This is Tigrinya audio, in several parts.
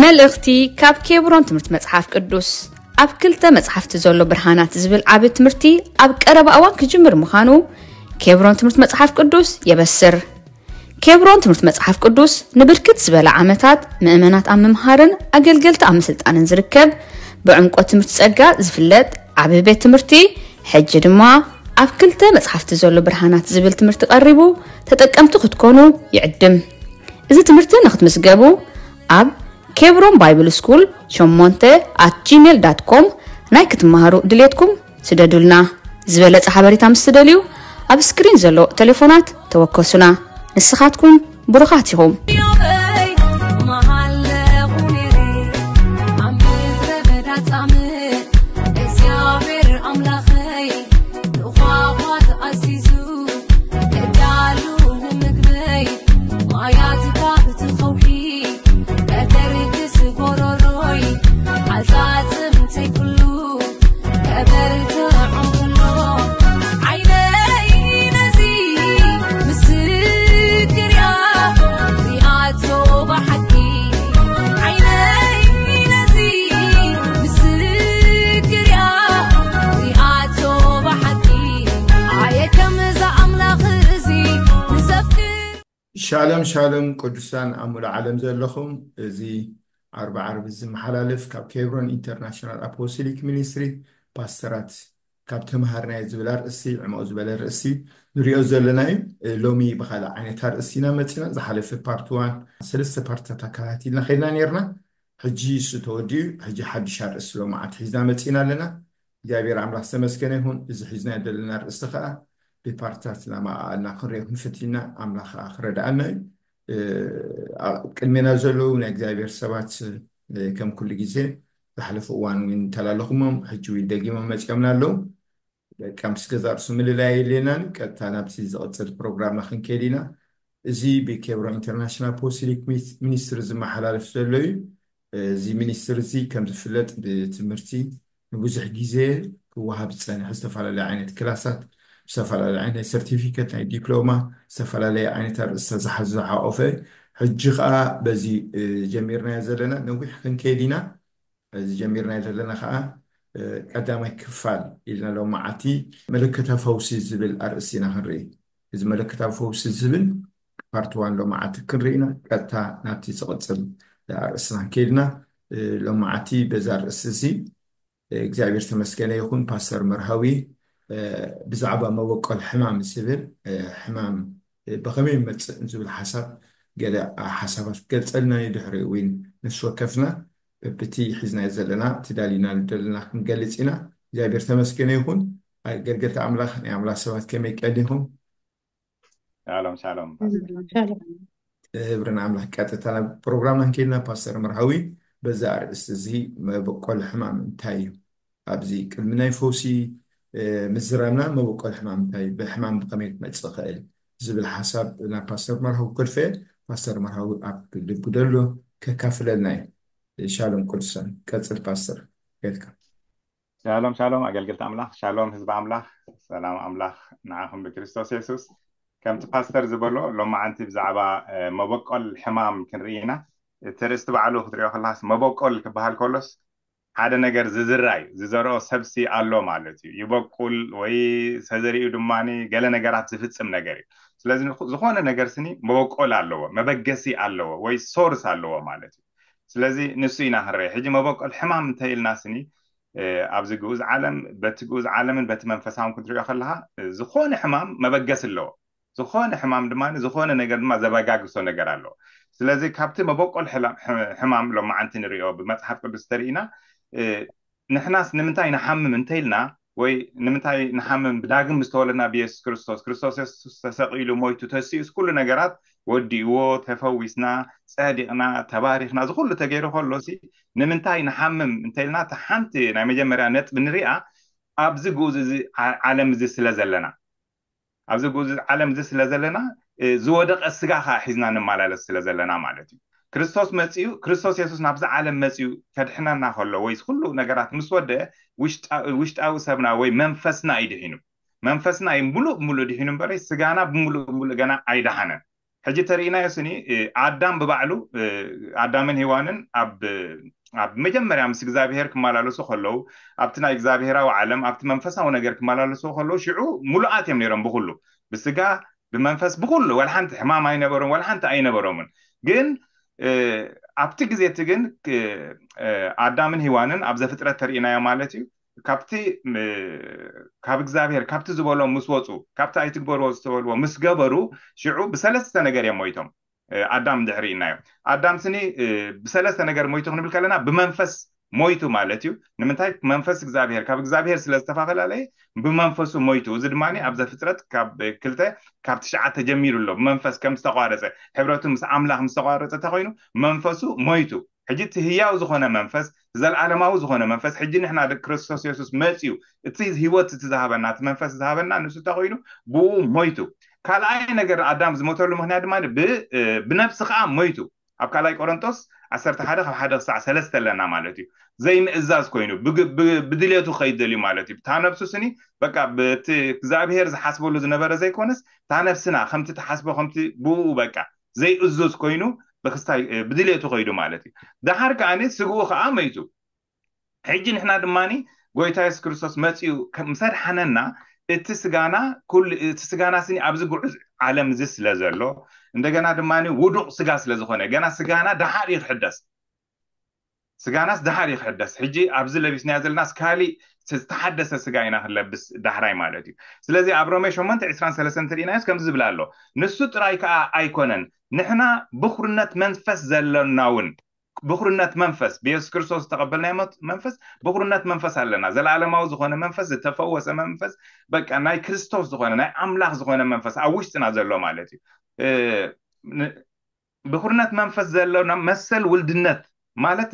መልእኽቲ ካብ ኬብሮን ትምህርቲ መጽሓፍ ቅዱስ። ኣብ ክልተ መጽሓፍቲ ዘሎ ብርሃናት ዝብል ዓቢ ትምህርቲ ኣብ ቀረባ እዋን ክጅምር ምዃኑ ኬብሮን ትምህርቲ መጽሓፍ ቅዱስ የበስር። ኬብሮን ትምህርቲ መጽሓፍ ቅዱስ ንብርክት ዝበለ ዓመታት ምእመናት ኣብ ምምሃርን ኣገልገልቲ ኣብ ምስልጣንን ዝርከብ፣ ብዕምቆት ትምህርቲ ጸጋ ዝፍለጥ ዓቢ ቤት ትምህርቲ፣ ሕጂ ድማ ኣብ ክልተ መጽሓፍቲ ዘሎ ብርሃናት ዝብል ትምህርቲ ቀሪቡ ተጠቀምቲ ክትኮኑ ይዕድም። እዚ ትምህርቲ ንክትምዝገቡ ኣብ ኬብሮን ባይብል ስኩል ሸሞንተ ኣት ጂሜል ዳት ኮም ናይ ክትመሃሩ ድሌትኩም ስደዱልና። ዝበለጸ ሓበሬታ ምስ ትደልዩ ኣብ ስክሪን ዘሎ ቴሌፎናት ተወከሱና። ንስኻትኩም ብሩኻት ኢኹም። ሻሎም ሻሎም ቅዱሳን ኣብ ሙሉእ ዓለም ዘለኹም፣ እዚ ዓርቢ ዓርቢ ዝመሓላለፍ ካብ ኬብሮን ኢንተርናሽናል ኣፖስቶሊክ ሚኒስትሪ ፓስተራት ካብ ተምሃርናዮ ዝብል ኣርእስቲ፣ ዕሙቕ ዝበለ ርእስቲ ንሪኦ ዘለና እዩ። ሎሚ ብኻልእ ዓይነት ኣርእስቲ ኢና መፂና። ዝሓለፈ ፓርት ዋን ሰለስተ ፓርትታት ኣከታቲልና ከይድና ነይርና። ሕጂ እሱ ተወዲኡ፣ ሕጂ ሓድሽ ኣርእስቲ ሎማዓንቲ ሒዝና መፂና ኣለና። እግዚኣብሔር ኣምላኽ ዝተመስገነ ይኹን። እዚ ሒዝናዮ ዘለና ኣርእስቲ ከዓ ብፓርትታት እናመኣኣልና ክንሪኦ ክንፍትን ኢና። ኣምላኽ ከዓ ክረድኣና እዩ። ኣብ ቅድሜና ዘለዉ ናይ እግዚኣብሔር ሰባት ከም ኩሉ ግዜ ዝሓለፈ እዋን እውን እንተላለኹሞም ሕጂ እውን ደጊሞም መፂኦምና ኣለዉ። በቃ ምስ ገዛ ርእሱ ምልላይ የድልየናን እዩ። ቀጥታ ናብቲ ዝቕፅል ፕሮግራምና ክንከይድ ኢና። እዚ ብኬብሮን ኢንተርናሽናል ኣፖስቶሊክ ሚኒስትሪ ዝመሓላለፍ ዘሎ እዩ። እዚ ሚኒስትሪ እዚ ከም ዝፍለጥ ብትምህርቲ ንብዙሕ ግዜ ክወሃብ ዝፀንሐ ዝተፈላለዩ ዓይነት ክላሳት፣ ዝተፈላለዩ ዓይነት ናይ ሰርቲፊኬት፣ ናይ ዲፕሎማ፣ ዝተፈላለዩ ዓይነት ኣርእስታት ዝሓዘ ዝሓቆፈ፣ ሕጂ ከዓ በዚ ጀሚርናዮ ዘለና ነዊሕ ክንከይድ ኢና። እዚ ጀሚርናዮ ዘለና ከዓ ቀዳማይ ክፋል ኢልና ሎማዓንቲ መለኮታዊ ፈውሲ ዝብል ኣርእስቲ ኢና ክንርኢ። እዚ መለኮታዊ ፈውሲ ዝብል ፓርት ዋን ሎማዓንቲ ክንርኢ ኢና። ቀጥታ ናብቲ ዝቕፅል ኣርእስትና ከይድና ሎማዓንቲ በዛ ኣርእስቲ እዚ እግዚኣብሔር ተመስገነ ይኹን። ፓስተር መርሃዊ ብዛዕባ መበቆል ሕማም ዝብል ሕማም ብኸመይ ይመፅእ ዝብል ሓሳብ ገለ ሓሳባት ክገልፀልና እዩ። ድሕሪኡ እውን ነፍሲ ወከፍና በብቲ ሒዝናዮ ዘለና ተዳሊና ዘለና ክንገልፅ ኢና። እግዚኣብሔር ተመስገነ ይኹን። ኣገልገልቲ ኣምላኽ ናይ ኣምላኽ ሰባት ከመይ ቀኒኹም? ሻሎም ሻሎም። ክብሪ ንኣምላኽ። ቀጥታ ናብ ፕሮግራምና እንከይድና ፓስተር መርሃዊ በዛ ኣርእስቲ እዚ መበቆል ሕማም እንታይ እዩ? ኣብዚ ቅድሚ ናይ ፈውሲ ምዝራብና መበቆል ሕማም እንታይ እዩ? ብሕማም ብኸመይ ክመፅእ ይኽእል ዝብል ሓሳብ ናብ ፓስተር መርሃዊ ከድፈ። ፓስተር መርሃዊ ኣብ ልቡ ደሎ ከካፍለልና እዩ። ሻሎም ቅዱሳን። ቀፅል ፓስተር። ጌልካ። ሻሎም ሻሎም ኣገልግልቲ ኣምላኽ፣ ሻሎም ህዝቢ ኣምላኽ፣ ሰላም ኣምላኽ ንዓኹም ብክርስቶስ የሱስ። ከምቲ ፓስተር ዝበሎ ሎማዓንቲ ብዛዕባ መበቆል ሕማም ክንርኢ ኢና። እቲ ርእስቲ ባዕሉ ክትሪኦ ከለኻስ መበቆል ክበሃል ከሎስ ሓደ ነገር ዝዝራ እዩ። ዝዘርኦ ሰብሲ ኣሎ ማለት እዩ። ይበቁል ወይ ተዘሪኡ ድማ ገለ ነገራት ዝፍጽም ነገር እዩ። ስለዚ ዝኾነ ነገር ስኒ መበቆል ኣለዎ፣ መበገሲ ኣለዎ ወይ ሶርስ ኣለዎ ማለት እዩ። ስለዚ ንሱ ኢና ክንርኢ። ሕጂ መበቆል ሕማም እንተኢልና ስኒ ኣብዚ ግኡዝ ዓለም በቲ ግኡዝ ዓለምን በቲ መንፈሳውን ክትሪኦ ከለኻ ዝኾነ ሕማም መበገሲ ኣለዎ። ዝኾነ ሕማም ድማ ዝኾነ ነገር ድማ ዘበጋግሶ ነገር ኣለዎ። ስለዚ ካብቲ መበቆል ሕማም ሎማዓንቲ ንሪኦ ብመፅሓፍ ቅዱስ ተሪኢና ንሕናስ ንምንታይ ንሓምም እንተኢልና ወይ ንምንታይ ንሓምም ብዳግም ዝተወለድና ብየሱስ ክርስቶስ፣ ክርስቶስ የሱስ ተሰቒሉ ሞይቱ ተሲኡስ ኩሉ ነገራት ወዲእዎ ተፈዊስና ጸዲቕና ተባሪኽና ዝኹሉ ተገይሩ ከሎሲ ንምንታይ ንሓምም እንተኢልና እታ ሓንቲ ናይ መጀመርያ ነጥቢ ንሪኣ ኣብዚ ግኡዝ እዚ ዓለም እዚ ስለ ዘለና ኣብዚ ግኡዝ ዓለም እዚ ስለ ዘለና ዝወደቐ ስጋ ከዓ ሒዝና ንመላለስ ስለ ዘለና ማለት እዩ። ክርስቶስ መፂኡ ክርስቶስ የሱስ ናብዚ ዓለም መፂኡ ከድሕነና ከሎ ወይ ኩሉ ነገራት ምስ ወደአ ውሽጣዊ ሰብና ወይ መንፈስና እዩ ድሒኑ። መንፈስና እዩ ሙሉእ ብሙሉእ ድሒኑ እምበረይ ስጋና ብሙሉእ ብሙሉእ ገና ኣይደሓነን። ሕጂ ተርእናዮ ስኒ ኣዳም ብባዕሉ ኣዳምን ሄዋንን ኣብ ኣብ መጀመርያ ምስ እግዚኣብሄር ክመላለሱ ከለዉ፣ ኣብቲ ናይ እግዚኣብሄራዊ ዓለም፣ ኣብቲ መንፈሳዊ ነገር ክመላለሱ ከለዉ፣ ሽዑ ሙሉኣት እዮም ነይሮም ብኩሉ፣ ብስጋ፣ ብመንፈስ፣ ብኩሉ። ዋላ ሓንቲ ሕማም ኣይነበሮም፣ ዋላ ሓንቲ ኣይነበሮምን። ግን ኣብቲ ግዜ እቲ ግን ኣዳምን ሄዋንን ኣብ ዘፍጥረት ተርእናዮ ማለት እዩ፣ ካብቲ ካብ እግዚኣብሄር ካብቲ ዝበሎም ምስ ወፁ፣ ካብቲ ኣይትግበርዎ ዝተበልዎ ምስ ገበሩ፣ ሽዑ ብሰለስተ ነገር እዮም ሞይቶም። ኣዳም ድሕሪ ኢልናዮ፣ ኣዳም ስኒ ብሰለስተ ነገር ሞይቱ ክንብል ከለና ብመንፈስ ሞይቱ ማለት እዩ። ንምንታይ? መንፈስ እግዚኣብሄር ካብ እግዚኣብሄር ስለ ዝተፈላለየ ብመንፈሱ ሞይቱ። እዚ ድማ ኣብ ዘፍጥረት ካብ ክልተ ካብ ትሽዓተ ጀሚሩ ኣሎ። ብመንፈስ ከም ዝተቋረፀ፣ ሕብረቱ ምስ ኣምላኽ ምስ ተቋረፀ እንተኮይኑ መንፈሱ ሞይቱ። ሕጂ እቲ ህያው ዝኾነ መንፈስ፣ ዘለኣለማዊ ዝኾነ መንፈስ፣ ሕጂ ንሕና ደቂ ክርስቶስ የሱስ መፅዩ፣ እቲ ህይወት እቲ ዝሃበና፣ እቲ መንፈስ ዝሃበና ንሱ እንተኮይኑ ብኡ ሞይቱ። ካልኣይ ነገር ኣዳም ዝሞተሉ ምክንያት ድማ ብነብሲ ከዓ ሞይቱ። ኣብ ካልኣይ ቆሮንጦስ ዓሰርተ ሓደ ካብ ሓደ ክሳዕ ሰለስተ ኣለና ማለት እዩ። ዘይምእዛዝ ኮይኑ ብድልየቱ ከይደልዩ ማለት እዩ። እታ ነብሱ ስኒ በቃ ብቲ እግዚኣብሄር ዝሓስበሉ ዝነበረ ዘይኮነስ እታ ነብስና ከምቲ ትሓስቦ ከምቲ ብኡ በቃ ዘይእዙዝ ኮይኑ ብክስታይ ብድልየቱ ከይዱ ማለት እዩ። ደሓር ከዓኒ ስግኡ ከዓ መይቱ። ሕጂ ንሕና ድማኒ ጎይታ የሱስ ክርስቶስ መፂኡ ምስ ኣድሓነና እቲ ስጋና ኩሉ እቲ ስጋና ስኒ ኣብዚ ጉዕዝ ዓለም እዚ ስለ ዘሎ እንደገና ድማኒ ውዱቕ ስጋ ስለ ዝኾነ ገና ስጋና ደሓር እዩ ክሕደስ። ስጋናስ ደሓር እዩ ክሕደስ። ሕጂ ኣብዚ ለቢስናዮ ዘለናስ ካሊእ ዝተሓደሰ ስጋ ኢና ክንለብስ ዳሕራይ ማለት እዩ። ስለዚ ኣብ ሮሜ ሸሞንተ ዕስራን ሰለስተን እንተርኢናዮስ ከምዚ ዝብል ኣሎ፣ ንሱ ጥራይ ከዓ ኣይኮነን፣ ንሕና ብኹርነት መንፈስ ዘሎና እውን ብኹርነት መንፈስ ብየሱስ ክርስቶስ ዝተቐበልናዮ መንፈስ ብኹርነት መንፈስ ኣለና። ዘለኣለማዊ ዝኾነ መንፈስ፣ ዝተፈወሰ መንፈስ፣ በቃ ናይ ክርስቶስ ዝኾነ ናይ ኣምላኽ ዝኾነ መንፈስ ኣብ ውሽጥና ዘሎ ማለት እዩ። ብኹርነት መንፈስ ዘሎና መሰል ውልድነት ማለት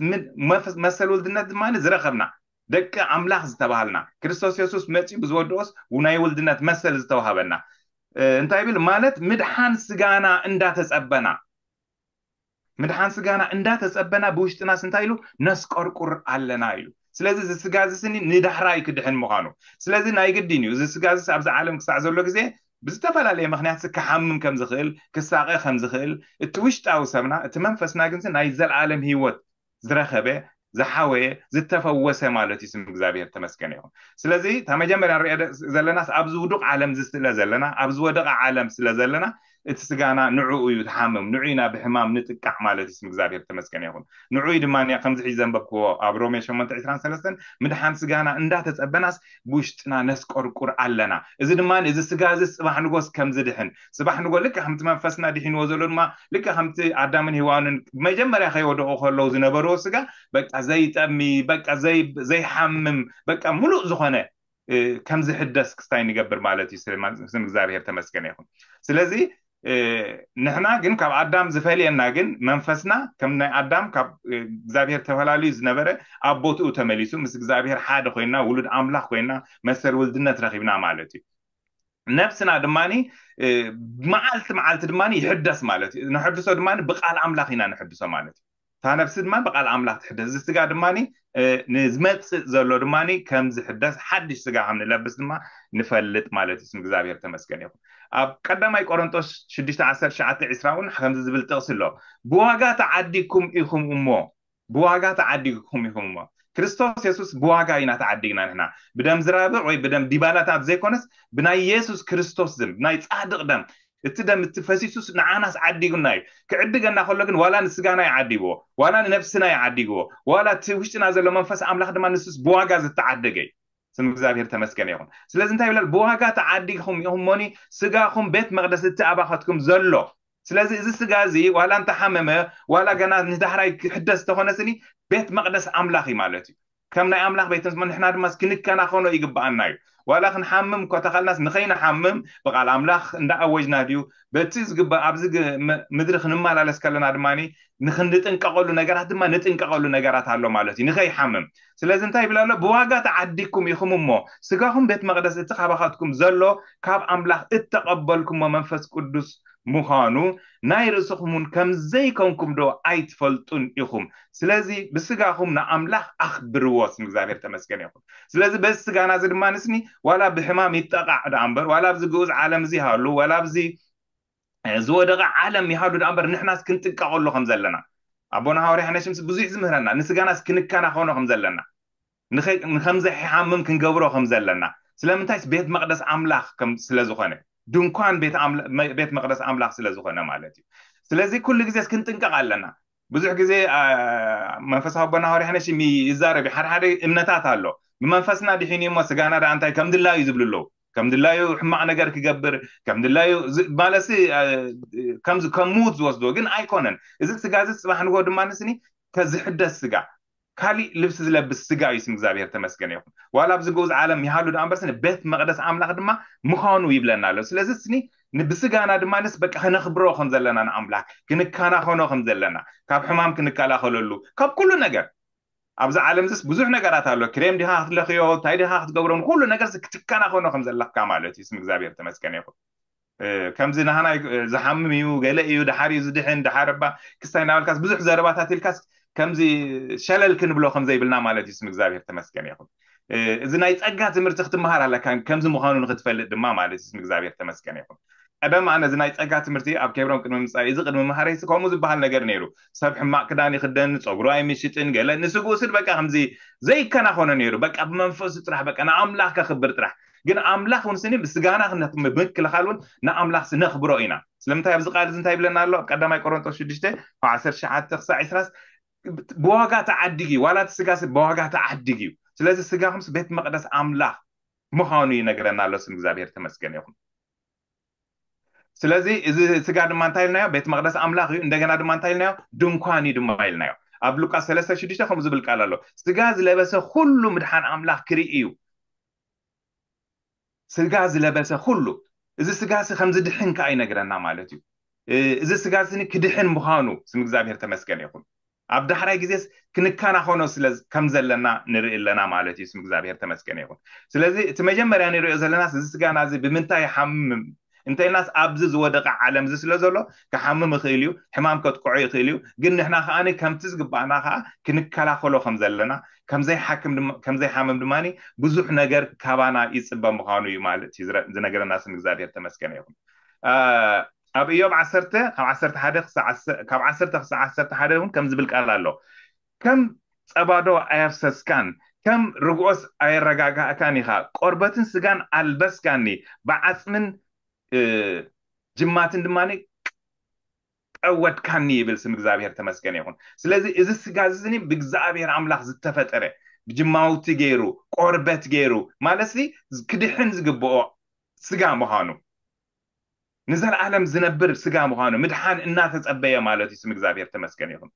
መሰል ውልድነት ድማ ዝረኸብና ደቂ ኣምላኽ ዝተባሃልና ክርስቶስ የሱስ መፂኡ ብዝወደኦስ ናይ ውልድነት መሰል ዝተዋሃበና እንታይ ይብል ማለት ምድሓን ስጋና እንዳተፀበና ምድሓን ስጋና እንዳተፀበና ብውሽጥናስ እንታይ ኢሉ ነስቆርቁር ኣለና ኢሉ። ስለዚ እዚ ስጋ እዚ ስኒ ንዳሕራይ ክድሕን ምዃኑ ስለዚ ናይ ግድን እዩ። እዚ ስጋ እዚ ኣብዚ ዓለም ክሳዕ ዘሎ ግዜ ብዝተፈላለየ ምክንያት ክሓምም ከም ዝኽእል ክሳቐ ከም ዝኽእል እቲ ውሽጣዊ ሰብና እቲ መንፈስና ግን ናይ ዘለኣለም ህይወት ዝረኸበ ዝሓወየ ዝተፈወሰ ማለት እዩ። ስም እግዚኣብሔር ተመስገን ይኹን። ስለዚ እታ መጀመርያ ንሪኦ ዘለናስ ኣብዚ ውዱቕ ዓለም እዚ ስለ ዘለና ኣብዚ ወደቐ ዓለም ስለ ዘለና እቲ ስጋና ንዕኡ እዩ ትሓምም ንዑ ኢና ብሕማም ንጥቃዕ ማለት እዩ። ስም እግዚኣብሔር ተመስገን ይኹን። ንዑ ድማ ከምዚ ሕጂ ዘንበብክዎ ኣብ ሮሜ ሸሞንተ ዕስራን ሰለስተን ምድሓን ስጋና እንዳተፀበናስ ብውሽጥና ነስቆርቁር ኣለና። እዚ ድማ እዚ ስጋ እዚ ፅባሕ ንጎስ ከም ዝድሕን ፅባሕ ንጎ ልክዕ ከምቲ መንፈስና ድሒንዎ ዘሎ ድማ ልክዕ ከምቲ ኣዳምን ሄዋንን መጀመርያ ከይወደቑ ከለዉ ዝነበርዎ ስጋ በቃ ዘይጠሚ በቃ ዘይሓምም በቃ ሙሉእ ዝኾነ ከም ዝሕደስ ክስታይ ንገብር ማለት እዩ። ስም እግዚኣብሔር ተመስገነ ይኹን። ስለዚ ንሕና ግን ካብ ኣዳም ዝፈልየና ግን መንፈስና ከም ናይ ኣዳም ካብ እግዚኣብሔር ተፈላለዩ ዝነበረ ኣብ ቦትኡ ተመሊሱ ምስ እግዚኣብሔር ሓደ ኮይና ውሉድ ኣምላኽ ኮይና መሰል ውልድነት ረኺብና ማለት እዩ። ነብስና ድማ መዓልቲ መዓልቲ ድማ ይሕደስ ማለት እዩ። ንሕድሶ ድማ ብቃል ኣምላኽ ኢና ንሕድሶ ማለት እዩ። እታ ነብሲ ድማ ብቃል ኣምላኽ ትሕደስ። እዚ ስጋ ድማ ንዝመፅእ ዘሎ ድማ ከም ዝሕደስ ሓድሽ ስጋ ከም ንለብስ ድማ ንፈልጥ ማለት እዩ። ስም እግዚኣብሔር ተመስገን ይኹን። ኣብ ቀዳማይ ቆሮንጦስ ሽዱሽተ ዓሰርተ ትሽዓተ ዕስራ እውን ከምዚ ዝብል ጥቕሲ ኣሎ። ብዋጋ ተዓዲግኩም ኢኹም እሞ ብዋጋ ተዓዲግኩም ኢኹም እሞ ክርስቶስ የሱስ ብዋጋ ኢና ተዓዲግና ንሕና ብደም ዝራብዕ ወይ ብደም ዲባላታት ዘይኮነስ ብናይ የሱስ ክርስቶስ ዝም ብናይ ፃድቕ ደም እቲ ደም እቲ ፈሲሱስ ንዓናስ ዓዲጉና እዩ። ክዕድገና ከሎ ግን ዋላ ንስጋና ይዓዲግዎ ዋላ ንነብስና ይዓዲግዎ ዋላ እቲ ውሽጥና ዘሎ መንፈስ ኣምላኽ ድማ ንሱስ ብዋጋ ዝተዓደገ እዩ። ስም እግዚኣብሔር ተመስገን ይኹን። ስለዚ እንታይ ይብላል? ብዋጋ ተዓዲግኹም ኢኹም እሞኒ ስጋኹም ቤት መቅደስ እቲ ኣባኸትኩም ዘሎ ስለዚ እዚ ስጋ እዚ ዋላ እንተሓመመ ዋላ ገና ንዳሕራይ ክሕደስ ዝተኾነ ስኒ ቤት መቅደስ ኣምላኽ እዩ ማለት እዩ። ከም ናይ ኣምላኽ ቤት ንሕና ድማ ክንከናኸኖ ይግብኣና እዩ። ዋላ ክንሓምም እኮ ተኻልናስ ንኸይንሓምም ብቃል ኣምላኽ እንዳኣወጅና ድዩ በቲ ዝግባእ ኣብዚ ምድሪ ክንመላለስ ከለና ድማ ንክንጥንቀቀሉ ነገራት ድማ ንጥንቀቀሉ ነገራት ኣሎ ማለት እዩ። ንኸይሓምም ስለዚ እንታይ ይብል ኣሎ? ብዋጋ ተዓዲግኩም ኢኹም እሞ ስጋኹም ቤት መቅደስ እቲ ካባኻትኩም ዘሎ ካብ ኣምላኽ እተቐበልኩሞ መንፈስ ቅዱስ ምዃኑ ናይ ርእስኹም እውን ከም ዘይኮንኩም ዶ ኣይትፈልጡን ኢኹም? ስለዚ ብስጋኹም ንኣምላኽ ኣኽብርዎ። ስም እግዚኣብሔር ተመስገን ይኹን። ስለዚ በዚ ስጋና እዚ ድማ ንስኒ ዋላ ብሕማም ይጠቃዕ ደኣ እምበር ዋላ ኣብዚ ግኡዝ ዓለም እዚ ሃሉ ዋላ ኣብዚ ዝወደቐ ዓለም ይሃሉ ደኣ እምበር ንሕናስ ክንጥንቀቐሉ ከም ዘለና ኣቦና ሃዋርያ ሓነሽምስ ብዙሕ ዝምህረና፣ ንስጋናስ ክንከናኸኖ ከም ዘለና፣ ንኸ- ንከምዘይሓምም ክንገብሮ ከም ዘለና። ስለምንታይስ ቤት መቕደስ ኣምላኽ ከም ስለ ዝኾነ፣ ድንኳን ቤት ኣምላ- መ- ቤት መቕደስ ኣምላኽ ስለ ዝኾነ ማለት እዩ። ስለዚ ኩሉ ግዜስ ክንጥንቀቕ ኣለና። ብዙሕ ግዜ አ፣ መንፈሳዊ ኣቦና ሃዋርያ ሓነሽም ይዛረብ እዩ። ሓደ ሓደ እምነታት ኣሎ፣ ብመንፈስና ድሒኑ እሞ ስጋና ደኣ እንታይ ከም ድላዩ ዝብሉ ኣለዉ። ከም ድላዩ ሕማቕ ነገር ክገብር ከም ድላዩ ዝ- ማለትሲ አ፣ ከምዚ ከም ምዉት ዝወስዶ ግን ኣይኮነን። እዚ ስጋ እዚ ጽባሕ ንጎ ድማ ንስኒ ከዝሕደስ ስጋ ካሊእ ልብሲ ዝለብስ ስጋ እዩ። ስም እግዚኣብሔር ተመስገን ይኹን። ዋላ ኣብዚ ግኡዝ ዓለም ይሃሉ ደኣ እምበር ስኒ ቤት መቕደስ ኣምላኽ ድማ ምዃኑ ይብለና ኣሎ። ስለዚ ስኒ ን- ብስጋና ድማ ንስ በቃ ክነኽብሮ ከም ዘለና ንኣምላኽ ክንከናኸኖ ከም ዘለና ካብ ሕማም ክንከላኸለሉ ካብ ኩሉ ነገር ኣብዚ ዓለም ዝስ ብዙሕ ነገራት ኣሎ። ክሬም ዲኻ ክትለኽዮ እንታይ ዲኻ ክትገብሮ ንኩሉ ነገር ክትከናኸኖ ከም ዘለካ ማለት እዩ። ስም እግዚኣብሔር ተመስገን ይኹን። እ፣ ከምዚ ናህና እ፣ ዝሓምም እዩ ገለ እዩ ድሓር እዩ ዝድሕን ድሓር እባ ክስታይ እናበልካስ ብዙሕ ዘረባታት ኢልካስ ከምዚ ሸለል ክንብሎ ከም ዘይብልና ማለት እዩ። ስም እግዚኣብሔር ተመስገን ይኹን። እ፣ እዚ ናይ ጸጋ ትምህርቲ ክትመሃር ኣለካ ከምዚ ምዃኑ ንክትፈልጥ ድማ ማለት እዩ። ስም እግዚኣብሔር ተመስገን ይኹን። ቀደም ኣነ እዚ ናይ ጸጋ ትምህርቲ ኣብ ኬብሮን ቅድሚ ምጻእ እዚ ቅድሚ መሃረይሲ ከምኡ ዝበሃል ነገር ነይሩ። ሰብ ሕማቕ ክዳን ይኽደን፣ ጸጉሩ ኣይምሽጥን፣ ገለ ንስግኡ ስድ በቃ ከምዚ ዘይከናኸኖ ነይሩ። በቃ ብመንፈሱ ጥራሕ በቃ ንኣምላኽ ከኽብር ጥራሕ። ግን ኣምላኽ እውን ስኒ ብስጋና ምክልኻል እውን ንኣምላኽ ስነኽብሮ ኢና። ስለምንታይ ኣብዚ ቃል እዚ እንታይ ይብለና ኣሎ? ኣብ ቀዳማይ ቆሮንቶስ ሽዱሽተ ካብ ዓሰርተ ትሽዓተ ክሳዕ ዕስራ ብዋጋ ተዓዲግ እዩ። ዋላ እቲ ስጋ ስብ ብዋጋ ተዓዲግ እዩ። ስለዚ ስጋኹምስ ቤት መቕደስ ኣምላኽ ምዃኑ ይነግረና ኣሎ። ስም እግዚኣብሔር ተመስገን ይኹን። ስለዚ እዚ ስጋ ድማ እንታይ ኢልናዮ? ቤት መቕደስ ኣምላኽ እዩ። እንደገና ድማ እንታይ ኢልናዮ? ድንኳን እዩ ድማ ኢልናዮ። ኣብ ሉቃስ ሰለስተ ሽዱሽተ ከምኡ ዝብል ቃል ኣሎ፣ ስጋ ዝለበሰ ኩሉ ምድሓን ኣምላኽ ክርኢ እዩ። ስጋ ዝለበሰ ኩሉ፣ እዚ ስጋ ሲ ከም ዝድሕን ከኣ ይነግረና ማለት እዩ። እ፣ እዚ ስጋ ስኒ ክድሕን ምዃኑ ስም እግዚኣብሔር ተመስገን ይኹን። ኣብ ዳሕራይ ግዜስ ክንከናኸኖ ስለ ከም ዘለና ንርኢ ኣለና ማለት እዩ። ስም እግዚኣብሔር ተመስገን ይኹን። ስለዚ እቲ መጀመርያ ንሪኦ ዘለናስ እዚ ስጋና እዚ ብምንታይ ይሓምም እንተኢልናስ ኣብዚ ዝወደቐ ዓለም እዚ ስለ ዘሎ ክሓምም ይኽእል እዩ፣ ሕማም ከጥቅዖ ይኽእል እዩ። ግን ንሕና ከኣ ከምቲ ዝግባኣና ከኣ ክንከላኸሎ ከም ዘለና ከምዘይሓክም ድማ- ከምዘይሓምም ድማ ብዙሕ ነገር ካባና ይጽበ ምዃኑ እዩ ማለት እዩ ዝረ- ዝነገረና ስም እግዚኣብሔር ተመስገን ይኹን። አ፣ ኣብ ኢዮብ ዓሰርተ ካብ ዓሰርተ ሓደ ክሳዕ ዓሰ- ካብ ዓሰርተ ክሳዕ ዓሰርተ ሓደ እውን ከም ዝብል ቃል ኣሎ፣ ከም ጸባዶ ኣየፍሰስካን ከም ርግኦስ ኣየረጋጋእካን ኢኻ፣ ቆርበትን ስጋን ኣልበስካኒ፣ ብዓጽምን እ፣ ጅማትን ድማ ቀወድካኒ ይብል ስም እግዚኣብሔር ተመስገን ይኹን። ስለዚ እዚ ስጋ እዚ ብእግዚኣብሔር ኣምላኽ ዝተፈጠረ ብጅማውቲ ገይሩ ቆርበት ገይሩ ማለት ክድሕን ዝግብኦ ስጋ ምዃኑ ንዘለኣለም ዝነብር ስጋ ምዃኑ ምድሓን እናተጸበየ ማለት እዩ። ስም እግዚኣብሔር ተመስገን ይኹን።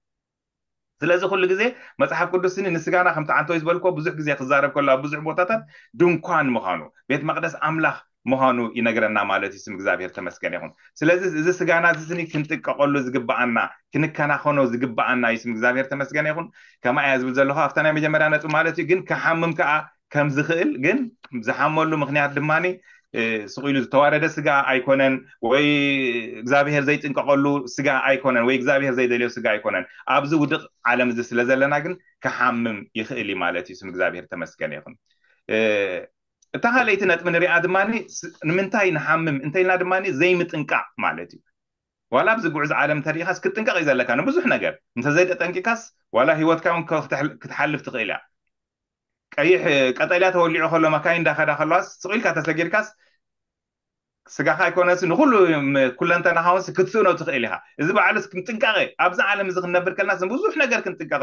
ስለዚ ኩሉ ግዜ መጽሓፍ ቅዱስ ስኒ ንስጋና ከምቲ ዓንተወይ ዝበልኮ ብዙሕ ግዜ ክዛረብ ከሎ ኣብ ብዙሕ ቦታታት ድንኳን ምዃኑ ቤት መቅደስ ኣምላኽ ምዃኑ ይነግረና ማለት እዩ። ስም እግዚኣብሔር ተመስገን ይኹን። ስለዚ እዚ ስጋና እዚ ስኒ ክንጥቀቀሉ ዝግብኣና ክንከናኸኖ ዝግብኣና እዩ። ስም እግዚኣብሔር ተመስገን ይኹን። ከማ እያ ዝብል ዘለኹ ኣብታ ናይ መጀመርያ ነጥብ ማለት እዩ። ግን ክሓምም ከዓ ከም ዝኽእል ግን ዝሓመሉ ምክንያት ድማ ስቕ ኢሉ ዝተዋረደ ስጋ ኣይኮነን ወይ እግዚኣብሔር ዘይጥንቀቀሉ ስጋ ኣይኮነን ወይ እግዚኣብሔር ዘይደልዮ ስጋ ኣይኮነን። ኣብዚ ውድቕ ዓለም እዚ ስለ ዘለና ግን ክሓምም ይኽእል እዩ ማለት እዩ። ስም እግዚኣብሔር ተመስገን ይኹን። እታ ካልኣይቲ ነጥቢ ንሪኣ ድማ ንምንታይ ንሓምም እንተኢልና ድማ ዘይምጥንቃቕ ማለት እዩ። ዋላ ኣብዚ ጉዕዞ ዓለም እንተሪኢኻስ ክትጥንቀቕ እዩ ዘለካ ንብዙሕ ነገር። እንተዘይተጠንቂካስ ዋላ ህይወትካ እውን ክትሓልፍ ትኽእል እያ። ቀይሕ ቀጠልያ ተወሊዑ ከሎ መካይን እንዳኸዳ ከለዋስ ስቕ ኢልካ ተሰጊርካስ ስጋኻ ኣይኮነስ ንኩሉ ኩለንተናኻ እውን ክትስእኖ ትኽእል ኢኻ። እዚ በዓሉስ ጥንቃቐ ኣብዚ ዓለም እዚ ክንነብር ከለናስ ብዙሕ ነገር ክንጥንቀቕ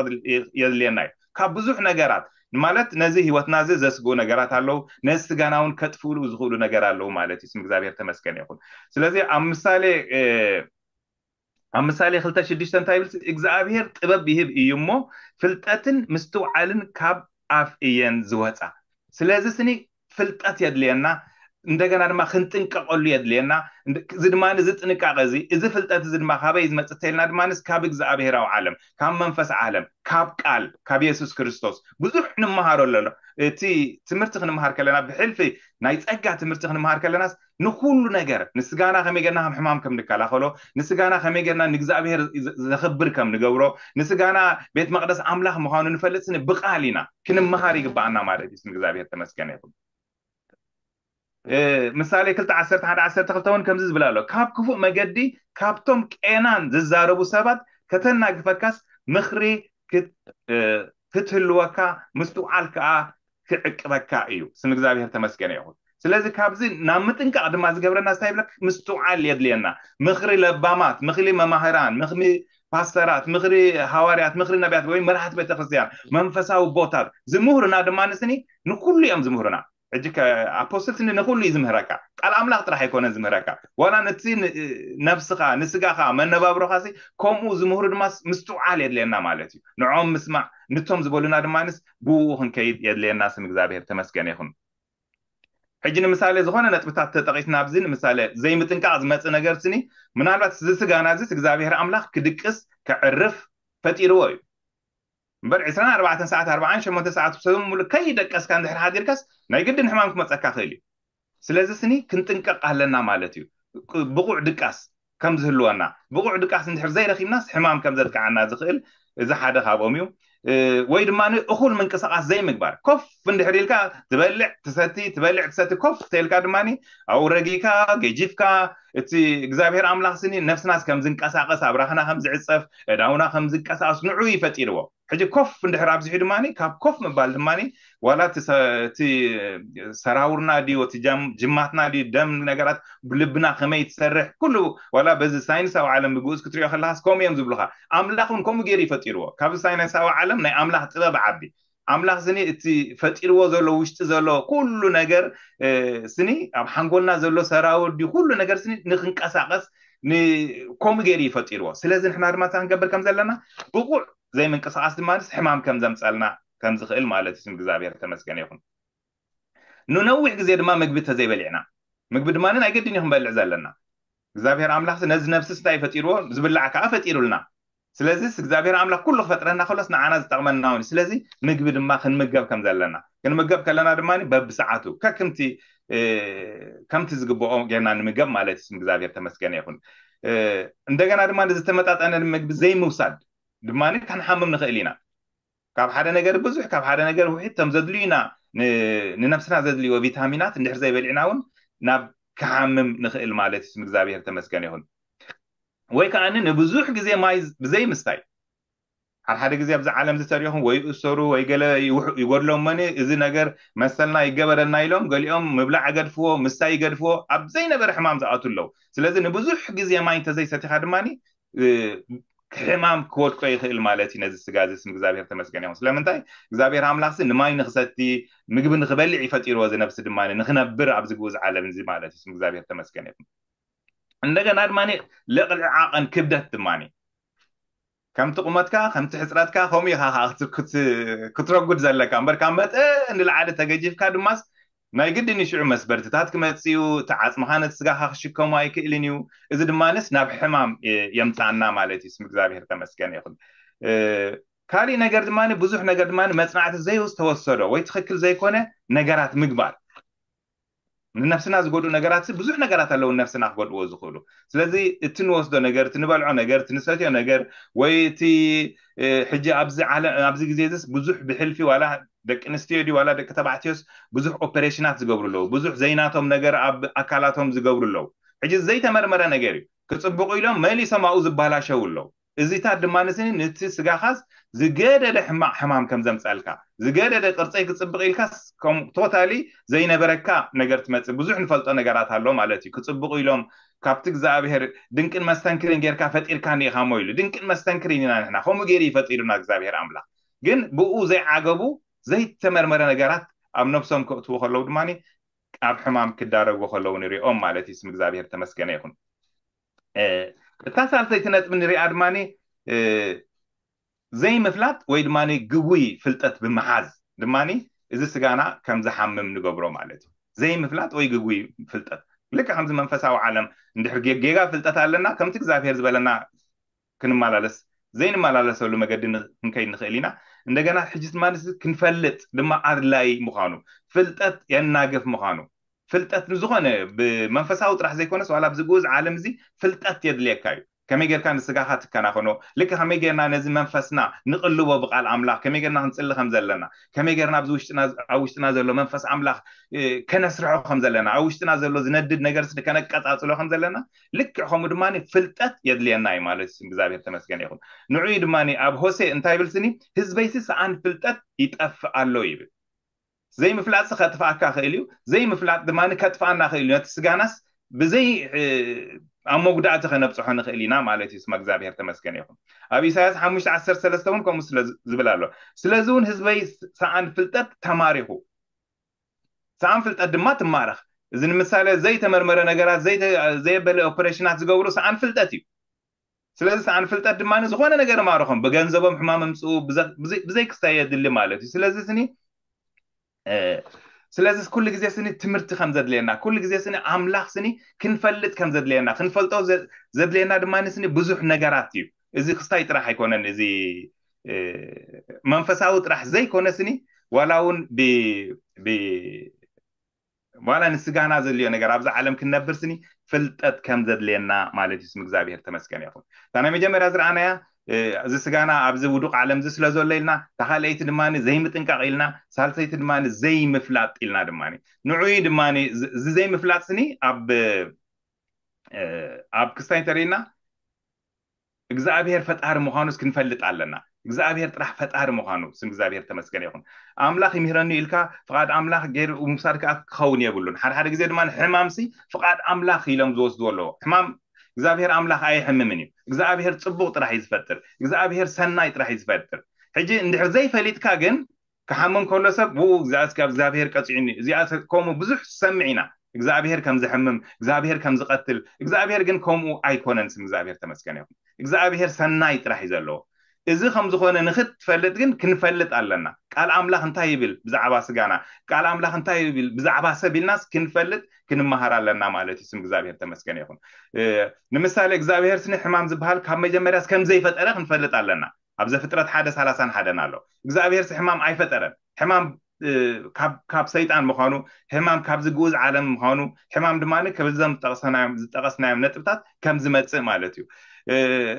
የድልየና እዩ። ካብ ብዙሕ ነገራት ማለት ነዚ ህይወትና እዚ ዘስግኡ ነገራት ኣለዉ። ነዚ ስጋና እውን ከጥፍእሉ ዝኽእሉ ነገር ኣለዉ ማለት እዩ። ስም እግዚኣብሔር ተመስገን ይኹን። ስለዚ ኣብ ምሳሌ ኣብ ምሳሌ ክልተ ሽዱሽተ እንታይ ይብል እግዚኣብሔር ጥበብ ይህብ እዩ እሞ ፍልጠትን ምስትውዓልን ካብ ኣፍ እየን ዝወፃ። ስለዚ ስኒ ፍልጠት የድልየና እንደገና ድማ ክንጥንቀቀሉ የድልየና። እዚ ድማ እዚ ጥንቃቀ እዚ እዚ ፍልጠት እዚ ድማ ካበይ ዝመፅእ ተልና ድማ ካብ እግዚኣብሔራዊ ዓለም ካብ መንፈስ ዓለም ካብ ቃል ካብ የሱስ ክርስቶስ ብዙሕ ንምሃሮ ኣሎ። እቲ ትምህርቲ ክንምሃር ከለና ብሕልፊ ናይ ጸጋ ትምህርቲ ክንምሃር ከለናስ ንኩሉ ነገር ንስጋና ከመይ ጌርና ከም ሕማም ከም ንከላኸሎ ንስጋና ከመይ ጌርና ንእግዚኣብሔር ዘኽብር ከም ንገብሮ ንስጋና ቤት መቅደስ ኣምላኽ ምዃኑ ንፈልጥ ስኒ ብቃል ኢና ክንምሃር ይግባኣና ማለት እዩ። ስም እግዚኣብሔር ተመስገነ ይኹን። ምሳሌ ክልተ ዓሰርተ ሓደ ዓሰርተ ክልተ እውን ከምዚ ዝብል ኣሎ፣ ካብ ክፉእ መገዲ ካብቶም ቄናን ዝዛረቡ ሰባት ከተናግፈካስ ምኽሪ ክትህልወካ ምስትውዓል ከዓ ክዕቅበካ እዩ። ስም እግዚኣብሔር ተመስገነ ይኹን። ስለዚ ካብዚ ናብ ምጥንቃቕ ድማ ዝገብረና ስታይ ብለክ ምስትውዓል የድልየና። ምኽሪ ለባማት፣ ምኽሪ መማህራን፣ ምኽሪ ፓስተራት፣ ምኽሪ ሃዋርያት፣ ምኽሪ ነቢያት ወይ መራሕቲ ቤተክርስትያን፣ መንፈሳዊ ቦታት ዝምህሩና ድማ ንስኒ ንኩሉ እዮም ዝምህሩና። ሕጂ ኣፖስትል ንኩሉ እዩ ዝምህረካ። ቃል ኣምላኽ ጥራሕ ኣይኮነን ዝምህረካ፣ ዋላ ነቲ ነብስኻ ንስጋኻ መነባብሮኻ ሲ ከምኡ ዝምህሩ ድማ ምስትውዓል የድልየና ማለት እዩ። ንዖም ምስማዕ፣ ንቶም ዝበሉና ድማ ንስ ብኡ ክንከይድ የድልየና። ስም እግዚኣብሔር ተመስገነ ይኹን። ሕጂ ንምሳሌ ዝኾነ ነጥብታት ተጠቂስና ኣብዚ ንምሳሌ ዘይምጥንቃቕ ዝመፅእ ነገር ስኒ ምናልባት እዚ ስጋና እዚ እግዚኣብሔር ኣምላኽ ክድቅስ ከዕርፍ ፈጢርዎ እዩ። እምበር ዕስራን ኣርባዕተን ሰዓት ኣርባዓን ሸሞንተ ሰዓት ሰብ ሙሉ ከይደቀስካ እንድሕር ሓዲርካስ ናይ ግድን ሕማም ክመፀካ ክእል እዩ። ስለዚ ስኒ ክንጥንቀቕ ኣለና ማለት እዩ። ብቑዕ ድቃስ ከም ዝህልወና፣ ብቑዕ ድቃስ እንድሕር ዘይረኪብናስ ሕማም ከም ዘጥቃዓና ዝኽእል እዚ ሓደ ካብኦም እዩ። ወይ ድማ እኹል ምንቅስቃስ ዘይምግባር፣ ኮፍ እንድሕር ኢልካ ትበልዕ ትሰቲ ትበልዕ ትሰቲ ኮፍ ተልካ ድማ ኣውረጊካ ገጂፍካ እቲ እግዚኣብሔር ኣምላኽ ስኒ ነፍስናስ ከም ዝንቀሳቀስ ኣብራኽና ከም ዝዕፀፍ እዳውና ከም ዝንቀሳቀስ ንዑ ይፈጢርዎ። ሕጂ ኮፍ እንድሕር ኣብዚሑ ድማ ካብ ኮፍ ምባል ድማ ዋላ እቲ ሰራውርና ድዩ እቲ ጅማትና ድዩ ደም ነገራት ልብና ከመይ ትሰርሕ ኩሉ ዋላ በዚ ሳይንሳዊ ዓለም ብግኡዝ ክትሪኦ ከለካስ ከምኡ እዮም ዝብሉካ። ኣምላኽ እውን ከምኡ ገይሩ ይፈጢርዎ። ካብዚ ሳይንሳዊ ዓለም ናይ ኣምላኽ ጥበብ ዓቢ ኣምላኽ ስኒ እቲ ፈጢርዎ ዘሎ ውሽጢ ዘሎ ኩሉ ነገር ስኒ ኣብ ሓንጎልና ዘሎ ሰራውር ድዩ ኩሉ ነገር ስኒ ንክንቀሳቀስ ከምኡ ገይሩ ይፈጢርዎ። ስለዚ ንሕና ድማ እንታይ ክንገብር ከም ዘለና ብቑዕ ዘይምንቅስቃስ ድማ ሕማም ከም ዘምፀልና ከም ዝኽእል ማለት እዩ። ስም እግዚኣብሔር ተመስገነ ይኹን። ንነዊሕ ግዜ ድማ ምግቢ ተዘይበሊዕና፣ ምግቢ ድማ ናይ ግድን እዩ ክንበልዕ ዘለና። እግዚኣብሔር ኣምላኽ ነዚ ነብስስ እንታይ ፈጢርዎ? ዝብላዕ ከዓ ፈጢሩልና። ስለዚስ እግዚኣብሔር ኣምላኽ ኩሉ ክፈጥረና ከሎስ ንዓና ዝጠቕመና እውን። ስለዚ ምግቢ ድማ ክንምገብ ከም ዘለና፣ ክንምገብ ከለና ድማ በብሰዓቱ ከክምቲ ከምቲ ዝግብኦ ጌርና ንምገብ ማለት እዩ። ስም እግዚኣብሔር ተመስገነ ይኹን። እንደገና ድማ ዝተመጣጠነ ምግቢ ዘይምውሳድ ድማ ክንሓምም ንኽእል ኢና። ካብ ሓደ ነገር ብዙሕ ካብ ሓደ ነገር ውሒድ ከም ዘድልዩና ንነብስና ዘድልይዎ ቪታሚናት እንድሕር ዘይበሊዕና እውን ናብ ክሓምም ንኽእል ማለት እዩ። ስም እግዚኣብሔር ተመስገን ይኹን። ወይ ከዓ ንብዙሕ ግዜ ማይ ብዘይ ምስታይ፣ ሓደ ሓደ ግዜ ኣብዚ ዓለም ዝተሪኹም ወይ እሰሩ ወይ ገለ ይጎድሎም መኒ እዚ ነገር መሰልና ይገበረና ኢሎም ገሊኦም ምብላዕ ገድፍዎ ምስታይ ይገድፍዎ ኣብ ዘይነበረ ሕማም ዝኣቱ ኣለዉ። ስለዚ ንብዙሕ ግዜ ማይ እንተዘይሰቲኻ ድማ ሕማም ክወድቆ ይኽእል ማለት እዩ። ነዚ ስጋ እዚ ስም እግዚኣብሔር ተመስገን ይኹን። ስለምንታይ እግዚኣብሔር ኣምላኽሲ ንማይ ንክሰቲ ምግቢ ንክበልዕ ይፈጢርዎ። እዚ ነብሲ ድማ ንክነብር ኣብዚ ግኡዝ ዓለም እዚ ማለት እዩ። ስም እግዚኣብሔር ተመስገን ይኹን። እንደገና ድማ ልዕሊ ዓቐን ክብደት ድማ ከምቲ ቁመትካ ከምቲ ሕፅረትካ ከምኡ ኢኻ ክትረጉድ ዘለካ እምበር ካብ መጠን ንላዕሊ ተገጂፍካ ድማስ ናይ ግድን እዩ ሽዑ መስበርትታት ክመፅእ እዩ። እቲ ዓፅምኻ ነቲ ስጋኻ ክሽከሙ ኣይክእልን እዩ። እዚ ድማንስ ናብ ሕማም የምፃና ማለት እዩ። ስም እግዚኣብሔር ተመስገን ይኹን። ካሊእ ነገር ድማ ብዙሕ ነገር ድማ መፅናዕቲ ዘይተወሰዶ ወይ ትኽክል ዘይኮነ ነገራት ምግባር ንነፍስና ዝጎድኡ ነገራት ብዙሕ ነገራት ኣለዉ ነፍስና ክጎድዎ ዝኽእሉ። ስለዚ እቲ ንወስዶ ነገር እቲ ንበልዖ ነገር እቲ ንሰትዮ ነገር ወይ እቲ ሕጂ ኣብዚ ዓለም ኣብዚ ግዜ ዚስ ብዙሕ ብሕልፊ ዋላ ደቂ ኣንስትዮ ድዩ ዋላ ደቂ ተባዕትዮስ ብዙሕ ኦፐሬሽናት ዝገብሩ ኣለዉ። ብዙሕ ዘይናቶም ነገር ኣብ ኣካላቶም ዝገብሩ ኣለዉ። ሕጂ ዘይተመርመረ ነገር እዩ። ክፅብቑ ኢሎም መሊሶም ኣብኡ ዝበላሸው ኣለዉ። እዚታት ድማ ንስኒ ነቲ ስጋኻስ ዝገደደ ሕማቕ ሕማም ከም ዘምፀልካ ዝገደደ ቅርፀይ ክፅብቕ ኢልካስ ቶታሊ ዘይነበረካ ነገር ትመፅእ። ብዙሕ ንፈልጦ ነገራት ኣሎ ማለት እዩ። ክፅብቑ ኢሎም ካብቲ እግዚኣብሔር ድንቅን መስተንክርን ጌርካ ፈጢርካ ኒኢኻሞ ኢሉ። ድንቅን መስተንክርን ኢና ንሕና። ከምኡ ገይሩ ይፈጢሩና እግዚኣብሔር ኣምላኽ። ግን ብኡ ዘይዓገቡ ዘይተመርመረ ነገራት ኣብ ነብሶም ከእትዉ ከለዉ ድማ ኣብ ሕማም ክዳረጉ ከለዉ ንሪኦም ማለት እዩ። ስም እግዚኣብሔር ተመስገነ ይኹን። እታ ሳልሰይቲ ነጥቢ ንሪኣ ድማ ዘይምፍላጥ ወይ ድማ ግጉይ ፍልጠት ብምሓዝ ድማ እዚ ስጋና ከም ዝሓምም ንገብሮ ማለት እዩ። ዘይምፍላጥ ወይ ግጉይ ፍልጠት ልክዕ ከምዚ መንፈሳዊ ዓለም እንድሕር ጌጋ ፍልጠት ኣለና ከምቲ እግዚኣብሔር ዝበለና ክንመላለስ ዘይንመላለሰሉ መገዲ ክንከይድ ንኽእል ኢና። እንደገና ሕጂ ድማ ክንፈልጥ ድማ ኣድላይ ምዃኑ ፍልጠት የናግፍ ምዃኑ ፍልጠት ንዝኾነ ብመንፈሳዊ ጥራሕ ዘይኮነስ ዋላ ኣብዚ ግኡዝ ዓለም እዚ ፍልጠት የድልየካ እዩ። ከመይ ጌርካ ንስጋኻ ትከናኸኖ፣ ልክ ከመይ ጌርና ነዚ መንፈስና ንቕልቦ ብቃል ኣምላኽ፣ ከመይ ጌርና ክንጽሊ ከም ዘለና፣ ከመይ ጌርና ኣብዚ ውሽጥና፣ ኣብ ውሽጥና ዘሎ መንፈስ ኣምላኽ ከነስርሖ ከም ዘለና፣ ኣብ ውሽጥና ዘሎ ዝነድድ ነገር ከነቀጻጽሎ ከም ዘለና፣ ልክዕ ከምኡ ድማ ፍልጠት የድልየና እዩ ማለት እዩ። እግዚኣብሔር ተመስገን ይኹን። ንዑይ ድማ ኣብ ሆሴ እንታይ ይብል ስኒ? ህዝበይሲ ሰኣን ፍልጠት ይጠፍእ ኣሎ ይብል። ዘይምፍላጥሲ ከጥፍኣካ ክእል እዩ። ዘይምፍላጥ ድማ ከጥፍኣና ክእል እዩ። ነቲ ስጋናስ ብዘይ ኣብ መጉዳእቲ ከነብፅሖ ንኽእል ኢና ማለት እዩ። ስመ እግዚኣብሔር ተመስገን ይኹን። ኣብ ኢሳያስ ሓሙሽተ ዓሰርተ ሰለስተ እውን ከምኡ ስለ ዝብል ኣሎ። ስለዚ እውን ህዝበይ ሰኣን ፍልጠት ተማሪኹ፣ ሰኣን ፍልጠት ድማ ትማረኽ። እዚ ንምሳሌ ዘይተመርመረ ነገራት፣ ዘየበለ ኦፐሬሽናት ዝገብሩ ሰኣን ፍልጠት እዩ። ስለዚ ሰኣን ፍልጠት ድማ ዝኾነ ነገር ማረኾም፣ ብገንዘቦም ሕማም ምፅኡ፣ ብዘይ ክስታይ የድሊ ማለት እዩ። ስለዚ ስኒ ስለዚ ኩሉ ግዜ ስኒ ትምህርቲ ከም ዘድልየና፣ ኩሉ ግዜ ስኒ ኣምላኽ ስኒ ክንፈልጥ ከም ዘድልየና፣ ክንፈልጦ ዘድልየና ድማ ስኒ ብዙሕ ነገራት እዩ። እዚ ክስታይ ጥራሕ ኣይኮነን፣ እዚ መንፈሳዊ ጥራሕ ዘይኮነ ስኒ ዋላ እውን ዋላ ንስጋና ዘድልዮ ነገር ኣብዚ ዓለም ክንነብር ስኒ ፍልጠት ከም ዘድልየና ማለት እዩ። ስም እግዚኣብሔር ተመስገን ይኹን። እታ ናይ መጀመርያ ዝረኣናያ እዚ ስጋና ኣብዚ ውዱቕ ዓለም እዚ ስለ ዘሎ ኢልና፣ እታ ካልኣይቲ ድማ ዘይምጥንቃቕ ኢልና፣ ሳልሰይቲ ድማ ዘይምፍላጥ ኢልና ድማ ንዑይ ድማ እዚ ዘይምፍላጥ ስኒ ኣብ ኣብ ክስታይ እንተርእና እግዚኣብሔር ፈጣሪ ምዃኑስ ክንፈልጥ ኣለና። እግዚኣብሔር ጥራሕ ፈጣሪ ምዃኑ ስም እግዚኣብሔር ተመስገን ይኹን። ኣምላኽ ይምህረኒ ኢልካ ፍቓድ ኣምላኽ ገይሩ ምውሳድ ከዓ ክኸውን የብሉን። ሓደ ሓደ ግዜ ድማ ሕማምሲ ፍቓድ ኣምላኽ ኢሎም ዝወስድዎ ኣለዎ። ሕማም እግዚኣብሔር ኣምላኽ ኣይሕምምን እዩ። እግዚኣብሔር ጽቡቕ ጥራሕ እዩ ዝፈጥር። እግዚኣብሔር ሰናይ ጥራሕ እዩ ዝፈጥር። ሕጂ እንድሕር ዘይፈሊጥካ ግን ክሓምም ከሎ ሰብ ብኡ እግዚኣብሔር ቀፂዑኒ፣ እዚኣ ከምኡ ብዙሕ ሰምዕ ኢና። እግዚኣብሔር ከም ዝሕምም፣ እግዚኣብሔር ከም ዝቐትል፣ እግዚኣብሔር ግን ከምኡ ኣይኮነን። ስም እግዚኣብሔር ተመስገን ይኹን። እግዚኣብሔር ሰናይ ጥራሕ እዩ ዘለዎ። እዚ ከም ዝኾነ ንክትፈልጥ ግን ክንፈልጥ ኣለና። ቃል ኣምላኽ እንታይ ይብል ብዛዕባ ስጋና፣ ቃል ኣምላኽ እንታይ ይብል ብዛዕባ ሰብ ኢልናስ ክንፈልጥ ክንመሃር ኣለና ማለት እዩ። ስም እግዚኣብሔር ተመስገን ይኹን። ንምሳሌ እግዚኣብሔር ስኒ ሕማም ዝበሃል ካብ መጀመርያስ ከም ዘይፈጠረ ክንፈልጥ ኣለና። ኣብ ዘፍጥረት ሓደ ሰላሳን ሓደን ኣሎ። እግዚኣብሔር ሕማም ኣይፈጠረን። ሕማም ካብ ሰይጣን ምዃኑ፣ ሕማም ካብዚ ግኡዝ ዓለም ምዃኑ፣ ሕማም ድማ ከብዞም ዝጠቐስናዮም ነጥብታት ከም ዝመፅእ ማለት እዩ።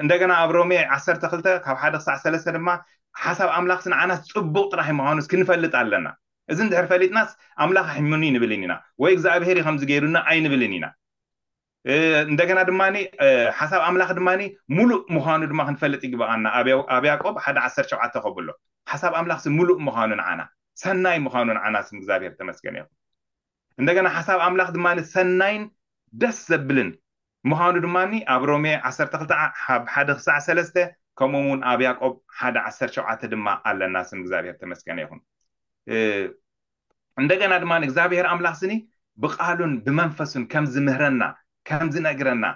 እንደገና ኣብ ሮሜ ዓሰርተ ክልተ ካብ ሓደ ክሳዕ ሰለስተ ድማ ሓሳብ ኣምላኽስ ንዓናስ ፅቡቕ ጥራሕ ምዃኑስ ክንፈልጥ ኣለና። እዚ እንድሕር ፈሊጥናስ ኣምላኽ ኣሕምኒ ንብልን ኢና ወይ እግዚኣብሔር እዩ ከምዚ ገይሩና ኣይንብልን ኢና። እንደገና ድማ ሓሳብ ኣምላኽ ድማ ሙሉእ ምዃኑ ድማ ክንፈልጥ ይግበኣና። ኣብ ያዕቆብ ሓደ ዓሰርተ ሸውዓተ ከብሎ ሓሳብ ኣምላኽ ሙሉእ ምዃኑ ንዓና ሰናይ ምዃኑ ንዓና ስም እግዚኣብሔር ተመስገን ይኹን። እንደገና ሓሳብ ኣምላኽ ድማ ሰናይን ደስ ዘብልን ምዃኑ ድማ ኣብ ሮሜ ዓሰርተ ክልተ ሓደ ክሳዕ ሰለስተ ከምኡ እውን ኣብ ያዕቆብ ሓደ ዓሰርተ ሸውዓተ ድማ ኣለና። ስም እግዚኣብሔር ተመስገን ይኹን። እንደገና ድማ እግዚኣብሔር ኣምላኽ ስኒ ብቃሉን ብመንፈሱን ከም ዝምህረና ከም ዝነግረና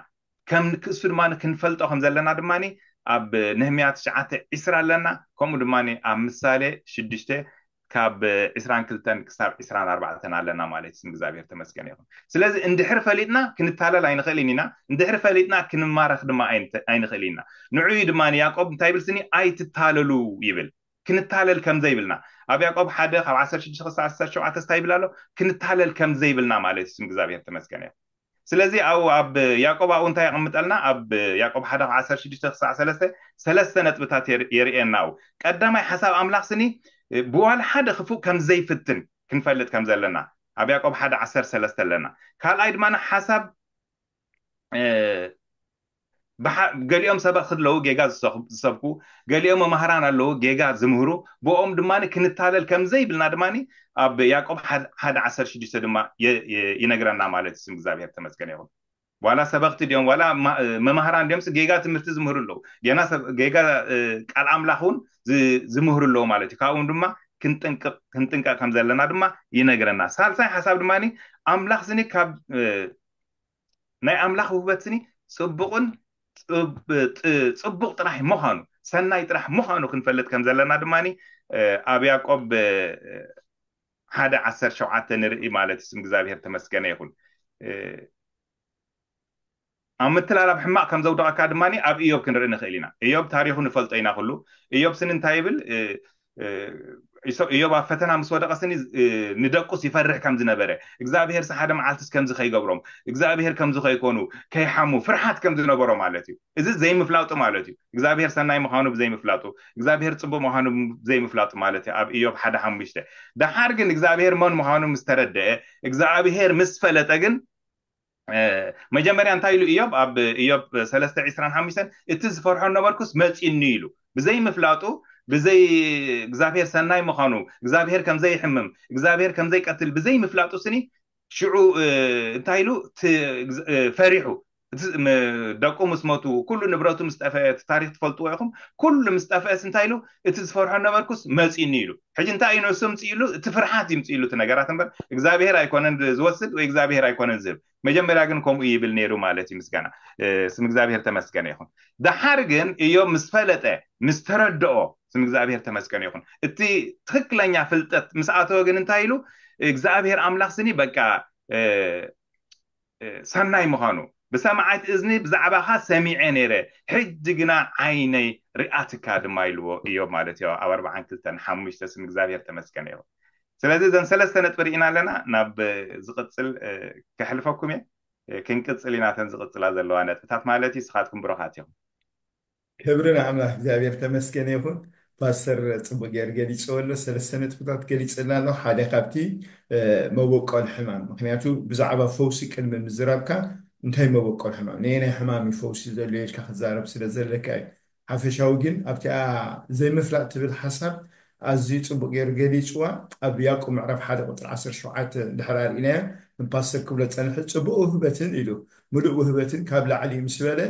ከም ክእሱ ድማ ክንፈልጦ ከም ዘለና ድማ ኣብ ነህምያ ትሽዓተ ዕስራ ኣለና። ከምኡ ድማ ኣብ ምሳሌ ሽዱሽተ ካብ ዕስራን ክልተን ክሳብ ዕስራን ኣርባዕተን ኣለና ማለት ስም እግዚኣብሔር ተመስገን ይኹን። ስለዚ እንድሕር ፈሊጥና ክንታለል ኣይንኽእልን ኢና። እንድሕር ፈሊጥና ክንማረኽ ድማ ኣይንኽእል ኢና። ንዑዩ ድማ ያዕቆብ እንታይ ይብል ስኒ ኣይትታለሉ ይብል። ክንታለል ከም ዘይብልና ኣብ ያዕቆብ ሓደ ካብ ዓሰርተ ሽዱሽተ ክሳብ ዓሰርተ ሸውዓተ እንታይ ይብል ኣሎ? ክንታለል ከም ዘይብልና ማለት እዩ። ስም እግዚኣብሔር ተመስገን እዩ። ስለዚ ኣብኡ ኣብ ያዕቆብ ኣብኡ እንታይ የቐምጠልና? ኣብ ያዕቆብ ሓደ ካብ ዓሰርተ ሽዱሽተ ክሳዕ ሰለስተ ሰለስተ ነጥብታት የርእየና። ኣብኡ ቀዳማይ ሓሳብ ኣምላኽ ስኒ ብዋላ ሓደ ክፉእ ከም ዘይፍትን ክንፈልጥ ከም ዘለና ኣብ ያዕቆብ ሓደ ዓሰርተ ሰለስተ ኣለና። ካልኣይ ድማ ሓሳብ ገሊኦም ሰበኽቲ ኣለዉ ጌጋ ዝሰብኩ፣ ገሊኦም መማህራን ኣለዉ ጌጋ ዝምህሩ፣ ብኦም ድማ ክንታለል ከም ዘይብልና ድማ ኣብ ያዕቆብ ሓደ ዓሰርተ ሽዱሽተ ድማ ይነግረና ማለት እዩ። ስም እግዚኣብሔር ተመስገን ይኹን። ዋላ ሰበኽቲ ድዮም ዋላ መማህራን ድዮም ጌጋ ትምህርቲ ዝምህሩ ኣለዉ፣ ጌና ጌጋ ቃል ኣምላኽ እውን ዝምህሩ ኣለዉ ማለት እዩ። ካብኡም ድማ ክንጥንቀቕ ከም ዘለና ድማ ይነግረና። ሳልሳይ ሓሳብ ድማ ኣምላኽ ስኒ ካብ ናይ ኣምላኽ ውህበት ስኒ ጽቡቕን ጽቡቕ ጥራሕ ምዃኑ ሰናይ ጥራሕ ምዃኑ ክንፈልጥ ከም ዘለና ድማ ኣብ ያዕቆብ ሓደ ዓሰርተ ሸውዓተ ንርኢ ማለት እዩ። ስም እግዚኣብሔር ተመስገነ ይኹን። ኣብ ምትላላብ ሕማቕ ከም ዘውደቐካ ድማ ኣብ እዮብ ክንርኢ ንኽእል ኢና። እዮብ ታሪኹ ንፈልጦ ኢና። ኩሉ እዮብ ስኒ እንታይ ይብል? ኢዮብ ኣብ ፈተና ምስ ወደቀ ስኒ ንደቁስ ይፈርሕ ከም ዝነበረ፣ እግዚኣብሄርስ ሓደ መዓልትስ ከምዚ ከይገብሮም፣ እግዚኣብሄር ከምዚ ከይኮኑ፣ ከይሓሙ ፍርሓት ከም ዝነበሮ ማለት እዩ። እዚ ዘይምፍላጡ ማለት እዩ። እግዚኣብሄር ሰናይ ምዃኑ ብዘይምፍላጡ፣ እግዚኣብሄር ጽቡቅ ምዃኑ ብዘይምፍላጡ ማለት እዩ። ኣብ ኢዮብ ሓደ ሓሙሽተ። ደሓር ግን እግዚኣብሄር መን ምዃኑ ምስ ተረደአ፣ እግዚኣብሄር ምስ ፈለጠ ግን መጀመርያ እንታይ ኢሉ ኢዮብ? ኣብ ኢዮብ ሰለስተ ዕስራን ሓሙሽተን፣ እቲ ዝፈርሖ ነበርኩስ መጺኒ ኢሉ። ብዘይ ምፍላጡ፣ ብዘይ እግዚኣብሔር ሰናይ ምዃኑ፣ እግዚኣብሔር ከም ዘይሕምም፣ እግዚኣብሔር ከም ዘይቀትል ብዘይ ምፍላጡ ስኒ ሽዑ እንታይ ኢሉ? ፈሪሑ። ደቁ ምስ መቱ፣ ኩሉ ንብረቱ ምስ ጠፈአ፣ እቲ ታሪክ ትፈልጥዎ ኢኹም። ኩሉ ምስ ጠፈአስ እንታይ ኢሉ? እቲ ዝፈርሖ ነበርኩስ መጺኒ ኢሉ። ሕጂ እንታይ እዩ ነሱ ምጽእ ኢሉ? እቲ ፍርሓት ይምጽእ ኢሉ እቲ ነገራት እምበር እግዚኣብሔር ኣይኮነን ዝወስድ ወይ እግዚኣብሔር ኣይኮነን ዝህብ። መጀመርያ ግን ከምኡ ይብል ነይሩ ማለት እዩ። ምስጋና ስም እግዚኣብሔር ተመስገነ ይኹን። ደሓር ግን እዮብ ምስ ፈለጠ፣ ምስ ተረድኦ፣ ስም እግዚኣብሔር ተመስገነ ይኹን። እቲ ትክክለኛ ፍልጠት ምስ ኣተወ ግን እንታይ ኢሉ? እግዚኣብሔር ኣምላኽ ስኒ በቃ ሰናይ ምዃኑ፣ ብሰማዓት እዝኒ ብዛዕባኻ ሰሚዐ ነይረ፣ ሕጂ ግና ዓይነይ ርኣትካ ድማ ኢልዎ እዮብ ማለት እዩ። ኣብ ኣርባዓን ክልተን ሓሙሽተ ስም እግዚኣብሔር ተመስገነ ይኹን። ስለዚ እዘን ሰለስተ ነጥቢ ርኢና ኣለና። ናብ ዝቕጽል ከሕልፈኩም እየ። ክንቅጽል ኢና፣ እተን ዝቕጽላ ዘለዋ ነጥብታት ማለት እዩ። ንስኻትኩም ብሩኻት ኢኹም። ክብሪ ንኣምላኽ እግዚኣብሔር ተመስገነ ይኹን። ፓስተር ጽቡቅ ገይሩ ገሊጽዎ ኣሎ። ሰለስተ ነጥብታት ገሊጽልና ኣሎ። ሓደ ካብቲ መበቆል ሕማም፣ ምክንያቱ ብዛዕባ ፈውሲ ቅድሚ ምዝራብካ እንታይ መበቆል ሕማም፣ ነየናይ ሕማም እዩ ፈውሲ ዘድልዮ ኢልካ ክዛረብ ስለ ዘለካ እዩ። ሓፈሻዊ ግን ኣብቲኣ ዘይምፍላጥ ትብል ሓሳብ ኣዝዩ ጽቡቅ ገይሩ ገሊጽዋ። ኣብ ያዕቆብ ምዕራፍ ሓደ ቁጽሪ ዓሰርተ ሸውዓተ ድሕር ኣርኢናያ ንፓስተር ክብሎ ጸንሐ፣ ጽቡቅ ውህበትን ኢሉ፣ ምሉእ ውህበትን ካብ ላዕሊ ምስ በለ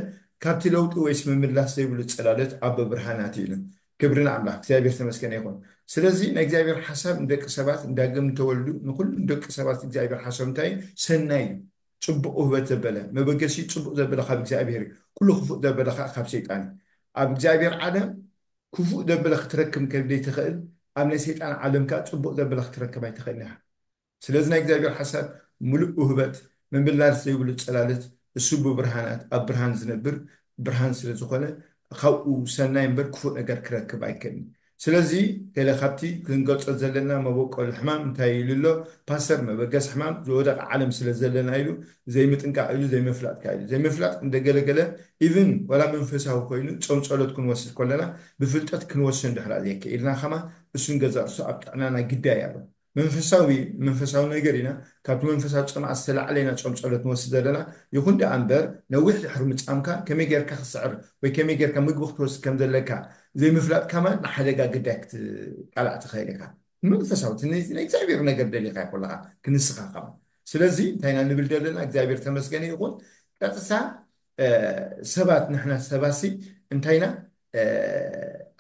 ካብቲ ለውጢ ወይስ ምምላስ ዘይብሉ ጽላሎት ኣቦ ብርሃናት ኢሉ። ክብሪ ንኣምላኽ እግዚኣብሔር ተመስገነ ይኹን። ስለዚ ናይ እግዚኣብሔር ሓሳብ ንደቂ ሰባት ንዳግም ንተወልዱ ንኩሉ ንደቂ ሰባት እግዚኣብሔር ሓሳብ እንታይ ሰናይ እዩ። ጽቡቅ ውህበት ዘበለ መበገሲ ጽቡቅ ዘበለ ካብ እግዚኣብሔር እዩ። ኩሉ ክፉእ ዘበለ ከዓ ካብ ሰይጣን እዩ። ኣብ እግዚኣብሔር ዓለም ክፉእ ዘበለ ክትረክብ ከደይ ትኽእል፣ ኣብ ናይ ሰይጣን ዓለም ከዓ ጽቡቅ ዘበለ ክትረክብ ኣይትኽእል ኢኻ። ስለዚ ናይ እግዚኣብሔር ሓሳብ ምሉእ ውህበት ምምላስ ዘይብሉ ጸላለት እሱ ብብርሃናት ኣብ ብርሃን ዝነብር ብርሃን ስለ ዝኾነ ካብኡ ሰናይ እምበር ክፉእ ነገር ክረክብ ኣይክእልን። ስለዚ ገለ ካብቲ ክንገልጾ ዘለና መበቆል ሕማም እንታይ ኢሉ ኣሎ ፓስተር? መበገስ ሕማም ዝወደቀ ዓለም ስለ ዘለና ኢሉ ዘይምጥንቃቕ ኢሉ ዘይምፍላጥካ ኢሉ ዘይምፍላጥ እንደገለገለ ኢቭን ወላ መንፈሳዊ ኮይኑ ጾም ጸሎት ክንወስድ ከለና ብፍልጠት ክንወስን ድሕራ ዘየከኢልና ከማ እሱን ገዛ እርሱ ኣብ ጥዕናና ግዳይ ኣሎ። መንፈሳዊ መንፈሳዊ ነገር ኢና ካብቲ መንፈሳዊ ጽምኣት ዝተላዕለ ኢና ጾም ጸሎት ንወስድ ዘለና። ይኹን ደኣ እምበር ነዊሕ ድሕሪ ምጻምካ ከመይ ጌርካ ክስዕር ወይ ከመይ ጌርካ ምግቢ ክትወስድ ከም ዘለካ ዘይምፍላጥ ከማን ንሓደጋ ግዳይ ክትቃላዕ ትኽእል ኢኻ። መንፈሳዊ እቲ ናይ እግዚኣብሔር ነገር ደሊኻ ይኮለኻ ክንስኻ ከማን። ስለዚ እንታይ ኢና ንብል ዘለና? እግዚኣብሔር ተመስገነ ይኹን። ቀጥታ ሰባት ንሕና ሰባሲ እንታይ ኢና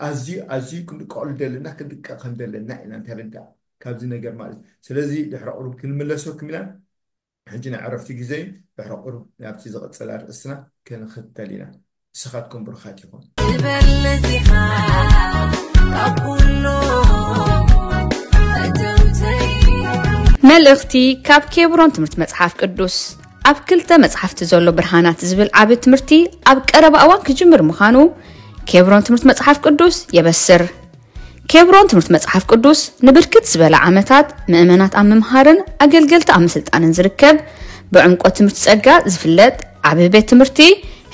ኣዝዩ ኣዝዩ ክንድቀሉ ዘለና ክንድቀ ከም ዘለና ኢና ንተረዳእ ካብዚ ነገር ማለት። ስለዚ ድሕሪ ቁሩብ ክንምለሰኩም ኢና። ሕጂ ናይ ዕረፍቲ ግዜ እዩ። ድሕሪ ቁሩብ ናብቲ ዝቕጽል ኣርእስትና ክንኽተል ኢና። ንስኻትኩም ብሩኻት ኢኹም። ትበልጽ ኢኻ ካብ ኩሉ ፈተውተይ። መልእኽቲ ካብ ኬብሮን ትምህርቲ መጽሓፍ ቅዱስ። ኣብ ክልተ መጽሓፍቲ ዘሎ ብርሃናት ዝብል ዓቢ ትምህርቲ ኣብ ቀረባ እዋን ክጅምር ምዃኑ ኬብሮን ትምህርቲ መጽሓፍ ቅዱስ የበስር። ኬብሮን ትምህርቲ መጽሓፍ ቅዱስ ንብርክት ዝበለ ዓመታት ምእመናት ኣብ ምምሃርን ኣገልገልቲ ኣብ ምስልጣንን ዝርከብ ብዕምቆት ትምህርቲ ጸጋ ዝፍለጥ ዓቢ ቤት ትምህርቲ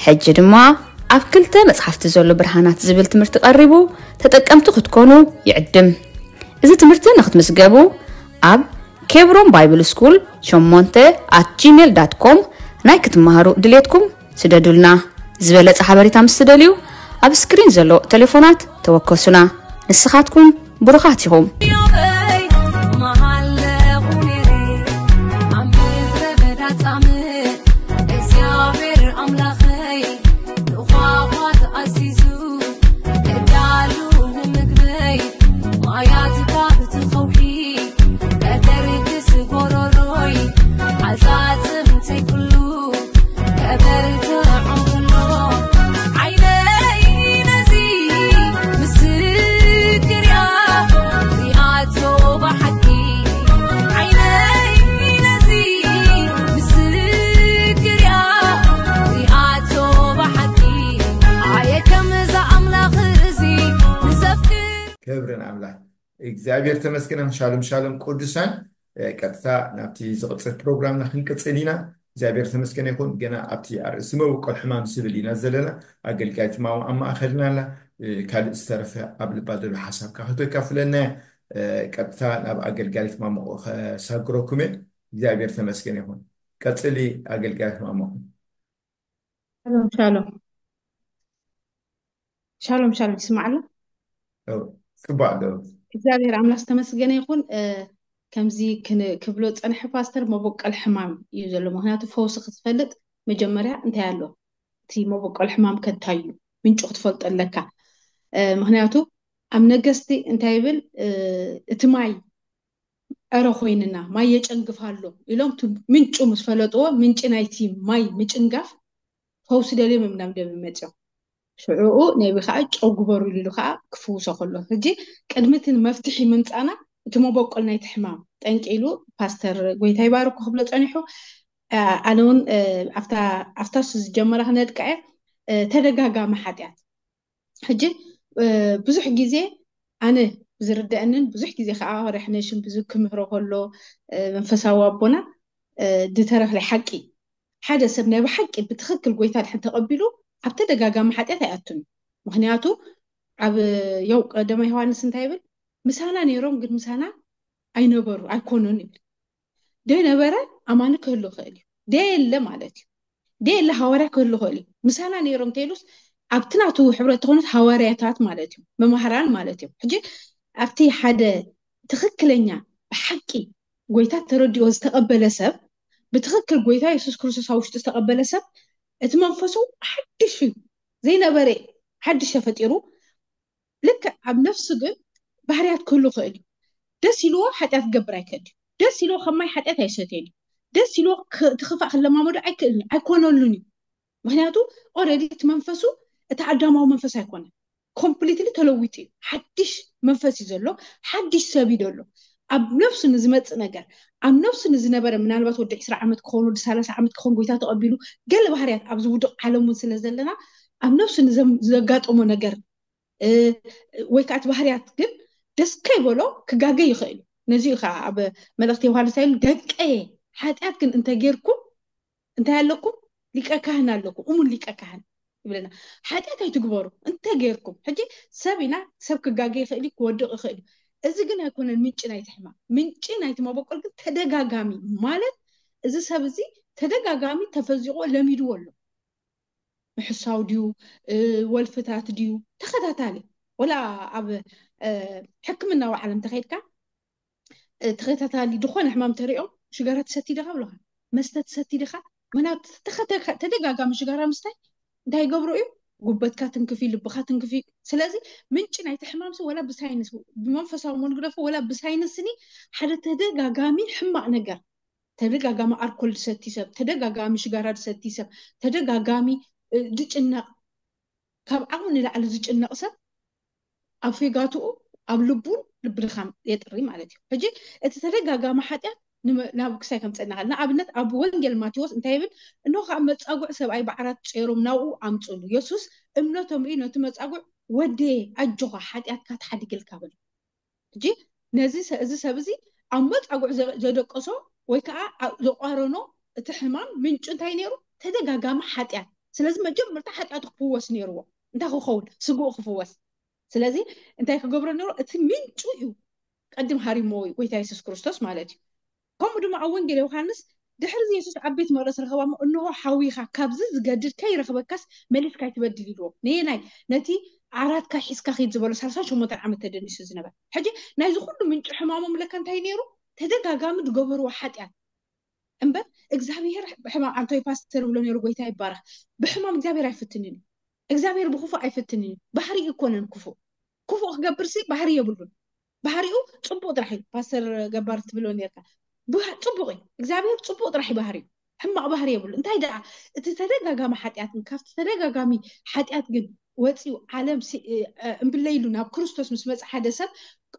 ሕጂ ድማ ኣብ ክልተ መጽሓፍቲ ዘሎ ብርሃናት ዝብል ትምህርቲ ቀሪቡ ተጠቀምቲ ክትኮኑ ይዕድም። እዚ ትምህርቲ ንክትምዝገቡ ኣብ ኬብሮን ባይብል ስኩል ሸሞንተ ኣት ጂሜል ዳት ኮም ናይ ክትመሃሩ ድሌትኩም ስደዱልና። ዝበለጸ ሓበሬታ ምስ ትደልዩ ኣብ ስክሪን ዘሎ ቴሌፎናት ተወከሱና። ንስኻትኩም ብሩኻት ኢኹም። እግዚኣብሔር ኣምላኸይ ንኳኳት ኣዚዙ ክዳሉ ንምግበይ ማያት ባብቲ ከውሒ ከተርግስ ጎሮሮይ ዓጻጽምተይ ኩሉ ከበርትዖም ኩሎ ዓይነይ ነዚ ምስክር እያ ሪኣቶ እግዚኣብሔር ተመስገን። ሻሎም ሻሎም ቅዱሳን። ቀጥታ ናብቲ ዝቕፅል ፕሮግራምና ክንቅፅል ኢና። እግዚኣብሔር ተመስገን ይኹን። ገና ኣብቲ ኣርእሲ መበቆል ሕማም ዝብል ኢና ዘለና። ኣገልጋይት ማሞ ኣብ ማእኸልና ኣላ። ካልእ ዝተረፈ ኣብ ልባ ዘሎ ሓሳብ ካክቶ ይካፍለና። ቀጥታ ናብ ኣገልጋይት ማሞ ከሳግረኩም እየ። እግዚኣብሔር ተመስገን ይኹን። ቀፅሊ ኣገልጋይት ማሞ። ሻሎም ሻሎም። ሻሎም ሻሎም፣ ይስማዕ ኣሎ? ጽቡቅ ኣሎ። እግዚኣብሔር ኣምላኽ ዝተመስገነ ይኹን። ከምዚ ክብሎ ጸንሐ ፓስተር፣ መበቆል ሕማም እዩ ዘሎ። ምክንያቱ ፈውሲ ክትፈልጥ መጀመርያ እንታይ ኣሎ፣ እቲ መበቆል ሕማም ከንታይ እዩ፣ ምንጩ ክትፈልጦ ኣለካ። ምክንያቱ ኣብ ነገስቲ እንታይ ይብል፣ እቲ ማይ ዕረ ኮይንና ማይ የጨንግፍ ኣሎ ኢሎም፣ ምንጩ ምስ ፈለጥዎ፣ ምንጪ ናይቲ ማይ ምጭንጋፍ ፈውሲ ደልዮም እዮም ናብ ነቢ መፅዮም። ሽዕኡ ነቢ ከዓ ጨው ግበሩ ኢሉ ከዓ ክፍውሶ ከሎ፣ ሕጂ ቅድሚ እቲ መፍትሒ ምምፃና እቲ መበቆል ናይቲ ሕማም ጠንቂ ኢሉ ፓስተር ጎይታ ይባርኩ ክብሎ ፀኒሑ። ኣነ እውን ኣብታ ዝጀመራ ክነድቃ እየ። ተደጋጋሚ ሓጢኣት ሕጂ ብዙሕ ግዜ ኣነ ዝርደአንን ብዙሕ ግዜ ከዓ ረሕነሽን ብዙ ክምህሮ ከሎ መንፈሳዊ ኣቦና ዝተረክለ ሓቂ፣ ሓደ ሰብ ናይ ብሓቂ ብትክክል ጎይታ ድሕን ተቐቢሉ ኣብ ተደጋጋሚ ሓጢኣት ኣይኣቱን። ምክንያቱ ኣብ ያው ቀደማ ዮሃንስ እንታይ ይብል? ምሳና ነይሮም ግን ምሳና ኣይነበሩ ኣይኮኑን ይብል። ደይ ነበረ ኣማኒ ክህሉ ክእል እዩ። ደይ የለ ማለት እዩ። ደይ የለ ሃዋርያ ክህሉ ክእል እዩ። ምሳና ነይሮም ተይሉስ ኣብቲ ናቱ ሕብረት ተኾኑት ሃዋርያታት ማለት እዩ፣ መማህራን ማለት እዩ። ሕጂ ኣብቲ ሓደ ትክክለኛ ብሓቂ ጎይታ ተረዲኦ ዝተቐበለ ሰብ፣ ብትክክል ጎይታ የሱስ ክርስቶስ ኣብ ውሽጡ ዝተቐበለ ሰብ እቲ መንፈሱ ሓድሽ እዩ። ዘይነበረ ሓድሽ ተፈጢሩ። ልክዕ ኣብ ነፍሱ ግን ባህርያት ክህሉ ክእል እዩ። ደስ ኢልዎ ሓጢኣት ክገብር ኣይክእል እዩ። ደስ ኢልዎ ከማይ ሓጢኣት ኣይሰትየን እዩ። ደስ ኢልዎ እቲ ክፋእ ክለማመዶ ኣይክእልን እዩ፣ ኣይኮነሉን እዩ። ምክንያቱ ኦረዲ እቲ መንፈሱ እቲ ኣዳማዊ መንፈስ ኣይኮነን። ኮምፕሊትሊ ተለዊጡ እዩ። ሓድሽ መንፈስ እዩ ዘሎ፣ ሓድሽ ሰብ እዩ ዘሎ። ኣብ ነፍሱ ንዝመፅእ ነገር፣ ኣብ ነፍሱ ንዝነበረ ምናልባት ወዲ ዕስራ ዓመት ክኸውን፣ ወዲ ሰላሳ ዓመት ክኸውን ጎይታ ተቐቢሉ፣ ገለ ባህርያት ኣብዚ ውዱቕ ዓለም እውን ስለ ዘለና ኣብ ነፍሱ ንዘጋጠሞ ነገር ወይ ከዓ እቲ ባህርያት ግን ደስ ከይበሎ ክጋገ ይኽእል እዩ። ነዚ እዩ ከዓ ኣብ መልእክቲ ዮሃንስ ኣይሉ ደቀየ ሓጢኣት ግን እንተጌርኩም እንታይ ኣለኩም? ሊቀ ካህን ኣለኩም፣ እሙን ሊቀ ካህን ይብለና። ሓጢኣት ኣይትግበሩ እንተጌርኩም። ሕጂ ሰብ ኢና፣ ሰብ ክጋገ ይኽእል እዩ፣ ክወድቕ ይኽእል እዩ። እዚ ግን ኣይኮነን ምንጪ ናይቲ ሕማም። ምንጪ ናይቲ መበቆል ግን ተደጋጋሚ ማለት እዚ ሰብ እዚ ተደጋጋሚ ተፈዚቑ ለሚድዎ ኣሎ። ምሕሳው ድዩ፣ ወልፍታት ድዩ፣ ተኸታታሊ ወላ ኣብ ሕክምናዊ ዓለም ተኸይድካ ተኸታታሊ ዝኾነ ሕማም ተሪኦም ሽጋራ ትሰቲ ዲኻ ብለኻ፣ መስተ ትሰቲ ዲኻ? ምክንያቱ ተደጋጋሚ ሽጋራ ምስታይ እንታይ ይገብሩ እዩ? ጉበትካ ትንክፊ፣ ልብኻ ትንክፊ። ስለዚ ምንጪ ናይቲ ሕማም ሲ ወላ ብሳይንስ ብመንፈሳዊ መንግደፎ ወላ ብሳይንስኒ ሓደ ተደጋጋሚ ሕማቕ ነገር ተደጋጋሚ ኣርኮል ዝሰቲ ሰብ፣ ተደጋጋሚ ሽጋራ ዝሰቲ ሰብ፣ ተደጋጋሚ ድጭነቕ፣ ካብ ዓቕሚ ንላዕሊ ዝጭነቕ ሰብ ኣብ ፌጋትኡ ኣብ ልቡን ልቢ ድኻም የጥሪ ማለት እዩ። ሕጂ እቲ ተደጋጋሚ ሓጢኣት ናብ ክሳይ ከምፀና ል ንኣብነት ኣብ ወንጌል ማቴዎስ እንታይ ይብል? እንሆ ከዓ መፃጉዕ ሰብኣይ ብዓራት ፀይሮም ናብኡ ኣምፅሉ። የሱስ እምነቶም ርኢ ነቲ መፃጉዕ ወደየ ኣጆኻ ሓጢኣትካ ተሓዲግልካ በሎ። ሕጂ ነዚ እዚ ሰብ እዚ ኣብ መፃጉዕ ዘደቀሶ ወይ ከዓ ዘቋረኖ እቲ ሕማም ምንጩ እንታይ ነይሩ? ተደጋጋሚ ሓጢኣት። ስለዚ መጀመርታ ሓጢኣቱ ክፍወስ ነይርዎ። እንታይ ክኸውን? ስግኡ ክፍወስ። ስለዚ እንታይ ክገብሮ ነይሩ? እቲ ምንጩ እዩ ቀድም ሃሪሞ ጎይታ የሱስ ክርስቶስ ማለት እዩ። ከምኡ ድማ ኣብ ወንጌል ዮሃንስ ድሕሪ የሱስ ኣብ ቤት መቕደስ ረኸባሞ፣ እንሆ ሓዊኻ፣ ካብዚ ዝገድድ ከይረኽበካስ መሊስካ ኣይትበድል ኢልዎ። ነየናይ? ነቲ ዓራትካ ሒዝካ ኺድ ዝበሎ ሰላሳን ሸሞንተን ዓመት ተደኒሱ ዝነበር። ሕጂ ናይዚ ኩሉ ምንጪ ሕማሞም ለካ እንታይ ነይሩ? ተደጋጋሚ ዝገበርዎ ሓጢኣት እምበር እግዚኣብሔር ብሕማም ኣንቶይ ፓስተር ብሎ ነይሩ። ጎይታ ይባረኽ። ብሕማም እግዚኣብሔር ኣይፍትንን እዩ። እግዚኣብሔር ብክፉእ ኣይፍትንን እዩ። ባህሪ ይኮነን ክፉእ ክፉእ ክገብር ሲ ባህሪ የብሉን። ባህሪኡ ፅቡቅ ጥራሕ እዩ። ፓስተር ገባር ትብሎ ነርካ ጽቡቅ እዩ። እግዚኣብሔር ፅቡቅ ጥራሕ እዩ ባህሪኡ፣ ሕማቅ ባህሪ የብሉ። እንታይ ደኣ እቲ ተደጋጋሚ ሓጢኣት ግን ካብቲ ተደጋጋሚ ሓጢኣት ግን ወፂኡ ዓለም እምብለይሉ ናብ ክርስቶስ ምስ መፀ ሓደ ሰብ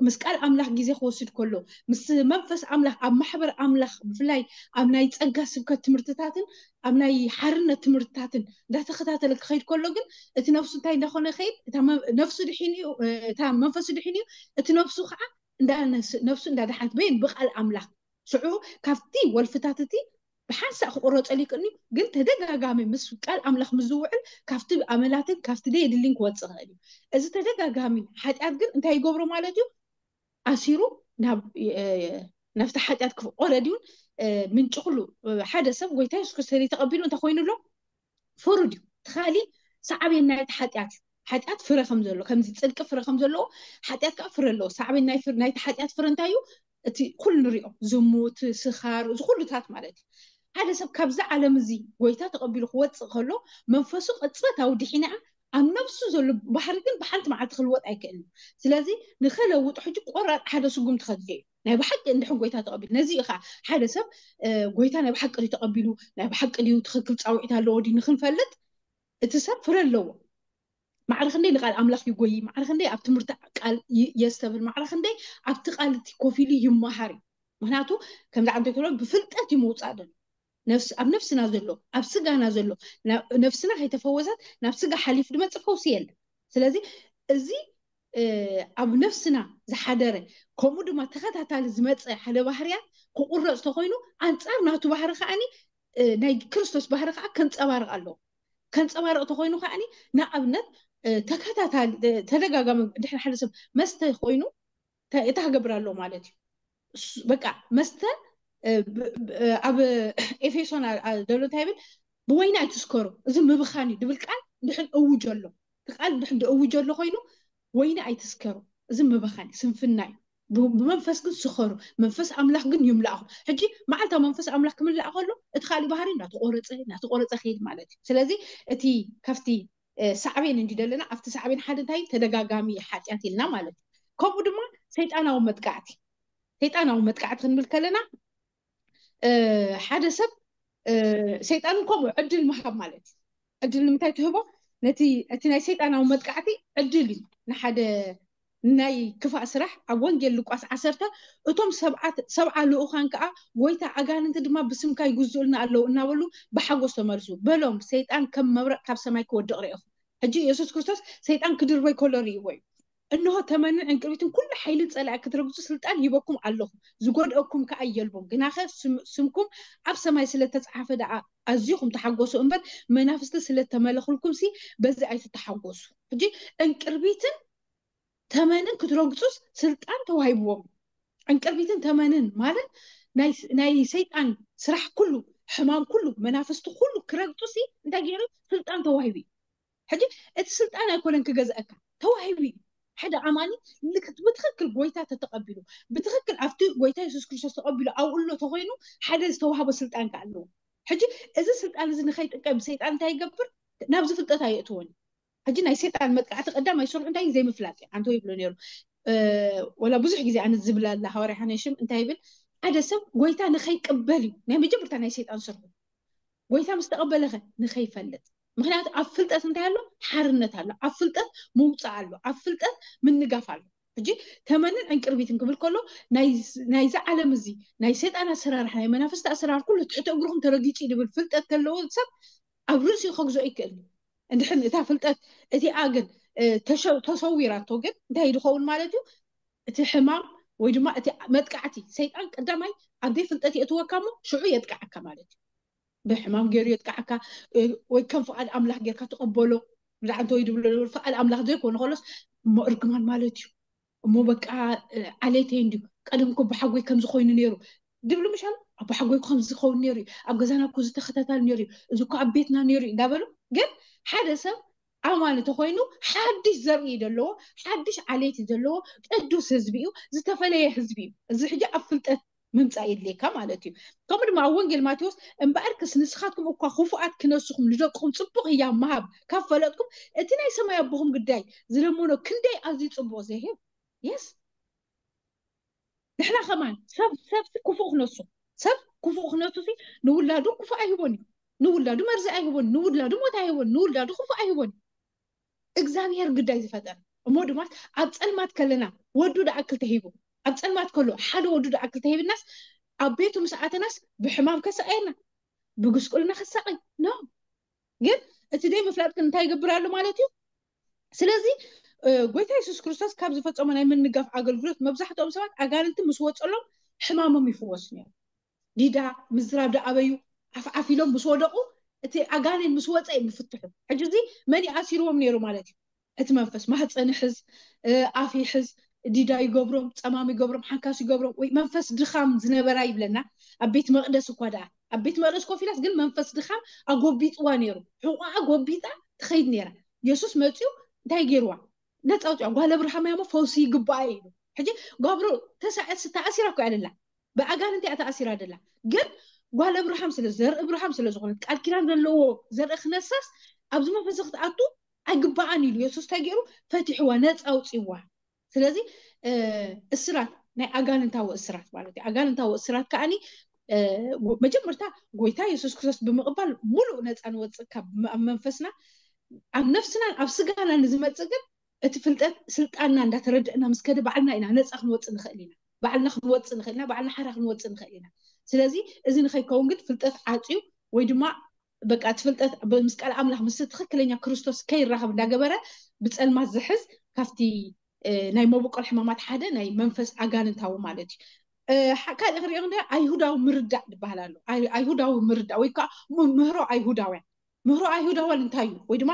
ምስ ቃል ኣምላኽ ግዜ ክወስድ ከሎ ምስ መንፈስ ኣምላኽ ኣብ ማሕበር ኣምላኽ ብፍላይ ኣብ ናይ ጸጋ ስብከት ትምህርትታትን ኣብ ናይ ሓርነት ትምህርትታትን እንዳተኸታተለ ክኸይድ ከሎ ግን እቲ ነፍሱ እንታይ እንዳኾነ ይኸይድ? እታ መ- ነፍሱ ድሒን እዩ፣ እታ መንፈሱ ድሒን እዩ፣ እቲ ነፍሱ ከዓ ነፍሱ እንዳደሓነት በይን ብቃል ኣምላኽ። ሽዑ ካብቲ ወልፍታት እቲ ብሓንሳእ ክቁረፀሉ ይክእልኒ፣ ግን ተደጋጋሚ ምስ ቃል ኣምላኽ ምዝውዕል ካብቲ ኣመላትን ካብቲ ደየድልን ክወፅእ ይኽእል እዩ። እዚ ተደጋጋሚ ሓጢኣት ግን እንታይ ይገብሮ ማለት እዩ? ኣሲሩ ናብቲ ሓጢኣት ክፍቆረድ እውን ምንጭ ኩሉ ሓደ ሰብ ጎይታ የሱስ ክርስቶስ ተቐቢሉ እንታይ ኮይኑ ኣሎ? ፍሩድ እዩ። እቲ ካሊእ ሳዕቤን ናይቲ ሓጢኣት እዩ። ሓጢኣት ፍረ ከም ዘሎ ከምዚ ፅድቂ ፍረ ከም ዘለዎ ሓጢኣት ከዓ ፍረ ኣለዎ። ሳዕቤን ናይቲ ሓጢኣት ፍረ እንታይ እዩ? እቲ ኩሉ ንሪኦ ዝሙት፣ ስኻር፣ እዚ ኩሉታት ማለት እዩ። ሓደ ሰብ ካብዚ ዓለም እዚ ጎይታ ተቐቢሉ ክወፅእ ከሎ መንፈሱ ቅፅበታዊ ድሒና ኣብ ነብሱ ዘሎ ባህሪ ግን ብሓንቲ መዓልቲ ክልወጥ ኣይክእልን። ስለዚ ንኸለውጦ ሕጂ ቆራጥ ሓደ ስጉምቲ ከድልዮ እዩ። ናይ ብሓቂ እንድሕን ጎይታ ተቐቢሉ ነዚ እዩ ከዓ ሓደ ሰብ ጎይታ ናይ ብሓቂ ድዩ ተቐቢሉ፣ ናይ ብሓቂ ድዩ ትኽክል ፃውዒት ኣለዎ ድዩ ንክንፈልጥ እቲ ሰብ ፍረ ኣለዎ። ማዕረ ክንደይ ንቃል ኣምላኽ ይጎይ፣ ማዕረ ክንደይ ኣብ ትምህርቲ ቃል የስተብል፣ ማዕረ ክንደይ ኣብቲ ቃል እቲ ኮፍ ኢሉ ይመሃር እዩ። ምክንያቱ ከምዚ ዓንተ ብፍልጠት እዩ ምውፃእ ዘሎ። ኣብ ነፍስና ዘሎ ኣብ ስጋና ዘሎ ነፍስና ከይተፈወሰት ናብ ስጋ ሓሊፍ ድመፅእ ፈውሲ የለን። ስለዚ እዚ ኣብ ነፍስና ዝሓደረ ከምኡ ድማ ተኸታታሊ ዝመፀ ሓደ ባህርያት ክቁረፅ ተኮይኑ ኣንፃር ናቱ ባህሪ ከዓኒ ናይ ክርስቶስ ባህሪ ከዓ ከንፀባርቕ ኣለዎ። ከንፀባርቕ ተኮይኑ ከዓኒ ንኣብነት ተከታታሊ ተደጋጋሚ ድሕሪ ሓደ ሰብ መስተ ኮይኑ እታ ክገብር ኣለዎ ማለት እዩ። በቃ መስተ ኣብ ኤፌሶን ዘሎ እንታይ ይብል? ብወይኒ ኣይትስከሩ፣ እዚ ምብኻን እዩ ድብል ቃል እንድሕን እውጅ ኣሎ። እቲ ቃል እንድሕን እውጅ ኣሎ ኮይኑ ወይኒ ኣይትስከሩ፣ እዚ ምብኻን እዩ፣ ስንፍና እዩ። ብመንፈስ ግን ስኸሩ፣ መንፈስ ኣምላኽ ግን ይምላእኹም። ሕጂ መዓልታ መንፈስ ኣምላኽ ክምላእ ከሎ እቲ ካሊእ ባህሪ እናተቆረፀ እናተቆረፀ ከይድ ማለት እዩ። ስለዚ እቲ ካብቲ ሳዕቤን እንዲ ደለና ኣብቲ ሳዕቤን ሓደ እንታይ ተደጋጋሚ ሓጢኣት ኢልና ማለት እዩ። ከምኡ ድማ ሰይጣናዊ መጥቃዕቲ ሰይጣናዊ መጥቃዕቲ ክንብል ከለና ሓደ ሰብ ሰይጣን ከምኡ ዕድል ምሃብ ማለት እዩ። ዕድል ንምንታይ ትህቦ? ነቲ እቲ ናይ ሰይጣናዊ መጥቃዕቲ ዕድል እዩ። ንሓደ ናይ ክፋእ ስራሕ ኣብ ወንጌል ሉቃስ ዓሰርተ እቶም ሰብዓ ልኡኻን ከዓ ጎይታ ኣጋንንቲ ድማ ብስምካ ይግዝኡልና ኣለዉ እናበሉ ብሓጎስ ተመልሱ። በሎም ሰይጣን ከም መብረቕ ካብ ሰማይ ክወድቕ ርኢኹም። ሕጂ የሱስ ክርስቶስ ሰይጣን ክድርበይ ከሎ ርእይዎ እዩ። እንሆ ተመንን ዕንቅርቢትን ኩሉ ሓይሊ ጸላኢ ክትረግጹ ስልጣን ሂበኩም ኣለኹ፣ ዝጎድአኩም ከኣ የልቦን። ግናኸ ስምኩም ኣብ ሰማይ ስለ ተጻሓፈ ደኣ ኣዚኹም ተሓጎሱ እምበር መናፍስቲ ስለ ተመለኹልኩም ሲ በዚ ኣይትተሓጎሱ። ሕጂ ዕንቅርቢትን ተመንን ክትረግጹስ ስልጣን ተዋሂብዎም። ዕንቅርቢትን ተመንን ማለት ናይ ሰይጣን ስራሕ ኩሉ፣ ሕማም ኩሉ፣ መናፍስቲ ኩሉ ክረግጹ ሲ እንታይ ገይሩ ስልጣን ተዋሂቡ እዩ። ሕጂ እቲ ስልጣን ኣይኮነን ክገዝአካ ተዋሂቡ እዩ። ሓደ ኣማኒ ብትክክል ጎይታ ተተቀቢሉ ብትክክል ኣብቲ ጎይታ የሱስ ክርስቶስ ተቀቢሉ ኣብኡ ኣሎ ተኮይኑ ሓደ ዝተዋህቦ ስልጣን ከ ኣለዎ። ሕጂ እዚ ስልጣን እዚ ንከይጥቀም ሰይጣን እንታይ ይገብር? ናብዚ ፍልጠት ኣየእትዎን። ሕጂ ናይ ሰይጣን መጥቃዕቲ ቀዳማይ ስርሑ እንታይ ዘይምፍላጥ እዩ። ኣንተ ይብሎ ነይሩ ወላ ብዙሕ ግዜ ኣነ ዝብላ ኣላ ሃዋርያ ሓነሽም እንታይ ይብል? ሓደ ሰብ ጎይታ ንከይቅበል እዩ ናይ መጀመርታ ናይ ሰይጣን ስርሑ። ጎይታ ምስ ተቐበለኸ ንኸይፈልጥ። ምክንያቱ ኣብ ፍልጠት እንታይ ኣሎ? ሓርነት ኣሎ። ኣብ ፍልጠት ምውፃእ ኣሎ። ኣብ ፍልጠት ምንጋፍ ኣሎ። ሕጂ ተመንን ዕንቅርቢትን ክብል ከሎ ናይዚ ዓለም እዚ ናይ ሰይጣን ኣሰራርሓ ናይ መናፍስቲ ኣሰራር ኩሉ ትሕቲ እግርኩም ተረጊፁ ድብል ፍልጠት ተለዎ ሰብ ኣብ ርእሲኡ ከግዝኦ ይክእል። እንድሕን እታ ፍልጠት እቲኣ ግን ተሰዊራቶ ግን እንታይ ድኸውን ማለት እዩ? እቲ ሕማም ወይ ድማ እቲ መጥቃዕቲ ሰይጣን ቀዳማይ ኣብ ዘይፍልጠት የእትወካ እሞ ሽዑ የጥቃዓካ ማለት እዩ። ብሕማም ገይሩ የጥቃዓካ ወይ ከም ፍቓድ ኣምላኽ ጌርካ ትቐበሎ። ብዛዕባ እንተ ወይ ድብሎ ፍቓድ ኣምላኽ ዘይኮነ ከሎስ እሞ እርግማን ማለት እዩ። እሞ በቃ ዓሌተይ እንድዩ ቀደም እኮ ብሓጎይ ከም ዝኾይኑ ነይሩ ድብሉ ምሻል ኣብ ሓጎይ ከም ዝኸውን ነይሩ እዩ። ኣብ ገዛና እኮ ዝተኸታታል ነይሩ እዩ። እዚ እኮ ኣብ ቤትና ነይሩ እዩ እንዳበሉ ግን ሓደ ሰብ ኣማኒ ተኮይኑ ሓድሽ ዘርኢ ዘለዎ ሓድሽ ዓሌት ዘለዎ ቅዱስ ህዝቢ እዩ። ዝተፈለየ ህዝቢ እዩ። እዚ ሕጂ ኣብ ፍልጠት ምምፃእ የድልየካ ማለት እዩ። ከምኡ ድማ ኣብ ወንጌል ማቴዎስ እምበኣርከስ ንስኻትኩም እኳ ክፉኣት ክነስኹም ንደቅኹም ፅቡቕ ህያብ ምሃብ ካብ ፈለጥኩም እቲ ናይ ሰማይ ኣቦኹም ግዳይ ዝለመኖ ክንደይ ኣዝዩ ፅቡቕ ዘይህብ የስ ንሕና ከማን ሰብ ሰብ ክፉእ ክነሱ ሰብ ክፉእ ክነሱ ንውላዱ ክፉእ ኣይህቦን እዩ። ንውላዱ መርዚ ኣይህቦን፣ ንውላዱ ሞት ኣይህቦን፣ ንውላዱ ክፉእ ኣይህቦን። እግዚኣብሔር ግዳይ ዝፈጠረ እሞ ድማ ኣብ ፀልማት ከለና ወዱ ደኣክል ተሂቡ ኣብ ፀልማት ከሎ ሓደ ወዱ ደኣክል ተሂብናስ ኣብ ቤቱ ምስ ኣተናስ ብሕማም ከሰኣየና ብጉስቁልና ከሳቀይ ኖ ግን እቲ ደይ ምፍላጥ ግን እንታይ ይገብር ኣሎ ማለት እዩ። ስለዚ እ፣ ጎይታ የሱስ ክርስቶስ ካብ ዝፈጸሞ ናይ ምንጋፍ ኣገልግሎት መብዛሕትኦም ሰባት ኣጋንንቲ ምስ ወጸሎም ሕማሞም ይፍወስ ነይሩ። ዲዳ፣ ምዝራብ ደኣበዩ፣ ዓፍዓፍ ኢሎም ምስ ወደቑ፣ እቲ ኣጋንንት ምስ ወጸ እዮም ዝፍትሑ። ሕጂ እዚ መን ይኣሲርዎም ነይሩ ማለት እዩ? እቲ መንፈስ። ማህፀን ይሕዝ፣ እ፣ ኣፍ ይሕዝ፣ ዲዳ ይገብሮም፣ ጸማም ይገብሮም፣ ሓንካስ ይገብሮም፣ ወይ መንፈስ ድኻም ዝነበራ ይብለና። ኣብ ቤት መቕደስ እኳ ደኣ፣ ኣብ ቤት መቕደስ ኮፍ ኢላስ ግን መንፈስ ድኻም ኣጎቢጥዋ ነይሩ። ሕቑኣ ጎቢጣ ትኸይድ ነይራ። የሱስ መፂኡ እንታይ ገይርዋ? ነፃ ኣውፅዋ። ጓል ኣብርሃም እያ እሞ ፈውሲ ይግባኣ እዩ ኢሉ። ሕጂ ጓብሮ ተሳዕስ ተኣሲራ እኮ እያ ደላ። ብኣጋንንቲ እያ ተኣሲራ ደላ። ግን ጓል ኣብርሃም ስለ፣ ዘርኢ ኣብርሃም ስለ ዝኾነት፣ ቃል ኪዳን ዘለዎ ዘርኢ ክነሳስ ኣብዚ መንፈስ ክትኣቱ ኣይግባኣን ኢሉ የሱስ እንታይ ገይሩ? ፈቲሕዋ፣ ነፃ ኣውፅዋ። ስለዚ፣ እ፣ እስራት፣ ናይ ኣጋንንታዊ እስራት ማለት እዩ። ኣጋንንታዊ እስራት ከኣኒ፣ እ፣ መጀመርታ ጎይታ የሱስ ክርስቶስ ብምቕባል ሙሉእ ነፃ ንወፅእ ካብ መ-፣ ኣብ መንፈስና፣ ኣብ ነፍስናን ኣብ ስጋና ንዝመፅእ ግን እቲ ፍልጠት ስልጣንና እንዳተረድእና ምስ ከደ ባዕልና ኢና ነፃ ክንወፅእ ንኽእል ኢና። ባዕልና ክንወፅእ ንኽእል ኢና፣ ባዕልና ሓራ ክንወፅእ ንኽእል ኢና። ስለዚ እዚ ንኸይከውን ግን ፍልጠት ዓፅዩ ወይ ድማ በቃ እቲ ፍልጠት ብ-፣ ምስ ቃል ኣምላኽ ምስ ትኽክለኛ ክርስቶስ ከይራኸብ እንዳገበረ ብጸልማት ዝሕዝ ካብቲ፣ እ፣ ናይ መበቆል ሕማማት ሓደ ናይ መንፈስ ኣጋንንታዊ ማለት እዩ። እ፣ ሓ-፣ ካልእ ክሪኦ እንደ ኣይሁዳዊ ምርዳእ ዝበሃል ኣሎ። ኣይ-፣ ኣይሁዳዊ ምርዳእ ወይ ከዓ ም-፣ ምህሮ ኣይሁዳውያን። ምህሮ ኣይሁዳውያን እንታይ እዩ? ወይ ድማ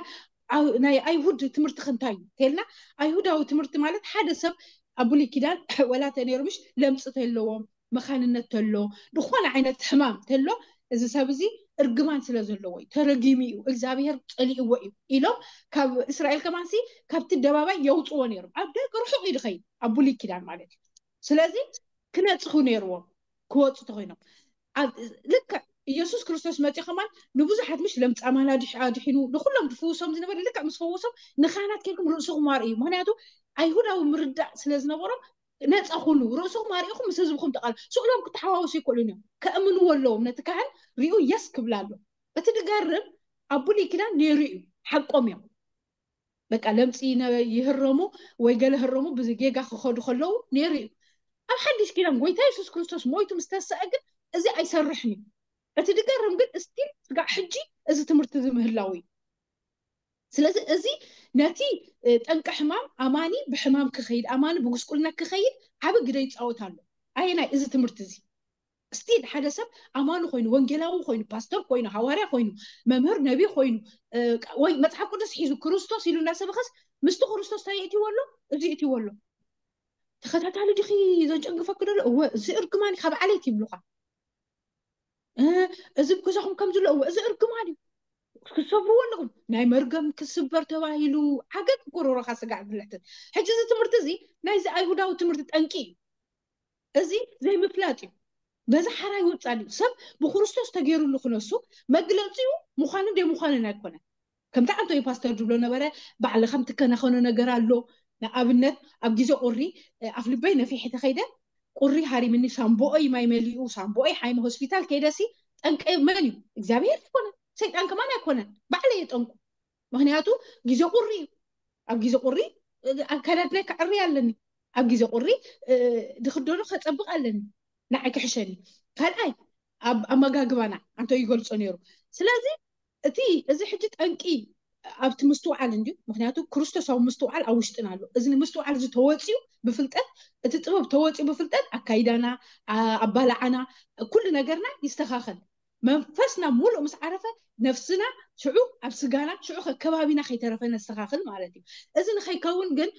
ኣው-፣ ናይ ኣይሁድ ትምህርቲ ከ እንታይ እዩ? ተልና ኣይሁዳዊ ትምህርቲ ማለት ሓደ ሰብ ኣብ ብሉይ ኪዳን ወላ ተነይሩ ምሽ ለምፂ ተለዎም፣ መኻንነት ተሎ፣ ዝኾነ ዓይነት ሕማም ተሎ፣ እዚ ሰብ እዚ እርግማን ስለ ዘለዎ እዩ፣ ተረጊሙ እዩ፣ እግዚኣብሔር ጸሊእዎ እዩ ኢሎም ካብ እስራኤል ከማንሲ ካብቲ ኣደባባይ የውፅዎ ነይሮም። ኣብ ደገ ርሑቕ እዩ ዝኸይድ፣ ኣብ ብሉይ ኪዳን ማለት እዩ። ስለዚ ክነፅኹ ነይርዎም ክወፁ ተኮይኖም። ኣብ ልክዕ ኢየሱስ ክርስቶስ መፂኡ ከማን ንብዙሓት ምሽ ለምፃማን ኣድሕ-፣ ኣድሒኑ ንኩሎም ዝፍውሶም ዝነበረ ልክዕ ምስ ፈወሶም ንካህናት ኬድኩም ርእስኹም ኣርእዩ። ምክንያቱ ኣይሁዳዊ ምርዳእ ስለ ዝነበሮም ነፃ ኩኑ፣ ርእስኹም ኣርእኹም ምስ ህዝብኹም ተቃል-፣ ስእሎም ክተሓዋወሱ ይክእሉን እዮም። ከእምንዎ ኣለዎም፣ ነቲ ካህን ሪኡ የስ ክብላ ኣሎ። እቲ ድገርም ኣብ ብሉይ ኪዳን ነይሩ እዩ፣ ሓቆም እዮም። በቃ ለምፂ ነ-፣ ይህረሙ ወይ ገለ ህረሙ ብጌጋ ክኸዱ ከለዉ ነይሩ እዩ። ኣብ ሓድሽ ኪዳን ጎይታ የሱስ ክርስቶስ ሞይቱ ምስ ተሰአ ግን እዚ ኣይሰርሕን እዩ። እቲ ድገርም ግን እስቲል ስጋዕ ሕጂ እዚ ትምህርቲ እዚ ምህላው እዩ። ስለዚ እዚ ነቲ፣ እ፣ ጠንቂ ሕማም ኣማኒ ብሕማም ክኸይድ፣ ኣማኒ ብጉስቁልና ክኸይድ ዓቢ ግደ ይፃወት ኣሎ። ኣየናይ እዚ ትምህርቲ እዚ? ስቲል ሓደ ሰብ ኣማኒ ኮይኑ፣ ወንጌላዊ ኮይኑ፣ ፓስተር ኮይኑ፣ ሃዋርያ ኮይኑ፣ መምህር ነቢ ኮይኑ፣ እ፣ ወይ መጽሓፍ ቅዱስ ሒዙ ክርስቶስ ኢሉ እናሰበኸስ ምስቲ ክርስቶስ እንታይ የእትይዎ ኣሎ? እዚ የእትይዎ ኣሎ። ተኸታታሊ ዲኺ ዘጨንግፈኪ ደሎ? እወ፣ እዚ እርግማን እዩ፣ ካብ ዓሌት ይብሉኻ። እ፣ እዚ ኣብ ገዛኹም ከም ዘሎ፣ እወ፣ እዚ እርግማን እዩ። ክትሰብርዎ ኣለኹም። ናይ መርገም ክስበር ተባሂሉ ዓገብ ጎረሮኻ ስጋዕ ብልሕትን። ሕጂ እዚ ትምህርቲ እዚ ናይዚ ኣይሁዳዊ ትምህርቲ ጠንቂ እዩ። እዚ ዘይምፍላጥ እዩ። በዚ ሓራ ይወፅእ እዩ። ሰብ ብክርስቶስ ተገይሩሉ ክነሱ መግለፂኡ ምዃንን ዘይምዃንን ኣይኮነን። ከምቲ ኣንቶኒ ፓስተር ዝብሎ ነበረ፣ ባዕልኻ ምትከናኸኖ ነገር ኣሎ። ንኣብነት ኣብ ግዜ ቁሪ፣ እ፣ ኣፍ ልበይ ነፊሐ ተኸይደ፣ ቁሪ ሃሪምኒ፣ ሳምቦኦይ ማይ መሊኡ፣ ሳምቦኦይ ሓይሚ ሆስፒታል ከይደሲ ጠንቀ መን እዩ? እግዚኣብሔር ኣይኮነን፣ ሰይጣን ከማን ኣይኮነን፣ ባዕለይ እየ ጠንቁ። ምክንያቱ ግዜ ቁሪ እዩ። ኣብ ግዜ ቁሪ፣ እ፣ ኣከዳድናይ ከዕሪ ኣለኒ። ኣብ ግዜ ቁሪ፣ እ፣ ድኽደኖ ከጸብቕ ኣለኒ። ንዓይ ክሕሸኒ። ካልኣይ ኣብ ኣመጋግባና ኣንቶ ይገልጾ ነይሩ። ስለዚ እቲ፣ እዚ ሕጂ ጠንቂ ኣብቲ ምስትውዓል እንድዩ። ምክንያቱ ክርስቶሳዊ ምስትውዓል ኣብ ውሽጥና ኣሎ። እዚ ንምስትውዓል እዚ ተወፂኡ ብፍልጠት፣ እቲ ጥበብ ተወፂኡ ብፍልጠት ኣካይዳና፣ ኣ-፣ ኣባላዓና፣ ኩሉ ነገርና ይስተኻኸል። መንፈስና ሙሉእ ምስ ዓረፈ ነፍስና ሽዑ ኣብ ስጋና ሽዑ ከ ከባቢና ከይተረፈ ነስተኻኽል ማለት እዩ። እዚ ንኸይከውን ግን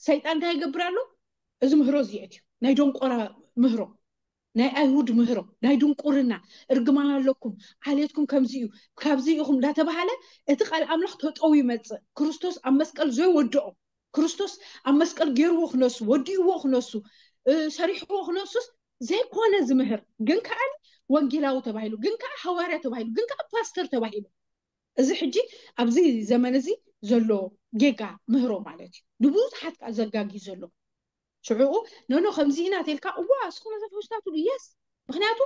ሰይጣን እንታይ ይገብር ኣሎ? እዚ ምህሮ እዚ የእትዩ። ናይ ደንቆራ ምህሮ፣ ናይ ኣይሁድ ምህሮ፣ ናይ ድንቁርና፣ እርግማን ኣለኩም፣ ዓሌትኩም ከምዚ እዩ፣ ካብዚ ኢኹም እንዳተባሃለ እቲ ቃል ኣምላኽ ተጠው ይመጽእ። ክርስቶስ ኣብ መስቀል ዘይወድኦ፣ ክርስቶስ ኣብ መስቀል ገይርዎ ክነሱ፣ ወዲእዎ ክነሱ፣ እ፣ ሰሪሕዎ ክነሱስ ዘይኮነ ዝምህር፣ ግን ከኣ ወንጌላዊ ተባሂሉ፣ ግን ከኣ ሃዋርያ ተባሂሉ፣ ግን ከኣ ፓስተር ተባሂሉ። እዚ ሕጂ ኣብዚ ዘመን እዚ ዘሎ ጌጋ ምህሮ ማለት እዩ። ንብዙሓት ከኣ ዘጋጊ ዘሎ። ሽዑኡ፣ ኖኖ፣ ከምዚ ኢና ተልካ፣ እዋ፣ እስኹም ነዛ ፈውስና ትብሉ፣ የስ። ምክንያቱ፣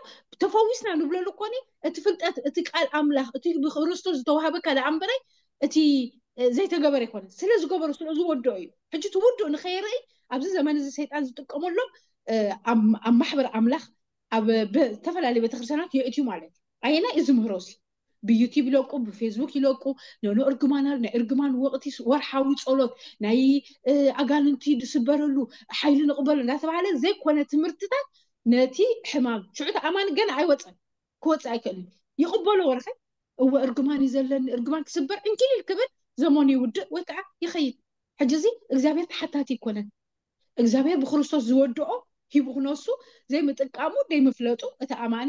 ተፈዊስና ንብለሉ እኮኒ፣ እቲ ፍልጠት፣ እቲ ቃል ኣምላኽ፣ እቲ ብክርስቶስ ዝተዋህበካ ደኣ እምበረይ፣ እቲ፣ እ፣ ዘይተገበረ ኣይኮነን። ስለ ዝገበሮ፣ ስለ ዝወድኦ እዩ። ሕጂ እቲ ውዱእ ንኸይርኢ፣ ኣብዚ ዘመን እዚ ሰይጣን ዝጥቀመሎም፣ እ፣ ኣብ፣ ኣብ ማሕበር ኣምላኽ፣ ኣብ ብ-፣ ዝተፈላለዩ ቤተክርስትያናት የእትዩ ማለት እዩ። ኣየናይ እዚ ምህሮ እዚ? ብዩቲብ ይለቁ፣ ብፌስቡክ ይለቁ። ኖኖ እርግማን ኣሎ፣ ናይ እርግማን ወቕቲ፣ ወርሓዊ ጸሎት፣ ናይ ኣጋንንቲ ዝስበረሉ ሓይሊ ንቕበሉ እንዳተባሃለ ዘይኮነ ትምህርትታት ነቲ ሕማም ሽዑ ኣማኒ ገና ኣይወፀን፣ ክወፅእ ኣይክእልን። ይቕበሎ ወረኸ እወ እርግማን እዩ ዘለኒ፣ እርግማን ክስበር እንኪል ክብል ዘመኑ ይውድእ ወይ ከዓ ይኸይድ። ሕጂ እዚ እግዚኣብሔር ተሓታቲ ይኮነን። እግዚኣብሔር ብክርስቶስ ዝወድኦ ሂቡ ክነሱ ዘይምጥቃሙ ዘይምፍለጡ እቲ ኣማኒ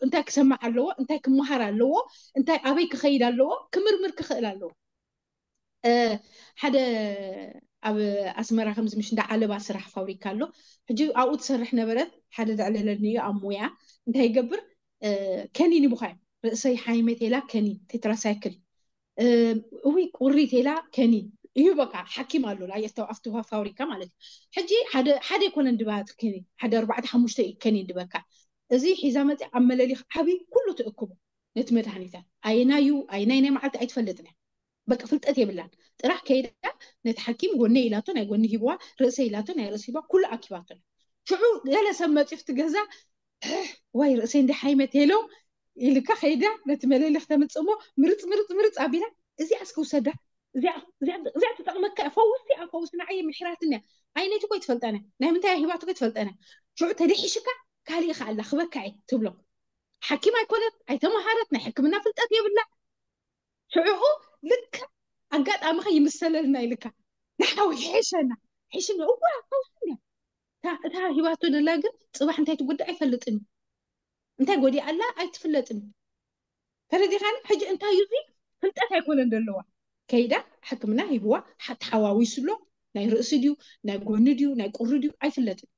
እንታይ ክሰማዕ ኣለዎ፣ እንታይ ክመሃር ኣለዎ፣ እንታይ ኣበይ ክኸይድ ኣለዎ ክምርምር ክኽእል ኣለዎ። ሓደ ኣብ ኣስመራ ከምዚ ምሽ እንዳ ዓለባ ስራሕ ፋብሪካ ኣሎ። ሕጂ ኣብኡ ትሰርሕ ነበረት። ሓደ ዘዕለለኒ እዩ ኣብ ሙያ። እንታይ ይገብር? ከኒን ይቡኻ እዩ። ርእሰይ ሓይመት ኢላ ከኒን ቴትራሳይክል፣ እውይ ቁሪት ኢላ ከኒን እዩ። በቃ ሓኪም ኣሎ ኣብቲ ፋብሪካ ማለት እዩ። ሕጂ ሓደ ኣይኮነን ድባቲ ከኒን፣ ሓደ ኣርባዕተ ሓሙሽተ እዩ ከኒን ድበካ። እዚ ሒዛ መፅያ ኣብ መለሊኽ ዓብይ ኩሉ ትእክቦ ነቲ መድሃኒታት ኣየናዩ ኣየናይ ናይ መዓልቲ ኣይትፈልጥን እያ። በቃ ፍልጠት የብላን። ጥራሕ ከይዳ ነቲ ሓኪም ጎነይ ኢላቶ ናይ ጎኒ ሂብዋ፣ ርእሰይ ኢላቶ ናይ ርእሲ ሂብዋ፣ ኩሉ ኣኪባቶ። ሽዑ ገለ ሰብ መፂኡ ኣብቲ ገዛ ወይ ርእሰይ እንዲ ሓይመት ሄሎ ኢልካ ከይዳ ነቲ መለሊኽ ተምፅእ እሞ ምርፅ ምርፅ ምርፅ ኣቢላ እዚኣ እስኪ ውሰዳ፣ እዚኣ እዚኣ- እዚኣ ትጠቕመካ እያ፣ ፈውሲ እያ፣ ፈውሲ ንዓይ ምሒራትኒ እያ። ኣይነቲ ኮይ ትፈልጠነ ናይ ምንታይ ሂባቱ ኮይ ትፈልጠነ። ሽዑ ተደሒሽካ ካሊእ ኢኻ ኣላ ክበካ እየ ትብሎ። ሓኪም ኣይኮነት፣ ኣይተመሃረት፣ ናይ ሕክምና ፍልጠት የብላ። ሽዕኡ ልክዕ ኣጋጣሚ ከ ይምሰለልና ኢልካ ንሓዊ ሕሸና ሕሽና እዋ ፈውስና እታ ሂባቶ ደላ ግን ፅባሕ እንታይ ትጉዳእ ኣይፈልጥን እዩ። እንታይ ጎዲኣ ኣላ ኣይትፍለጥን እዩ። ተረዲኻኒ? ሕጂ እንታይ እዩ እዚ ፍልጠት ኣይኮነን ዘለዋ። ከይዳ ሕክምና ሂብዋ ሓ- ተሓዋዊሱ ኣሎ። ናይ ርእሲ ድዩ ናይ ጎኒ ድዩ ናይ ቁሪ ድዩ ኣይፍለጥን።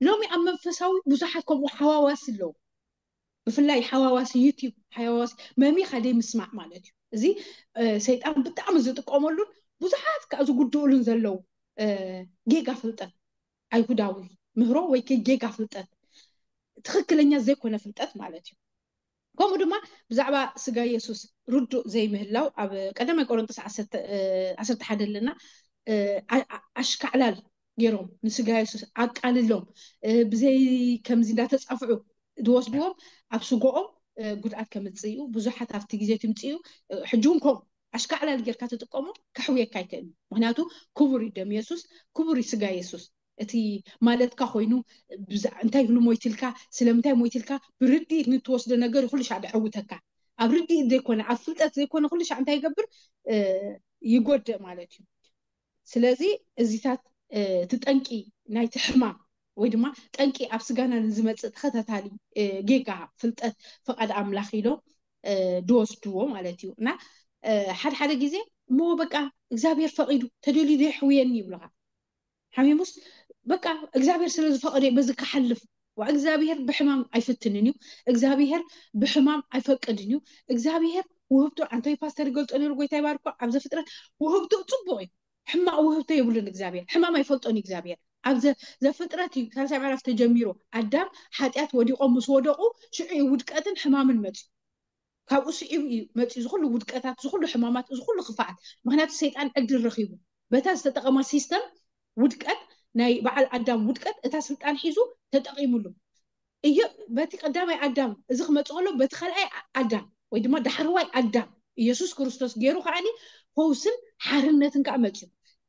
ሎሚ ኣብ መንፈሳዊ ብዙሓት ከምኡ ሓዋዋሲ ኣለዉ። ብፍላይ ሓዋዋሲ ዩቲብ ሓዋዋሲ መሚኻ ደይ ምስማዕ ማለት እዩ። እዚ እ፣ ሰይጣን ብጣዕሚ ዝጥቀመሉን ብዙሓት ከዓ ዝጉድኡሉን ዘለዉ እ፣ ጌጋ ፍልጠት፣ ኣይሁዳዊ ምህሮ ወይ ከ ጌጋ ፍልጠት፣ ትኽክለኛ ዘይኮነ ፍልጠት ማለት እዩ። ከምኡ ድማ ብዛዕባ ስጋ የሱስ ርዱእ ዘይምህላው ኣብ ቀዳማይ ቆሮንጦስ ዓሰርተ እ፣ ዓሰርተ ሓደ ኣለና እ፣ ኣ- ኣ- ኣሽካዕላል ገይሮም ንስጋ የሱስ ኣቃልሎም እ፣ ብዘይ ከምዚ እንዳተጻፍዑ ዝወስድዎም ኣብ ስጎኦም እ፣ ጉድኣት ከምፅእ እዩ። ብዙሓት ኣብቲ ግዜ ትምፅእ እዩ። እ፣ ሕጂ እውን ከምኡ ኣሽካዕላል ጌርካ ትጥቀሞ ከሕውየካ ኣይክእልን። ምክንያቱ ክቡር እዩ ደም የሱስ፣ ክቡር እዩ ስጋ የሱስ። እቲ ማለትካ ኮይኑ ብዛ- እንታይ ይብሉ ሞይትልካ ስለምንታይ ሞይትልካ ብርድኢት ንትወስዶ ነገር ኩሉ ሻዕ ደዐውተካ። ኣብ ርድኢት ዘይኮነ ኣብ ፍልጠት ዘይኮነ ኩሉ ሻዕ እንታይ ይገብር እ፣ ይጎድእ ማለት እዩ። ስለዚ እዚታት እ፣ እቲ ጠንቂ ናይቲ ሕማም ወይ ድማ ጠንቂ ኣብ ስጋና ንዝመፅእ ተኸታታሊ እ፣ ጌጋ ፍልጠት ፍቓድ ኣምላኽ ኢሎም እ፣ ድወስድዎ ማለት እዩ። እና እ፣ ሓደ ሓደ ግዜ እሞ በቃ እግዚኣብሔር ፈቒዱ ተደልዩ ዶ የሕውየኒ ይብሉኻ። ሓሚሙስ በቃ እግዚኣብሔር ስለ ዝፈቐደ እዩ በዚ ክሓልፍ ዋ እግዚኣብሔር ብሕማም ኣይፍትንን እዩ። እግዚኣብሔር ብሕማም ኣይፈቅድን እዩ። እግዚኣብሔር ውህብቶ ኣንቶይ ፓስተር ይገልፆ ነሩ ጎይታ ይባርኮ ኣብ ዘፍጥረት ውህብቶ ፅቡቅ እዩ። ሕማቅ ውህብቶ የብሉን እግዚኣብሔር። ሕማም ኣይፈልጦን እዩ እግዚኣብሔር። ኣብ ዘ- ዘፍጥረት እዩ ሳልሳይ ምዕራፍ ተጀሚሩ ኣዳም ሓጢኣት ወዲቆም ምስ ወደቁ ሽዑ እዩ ውድቀትን ሕማምን መፅዩ። ካብኡ ስዒቡ እዩ መፅዩ ዝኩሉ ውድቀታት ዝኩሉ ሕማማት ዝኩሉ ክፍኣት። ምክንያቱ ሰይጣን ዕድል ረኪቡ በታ ዝተጠቀማ ሲስተም ውድቀት ናይ በዓል ኣዳም ውድቀት እታ ስልጣን ሒዙ ተጠቂሙሉ እዩ። በቲ ቀዳማይ ኣዳም እዚ ክመፅእ ከሎ በቲ ካልኣይ ኣዳም ወይ ድማ ዳሕረዋይ ኣዳም ኢየሱስ ክርስቶስ ገይሩ ከዓኒ ፈውስን ሓርነትን ከዓ መፅዩ።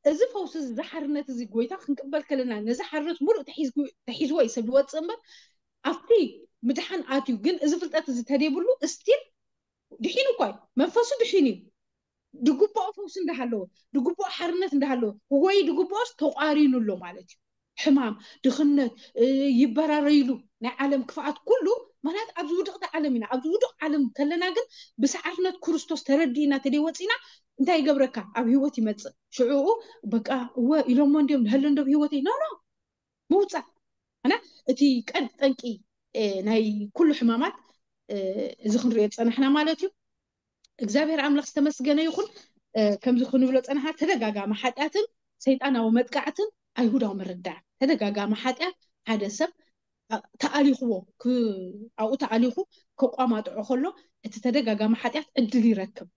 እዚ ፈውሲ እዚ ሓርነት እዚ ጎይታ ክንቅበል ከለና ነዚ ሓርነት ሙሉእ ተሒዝዎ እዩ ሰብ ዝወፅእ እምበር ኣብቲ ምድሓን ኣትዩ ግን እዚ ፍልጠት እዚ ተደይብሉ እስቲል ድሒኑ እኳ እዩ መንፈሱ ድሒኑ እዩ። ድግብኦ ፈውሲ እንዳሃለዎ ድግብኦ ሓርነት እንዳሃለዎ ወይ ድግብኦስ ተቋሪኑ ኣሎ ማለት እዩ። ሕማም ድኽነት ይበራረይሉ ናይ ዓለም ክፍኣት ኩሉ ምክንያት ኣብዚ ውድቕቲ ዓለም ኢና ኣብዚ ውድቕ ዓለም ከለና ግን ብሰዓርነት ክርስቶስ ተረዲእና ተደይወፂና እንታይ ይገብረካ ኣብ ህይወት ይመፅእ ሽዕኡ በቃ እወ ኢሎሞ እንዲዮም ንሀሎ እንዶ ህይወተይ ኖ ኖ ምውፃእ እና እቲ ቀንዲ ጠንቂ ናይ ኩሉ ሕማማት እዚ ክንሪኦ ዝፀናሕና ማለት እዩ። እግዚኣብሔር ኣምላኽ ዝተመስገነ ይኹን። ከምዚ ክንብሎ ፀናሕና ተደጋጋሚ ሓጢኣትን ሰይጣናዊ መጥቃዕትን ኣይሁዳዊ ምርዳእ ተደጋጋሚ ሓጢኣት ሓደ ሰብ ተኣሊኽዎ ኣብኡ ተኣሊኹ ከቋማጥዖ ከሎ እቲ ተደጋጋሚ ሓጢኣት ዕድል ይረክብ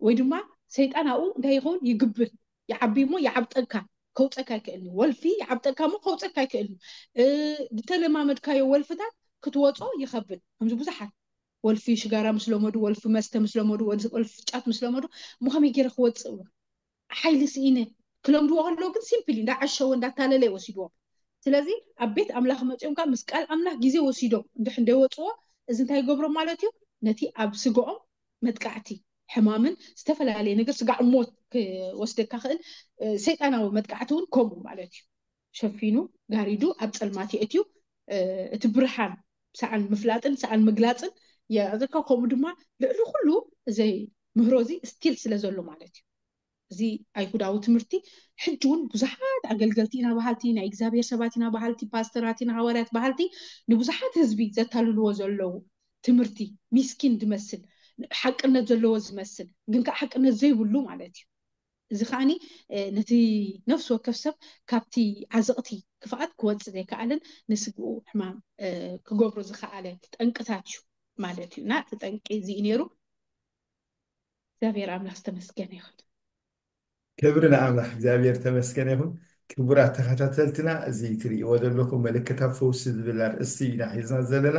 ወይ ድማ ሰይጣን ኣብኡ እንታይ ይኸውን ይግብል ይዓቢ እሞ ይዓብጠካ ከውፀካ ይክእል እዩ። ወልፊ ይዓብጠካ እሞ ከውፀካ ይክእል እዩ። ዝተለማመድካዮ ወልፍታት ክትወፆ ይኸብድ። ከምዚ ብዙሓት ወልፊ ሽጋራ ምስ ለመዱ፣ ወልፊ መስተ ምስ ለመዱ፣ ወልፊ ጫት ምስ ለመዱ፣ እሞ ከመይ ገይረ ክወፅእ? ሓይሊ ስኢነ። ክለምድዎ ከለዉ ግን ሲምፕሊ እንዳዓሸወ እንዳታለለ ይወስድዎም። ስለዚ ኣብ ቤት ኣምላኽ መፂኦም ከዓ ምስ ቃል ኣምላኽ ግዜ ወሲዶም እንድሕር እንደወፅዎ፣ እዚ እንታይ ይገብሮም ማለት እዩ? ነቲ ኣብ ስግኦም መጥቃዕቲ፣ ሕማምን ዝተፈላለየ ነገር፣ ስጋዕ ሞት ክወስደካ ክእል። ሰይጣናዊ መጥቃዕቲ እውን ከምኡ ማለት እዩ። ሸፊኑ፣ ጋሪዱ፣ ኣብ ፀልማት የእትዩ። እቲ ብርሃን ሰኣን ምፍላጥን ሰኣን ምግላፅን የዘካ። ከምኡ ድማ ልዕሊ ኩሉ ዘይ ምህሮ እዚ ስቲል ስለ ዘሎ ማለት እዩ። እዚ ኣይሁዳዊ ትምህርቲ ሕጂ እውን ብዙሓት ኣገልገልቲ ኢና በሃልቲ፣ ናይ እግዚኣብሔር ሰባት ኢና በሃልቲ፣ ፓስተራት ኢና፣ ሃዋርያት በሃልቲ ንብዙሓት ህዝቢ ዘታልልዎ ዘለዉ ትምህርቲ፣ ሚስኪን ዝመስል፣ ሓቅነት ዘለዎ ዝመስል ግን ከዓ ሓቅነት ዘይብሉ ማለት እዩ። እዚ ከዓኒ ነቲ ነፍሲ ወከፍ ሰብ ካብቲ ዓዘቕቲ ክፍኣት ክወፅእ ዘይከኣልን ንስግኡ ሕማም ክገብሮ ዝኸኣለ ጠንቅታት እዩ ማለት እዩ። እና እቲ ጠንቂ እዚ እዩ ነይሩ። እግዚኣብሔር ኣምላኽ ዝተመስገነ ይኹን። ክብሪ ንኣምላኽ እግዚኣብሔር ተመስገነ ይኹን። ክቡራት ተኸታተልትና፣ እዚ ትርእይዎ ዘለኹም ምልክታት ፈውሲ ዝብል ኣርእስቲ ኢና ሒዝና ዘለና።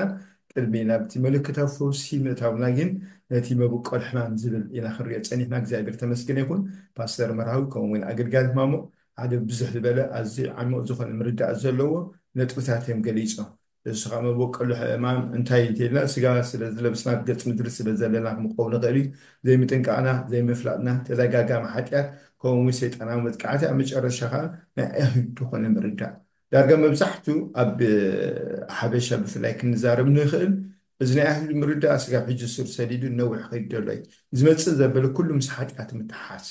ቅድሚ ናብቲ ምልክታት ፈውሲ ምእታውና ግን ነቲ መብቆል ሕማም ዝብል ኢና ክንሪኦ ጸኒሕና። እግዚኣብሔር ተመስገነ ይኹን። ፓስተር መርሃዊ ከምኡ እውን ኣገልጋሊ ማሞ ሓደ ብዙሕ ዝበለ ኣዝዩ ዓሚቕ ዝኾነ ምርዳእ ዘለዎ ነጥብታት እዮም ገሊጾም። እሱ ከዓ መበቆሉ ሕማም እንታይ እንተልና፣ ስጋ ስለ ዝለብስና፣ ገጽ ምድሪ ስለ ዘለና ክንቆም ንኽእል እዩ። ዘይምጥንቃቕና፣ ዘይምፍላጥና፣ ተደጋጋሚ ሓጢኣት፣ ከምኡ እውን ሰይጣናዊ መጥቃዕቲ፣ ኣብ መጨረሻ ከዓ ናይ ኣይሁድ ዝኾነ ምርዳእ። ዳርጋ መብዛሕቱ ኣብ ሓበሻ ብፍላይ ክንዛረብ ንኽእል፣ እዚ ናይ ኣይሁድ ምርዳእ ስጋብ ሕጂ ስር ሰዲዱ ነዊሕ ከይዱ ዘሎ እዩ። ዝመጽእ ዘበለ ኩሉ ምስ ሓጢኣት ምትሓሓዝ።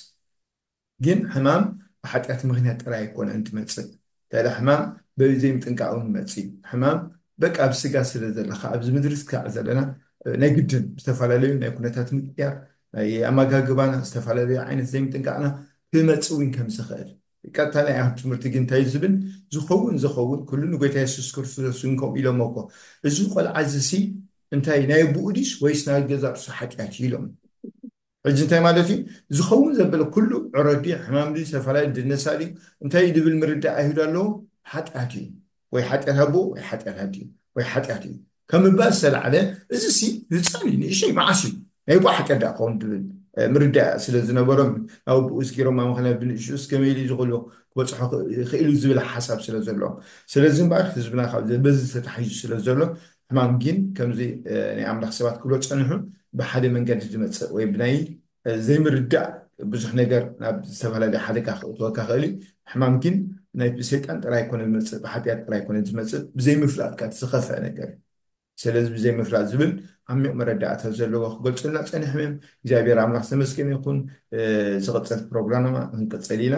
ግን ሕማም ብሓጢኣት ምኽንያት ጥራይ ኣይኮነን ትመጽእ። እንታይ ኢለ፣ ሕማም በብዘይምጥንቃቕ እውን ይመጽእ እዩ። ሕማም በቃ ኣብ ስጋ ስለ ዘለኻ፣ ኣብዚ ምድሪ ስጋዕ ዘለና፣ ናይ ግድን ዝተፈላለዩ ናይ ኩነታት ምቅያር፣ ናይ ኣመጋግባና፣ ዝተፈላለዩ ዓይነት ዘይምጥንቃቕና ክመጽእ እውን ከም ዝኽእል። ቀጥታ ናይ ኣይሁድ ትምህርቲ ግን እንታይ እዩ ዝብል? ዝኸውን ዝኸውን ኩሉ ንጎይታ የሱስ ክርስቶስ ይንከም ኢሎም እኮ። እዚ ቆልዓ እዚ ሲ እንታይ ናይ ኣቦኡ ድዩስ ወይስ ናይ ገዛ ርእሱ ሓጢኣት እዩ ኢሎም። ሕጂ እንታይ ማለት እዩ? ዝኸውን ዘበለ ኩሉ ዕረዲ ሕማም ድዩ፣ ዝተፈላለዩ ድነሳ ድዩ፣ እንታይ እዩ ዝብል ምርዳእ ኣይሁድ ኣለዎ። ሓጢኣት እዩ፣ ወይ ሓጢኣት ኣቦ ወይ ሓጢኣት ኣዲ ወይ ሓጢኣት እዩ ከም ምባል ዝተላዕለ፣ እዚ ሲ ህፃን እዩ፣ ንእሽተይ መዓስ እዩ ናይ ኣቦ ሓጢኣት ደኣ ክኸውን ዝብል ምርዳእ ስለ ዝነበሮም፣ ናብ ኣቦኡ እስኪሮም ኣመኽንያ ብንእሽኡ እስከ መይሉ ዝኽእሉ ክበፅሖ ይኽእሉ ዝብል ሓሳብ ስለ ዘለዎም። ስለዚ እምበኣር ህዝብና ካብ በዚ ተታሒዙ ስለ ዘሎ ሕማም ግን ከምዚ ናይ ኣምላኽ ሰባት ክብሎ ጸንሑ ብሓደ መንገዲ ዝመጽእ ወይ ብናይ ዘይምርዳእ ብዙሕ ነገር ናብ ዝተፈላለየ ሓደጋ ክእትወካ ክእል እዩ። ሕማም ግን ናይ ብሰይጣን ጥራይ ኣይኮነ ዝመጽእ፣ ብሓጢኣት ጥራይ ኣይኮነ ዝመጽእ፣ ብዘይምፍላጥ ከኣ እቲ ዝኸፍአ ነገር እዩ። ስለዚ ብዘይምፍላጥ ዝብል ዓሚቕ መረዳእታ ዘለዎ ክገልጹልና ጸኒሖም እዮም። እግዚኣብሔር ኣምላኽ ዝተመስገነ ይኹን። ዝቕጽል ፕሮግራምና ክንቅጽል ኢና።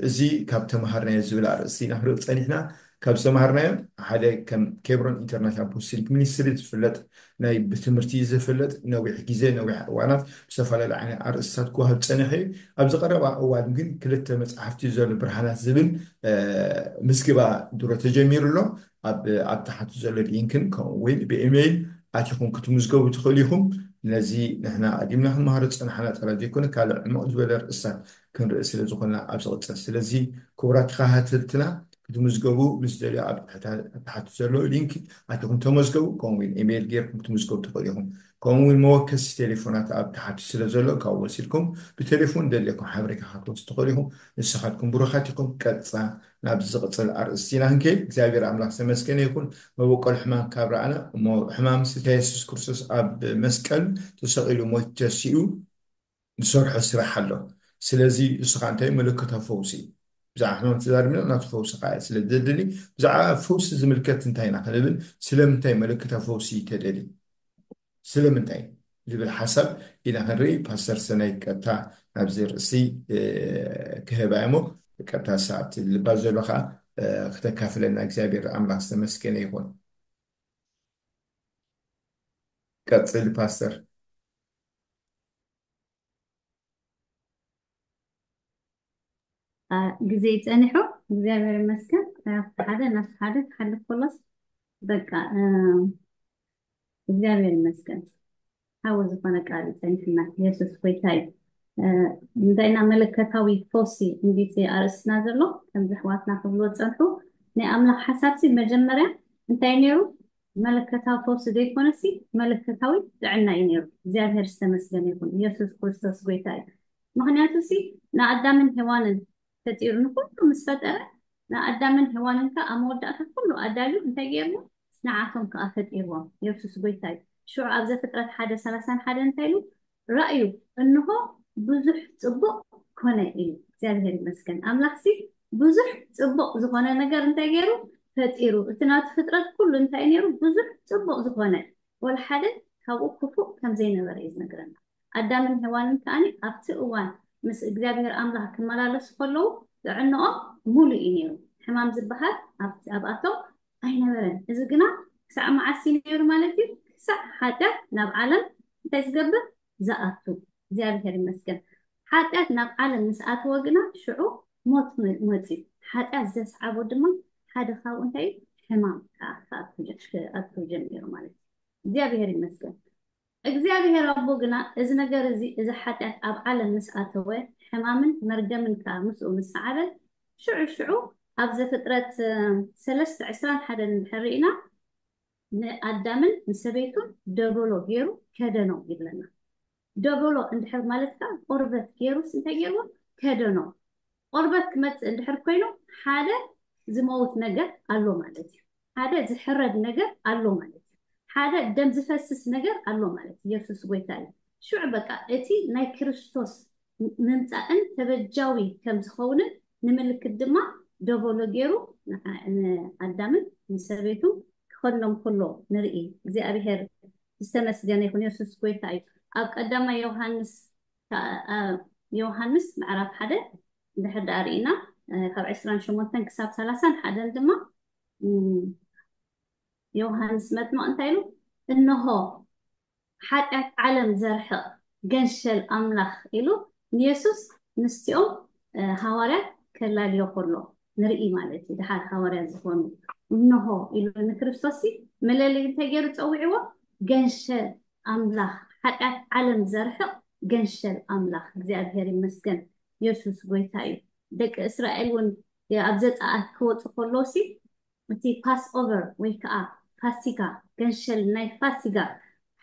እዚ ካብ ተምሃርናዮ ዝብል ኣርእስቲ ኢና ክንርኢ ጸኒሕና። ካብ ዝተምሃርናዮ ሓደ ከም ኬብሮን ኢንተርናሽናል ኣፖስቶሊክ ሚኒስትሪ ዝፍለጥ ናይ ብትምህርቲ ዝፍለጥ ነዊሕ ግዜ ነዊሕ እዋናት ብዝተፈላለዩ ዓይነት ኣርእስታት ክወሃብ ዝጸንሐ እዩ። ኣብዚ ቀረባ እዋን ግን ክልተ መጽሓፍቲ ዘሎ ብርሃናት ዝብል ምዝግባ ድሮ ተጀሚሩ ኣሎ። ኣብ ኣብ ታሕቲ ዘሎ ሊንክን ከምኡ እውን ብኢሜይል ኣቲኹም ክትምዝገቡ ትኽእሉ ኢኹም። ነዚ ንሕና ኣዲምና ክንመሃሮ ዝጸናሕና ጥራይ ዘይኮነ ካልእ ዕሙቕ ዝበለ ርእስታት ክንርኢ ስለ ዝኾንና ኣብ ዝቕጽል። ስለዚ ክቡራት ተኸታተልትና ክትምዝገቡ ምስ ደልዩ ኣብ ታሕቲ ዘሎ ሊንክ ኣቲኹም ተመዝገቡ። ከምኡ እውን ኢሜይል ጌርኩም ክትምዝገቡ ትኽእሉ ኢኹም። ከምኡ እውን መወከሲ ቴሌፎናት ኣብ ታሕቲ ስለ ዘሎ ካብኡ ወሲድኩም ብቴሌፎን ደልየኩም ሓበሬታ ክትወስዱ ትኽእሉ ኢኹም። ንስኻትኩም ብሩኻት ኢኹም። ቀጻ ናብ ዝቕጽል ኣርእስቲ ኢና ክንከይድ። እግዚኣብሔር ኣምላኽ ዝተመስገነ ይኹን። መበቆል ሕማም ካብ ረኣና እሞ ሕማም ስጋ የሱስ ክርስቶስ ኣብ መስቀል ተሰቒሉ ሞይቱ ተሲኡ ዝሰርሖ ስራሕ ኣሎ። ስለዚ እሱ ከዓ እንታይ ምልክታዊ ፈውሲ እዩ። ብዛዕባ ሕማም ተዛሪብና ናቱ ፈውሲ ከዓ ስለ ዘድሊ ብዛዕባ ፈውሲ ዝምልከት እንታይ ኢና ክንብል ስለምንታይ ምልክታዊ ፈውሲ ተደሊ ስለምንታይ ዝብል ሓሳብ ኢና ክንርኢ። ፓስተር ሰናይ ቀጥታ ናብዚ ርእሲ ክህባ እሞ ቀጥታ ሰዓት ልባ ዘሎ ከዓ ክተካፍለና እግዚኣብሔር ኣምላኽ ዝተመስገነ ይኹን። ቀፅል ፓስተር። ግዜ ይፀኒሑ እግዚኣብሔር ይመስገን። ሓደ ናብ ሓደ ክሓልፍ ከሎስ በቃ እግዚኣብሔር ይመስገን። ሓዊ ዝኾነ ቃል ይፀኒሕና የሱስ ጎይታ እዩ። እንታይ ኢና መለከታዊ ፈውሲ እንዲቲ ኣርእስትና ዘሎ ከምዚ ኣሕዋትና ክብልዎ ፀንሑ። ናይ ኣምላኽ ሓሳብሲ መጀመርያ እንታይ ነይሩ? መለከታዊ ፈውሲ ዘይኮነሲ መለከታዊ ጥዕና እዩ ነይሩ። እግዚኣብሔር ዝተመስገነ ይኹን። ኢየሱስ ክርስቶስ ጎይታ እዩ። ምኽንያቱ ሲ ንኣዳምን ሔዋንን ፈጢሩ ንኩሉ ምስ ፈጠረ ንኣዳምን ሔዋንን ከዓ ኣብ መወዳእታ ኩሉ ኣዳልዩ እንታይ ገይርዎ? ንዓቶም ከዓ ፈጢርዎም። ኢየሱስ ጎይታ እዩ። ሽዑ ኣብ ዘፍጥረት ሓደ ሰላሳን ሓደ እንታይ ኢሉ? ራእዩ እንሆ ብዙሕ ጽቡቕ ኮነ ኢሉ። እግዚኣብሔር ይመስገን። ኣምላኽሲ ብዙሕ ጽቡቕ ዝኾነ ነገር እንታይ ገይሩ? ፈጢሩ። እቲ ናቱ ፍጥረት ኩሉ እንታይ ነይሩ? ብዙሕ ጽቡቕ ዝኾነ፣ ወላ ሓደ ካብኡ ክፉእ ከም ዘይነበረ እዩ ዝነግረና። ኣዳምን ሔዋንን ከኣኒ ኣብቲ እዋን ምስ እግዚኣብሔር ኣምላኽ ክመላለሱ ከለዉ ጥዕንኦም ሙሉ እዩ ነይሩ። ሕማም ዝበሃል ኣብኣቶም ኣይነበረን። እዚ ግና ክሳዕ መዓስ እዩ ነይሩ ማለት እዩ? ክሳዕ ሓጢኣት ናብ ዓለም እንታይ ዝገብር? ዝኣቱ። እግዚኣብሔር ይመስገን። ሓጢኣት ናብ ዓለም ምስ ኣተወ ግና ሽዑ ሞት መፅዩ። ሓጢኣት ዘስዓቦ ድማ ሓደ ካብኡ እንታይ እዩ? ሕማም ክኣቱ ጀሚሩ ማለት እዩ። እግዚኣብሔር ይመስገን። እግዚኣብሔር ኣቦ ግና እዚ ነገር እዚ፣ እዚ ሓጢኣት ኣብ ዓለም ምስ ኣተወ፣ ሕማምን መርገምን ከዓ ምስኡ ምስ ሰዓበ፣ ሽዑ ሽዑ ኣብ ዘፍጥረት ሰለስተ ዕስራን ሓደን እንድሕር ርኢና ንኣዳምን ንሰበይቱን ደበሎ ገይሩ ከደኖም ይብለና። ደበሎ እንድሕር ማለት ከዓ ቆርበት ገይሩስ እንታይ ገይርዎ? ከደኖም። ቆርበት ክመፅእ እንድሕር ኮይኑ ሓደ ዝመውት ነገር ኣሎ ማለት እዩ። ሓደ ዝሕረድ ነገር ኣሎ ማለት እዩ። ሓደ ደም ዝፈስስ ነገር ኣሎ ማለት እዩ። ኢየሱስ ጎይታ እዩ። ሽዑ በቃ እቲ ናይ ክርስቶስ ምምፃእን ተበጃዊ ከም ዝኸውንን ንምልክት ድማ ደበሎ ገይሩ ንኣዳምን ንሰበይቱ ክኸድኖም ከሎ ንርኢ። እግዚኣብሔር ዝተመስገነ ይኹን። ኢየሱስ ጎይታ እዩ። ኣብ ቀዳማይ ዮሃንስ ዮሃንስ ምዕራፍ ሓደ እንድሕር ደኣ ርኢና ካብ ዕስራን ሸሞንተን ክሳብ ሰላሳን ሓደን ድማ ዮሃንስ መጥምቕ እንታይ ኢሉ? እንሆ ሓጢኣት ዓለም ዘርሕቕ ገንሸል ኣምላኽ ኢሉ ንየሱስ ምስቲኦም ሃዋርያት ከላልዮ ከሎ ንርኢ ማለት እዩ። ድሓር ሃዋርያት ዝኾኑ እንሆ ኢሉ ንክርስቶስ መለለይ እንታይ ገይሩ ፀዊዕዎ? ገንሸል ኣምላኽ፣ ሓጢኣት ዓለም ዘርሕቕ ገንሸል ኣምላኽ። እግዚኣብሔር ይመስገን። የሱስ ጎይታ እዩ። ደቂ እስራኤል እውን ኣብ ዘፀኣት ክወፁ ከለውሲ እቲ ፓስ ኦቨር ወይ ከዓ ፋሲጋ፣ ገንሸል ናይ ፋሲጋ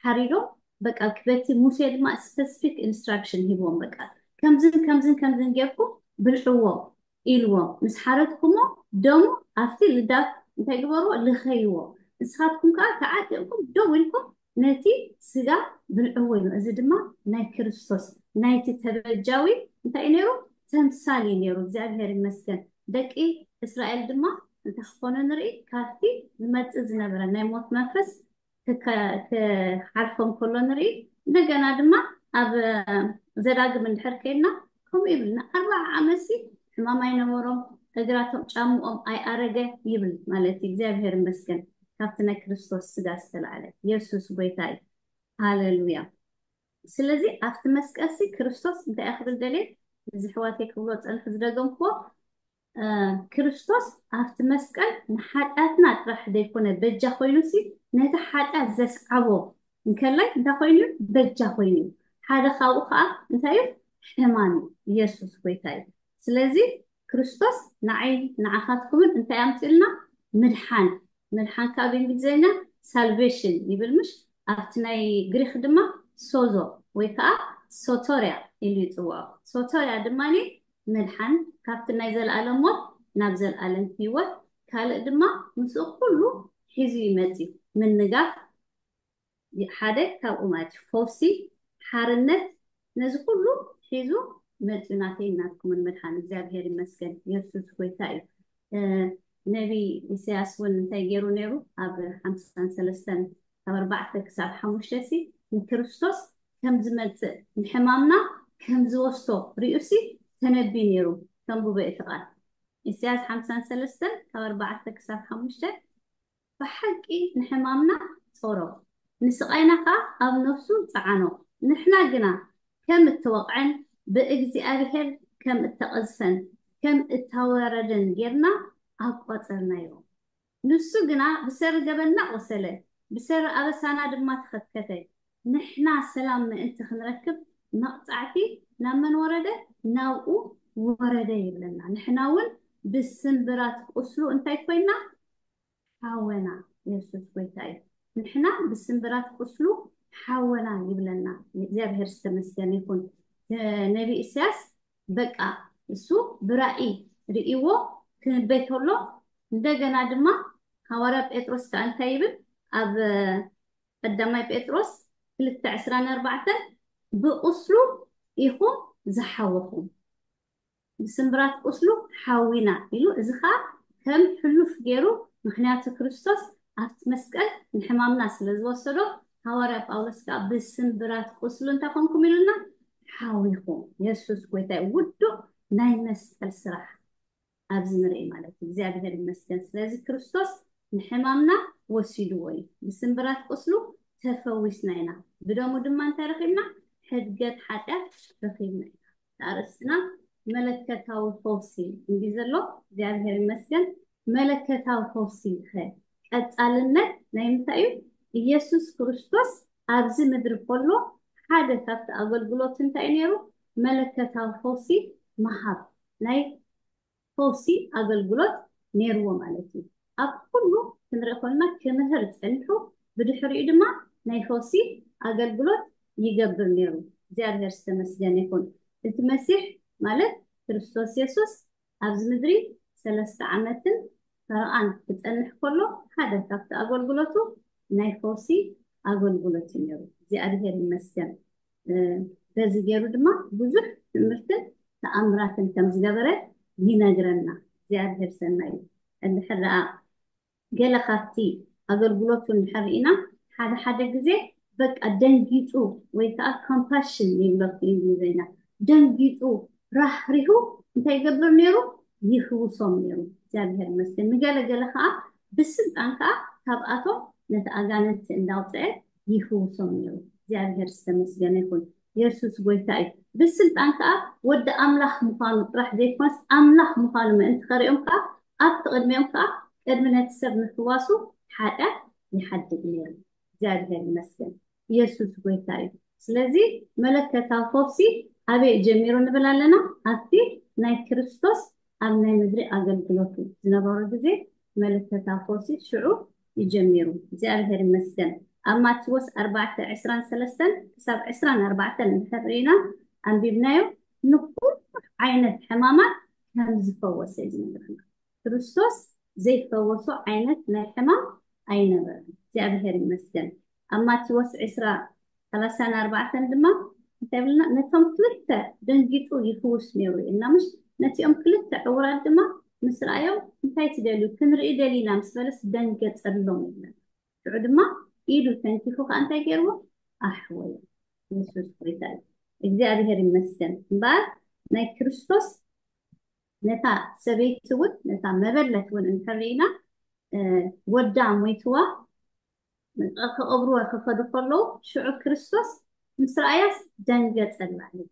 ሓሪዶም በቃ በቲ ሙሴ ድማ ስፐሲፊክ ኢንስትራክሽን ሂብዎም። በቃ ከምዝን ከምዝን ከምዝን ጌርኩም ብልዕዎ ኢልዎም። ምስ ሓረድኩሞ ደሙ ኣብቲ ልዳት እንታይ ግበርዎ? ልኸይዎ። ንስኻትኩም ከዓ ተዓጢቕኩም ደው ኢልኩም ነቲ ስጋ ብልዕዎ ኢሉ። እዚ ድማ ናይ ክርስቶስ ናይቲ ተበጃዊ እንታይ እዩ ነይሩ? ተምሳል እዩ ነይሩ። እግዚኣብሔር ይመስገን። ደቂ እስራኤል ድማ እንታይ ክኾኑ ንርኢ? ካብቲ ዝመፅእ ዝነበረ ናይ ሞት መንፈስ ክሓልፎም ከሎ ንርኢ። እንደገና ድማ ኣብ ዘዳግም እንድሕር ከይድና ከምኡ ይብል፣ ንኣርባዓ ዓመትሲ ሕማም ኣይነበሮም፣ እግራቶም ጫምኦም ኣይኣረገ ይብል ማለት እዩ። እግዚኣብሔር ይመስገን። ካብቲ ናይ ክርስቶስ ስጋ ዝተላዕለ የሱስ ጎይታ እዩ። ሃሌሉያ። ስለዚ ኣብቲ መስቀልሲ ክርስቶስ እንታይ ክብል ደልየ? እዚ ሕዋተይ ክብሎ ፀንሑ ዝደገምክዎ ክርስቶስ ኣብቲ መስቀል ንሓጢኣትና ጥራሕ ዘይኮነ በጃ ኮይኑሲ ነቲ ሓጢኣት ዘስዓቦ እንከላይ እንታይ ኮይኑ እዩ? በጃ ኮይኑ እዩ። ሓደ ካብኡ ከዓ እንታይ እዩ? ሕማም እዩ። ኢየሱስ ጎይታ እዩ። ስለዚ ክርስቶስ ንዓይ ንዓኻትኩምን እንታይ ኣምፅልና? ምድሓን። ምድሓን ከዓ ብእንግሊዝኛ ሳልቬሽን ይብል ምሽ? ኣብቲ ናይ ግሪክ ድማ ሶዞ ወይ ከዓ ሶቶርያ ኢሉ ይፅውዖ። ሶቶርያ ድማ ምድሓን ካብቲ ናይ ዘለኣለም ሞት ናብ ዘለኣለም ህይወት፣ ካልእ ድማ ምስኡ ኩሉ ሒዙ ይመፅእ። ምንጋፍ ሓደ ካብኡ ማለት እዩ። ፈውሲ፣ ሓርነት፣ ነዚ ኩሉ ሒዙ መፅኡ ናተይ ናትኩምን መድሓን። እግዚኣብሔር ይመስገን። የሱስ ጎይታ እዩ። ነቢ ኢሳያስ እውን እንታይ ገይሩ ነይሩ? ኣብ ሓምሳን ሰለስተን ካብ ኣርባዕተ ክሳብ ሓሙሽተ ሲ ንክርስቶስ ከም ዝመፅእ ንሕማምና ከም ዝወስዶ ሪኡሲ ተነቢ ነይሩ። ተንብቦ እቲ ቃል ኢሳያስ ሓምሳን ሰለስተን ካብ ኣርባዕተ ክሳብ ሓሙሽተ ብሓቂ ንሕማምና ጾሮ፣ ንስቓይና ኸኣ ኣብ ነፍሱ ጸዓኖ። ንሕና ግና ከም እተወቕዐን ብእግዚኣብሄር ከም እተቐዝፈን ከም እተዋረደን ጌርና ኣቋጸርናዮ። ንሱ ግና ብሰሪ ገበንና ቆሰለ፣ ብሰሪ ኣበሳና ድማ ተኸትከተ። ንሕና ሰላም ምእንቲ ክንረክብ መቕጻዕቲ ናብ መን ወረደ? ናብኡ ወረደ ይብለና። ንሕና እውን ብስምብራት ቁስሉ እንታይ ኮይና? ሓወና። የሱስ ጎይታ እዩ። ንሕና ብስምብራት ቁስሉ ሓወና ይብለና። እግዚኣብሔር ዝተመስገነ ይኹን። ነቢ ኢሳያስ በቃ እሱ ብራእይ ርእይዎ ክንበይ ከሎ፣ እንደገና ድማ ሃዋርያ ጴጥሮስ ከዓ እንታይ ይብል? ኣብ ቀዳማይ ጴጥሮስ ክልተ ዕስራን ኣርባዕተን፣ ብቁስሉ ኢኹም ዝሓወኹም፣ ብስምብራት ቁስሉ ሓዊና ኢሉ። እዚ ከዓ ከም ሕሉፍ ገይሩ፣ ምክንያቱ ክርስቶስ ኣብቲ መስቀል ንሕማምና ስለ ዝወሰዶ፣ ሃዋርያ ጳውሎስ ከዓ ብስምብራት ቁስሉ እንታይ ኮንኩም ኢሉና? ሓዊኹም። የሱስ ጎይታ እዩ። ውዱእ ናይ መስቀል ስራሕ ኣብዚ ንርኢ ማለት እዩ። እግዚኣብሔር ይመስገን። ስለዚ ክርስቶስ ንሕማምና ወሲድዎ እዩ። ብስምብራት ቁስሉ ተፈዊስና ኢና። ብደሙ ድማ እንታይ ረኺብና? ሕድገት ሓጢኣት ረኺብና ኢና። ኣርእስትና መለከታዊ ፈውሲ እንዲ ዘሎ፣ እግዚኣብሔር ይመስገን። መለከታዊ ፈውሲ ኸ ቀጻልነት ናይ ምንታይ እዩ? ኢየሱስ ክርስቶስ ኣብዚ ምድሪ ከሎ ሓደ ካብቲ ኣገልግሎት እንታይ እዩ ነይሩ? መለከታዊ ፈውሲ ምሃብ፣ ናይ ፈውሲ ኣገልግሎት ነይርዎ ማለት እዩ። ኣብ ኩሉ ክንርኢ ከለና ክምህር ጸኒሑ፣ ብድሕሪኡ ድማ ናይ ፈውሲ ኣገልግሎት ይገብር ነይሩ። እግዚኣብሔር ዝተመስገነ ይኹን። እቲ መሲሕ ማለት ክርስቶስ የሱስ ኣብዚ ምድሪ ሰለስተ ዓመትን ፈረቓን ክጸንሕ ከሎ፣ ሓደ ካብቲ ኣገልግሎቱ ናይ ፈውሲ ኣገልግሎት እዩ ነይሩ። እግዚኣብሔር ይመስገን። እ፣ በዚ ገይሩ ድማ ብዙሕ ትምህርትን ተኣምራትን ከም ዝገበረ ይነግረና። እግዚኣብሔር ሰናይ እዩ። እንድሕር ደኣ ገለ ካብቲ ኣገልግሎቱ እንድሕር ርኢና፣ ሓደ ሓደ ግዜ በቃ ደንጊጹ ወይ ከዓ ኮምፓሽን ይብሎ ብእንግሊዝኛ፣ ደንጊጹ ራህሪሁ እንታይ ይገብር ነይሩ? ይፍውሶም ነይሩ። እግዚኣብሔር ይመስገን። ንገለ ገለ ከዓ ብስልጣን ከዓ ካብኣቶም ነቲ ኣጋንንቲ እንዳውፅአ ይፍውሶም ነይሩ። እግዚኣብሔር ዝተመስገነ ይኹን። የሱስ ጎይታ እዩ። ብስልጣን ከዓ ወዲ ኣምላኽ ምዃኑ ጥራሕ ዘይኮነስ ኣምላኽ ምዃኑ ምእንቲ ከርእዮም ከዓ ኣብቲ ቅድሚኦም ከዓ ቅድሚ ነቲ ሰብ ምፍዋሱ ሓጢኣት ይሓድግ ነይሩ። እግዚኣብሔር ይመስገን። የሱስ ጎይታ እዩ። ስለዚ መለከታዊ ፈውሲ ኣበይ ጀሚሩ ንብል ኣለና? ኣብቲ ናይ ክርስቶስ ኣብ ናይ ምድሪ ኣገልግሎቱ ዝነበሮ ግዜ መለከታዊ ፈውሲ ሽዑ ይጀሚሩ። እግዚኣብሔር ይመስገን። ኣብ ማቴዎስ ኣርባዕተ ዕስራን ሰለስተን ክሳብ ዕስራን ኣርባዕተን እንድሕር ርኢና ኣንቢብናዮ፣ ንኩሉ ዓይነት ሕማማት ከም ዝፈወሰ እዩ ዝነግረና። ክርስቶስ ዘይፈወሶ ዓይነት ናይ ሕማም ኣይነበረን። እግዚኣብሔር ይመስገን። ኣብ ማቴዎስ ዕስራ ሰላሳን ኣርባዕተን ድማ እንታይ ብልና? ነቶም ክልተ ደንጊጹ ይፍውስ ነይሩ እዩ እና፣ ምሽ ነቲኦም ክልተ ዕውራት ድማ ምስ ረኣዮም፣ እንታይ ትደልዩ? ክንርኢ ደሊና ምስ በለስ ደንገጸሎም ይብለና። ሽዑ ድማ ኢዱ ተንኪፉ ከዓ እንታይ ገይርዎ? ኣሕወዮ። የሱስ ጎይታ እዩ። እግዚኣብሔር ይመስገን። እምበኣር ናይ ክርስቶስ ነታ ሰበይቲ እውን፣ ነታ መበለት እውን እንድሕር ርኢና፣ እ፣ ወዳ ሞይትዋ ክቐብርዋ ክኸዱ ከለዉ፣ ሽዑ ክርስቶስ ምስ ረኣያስ ደንገጸላ እዩ።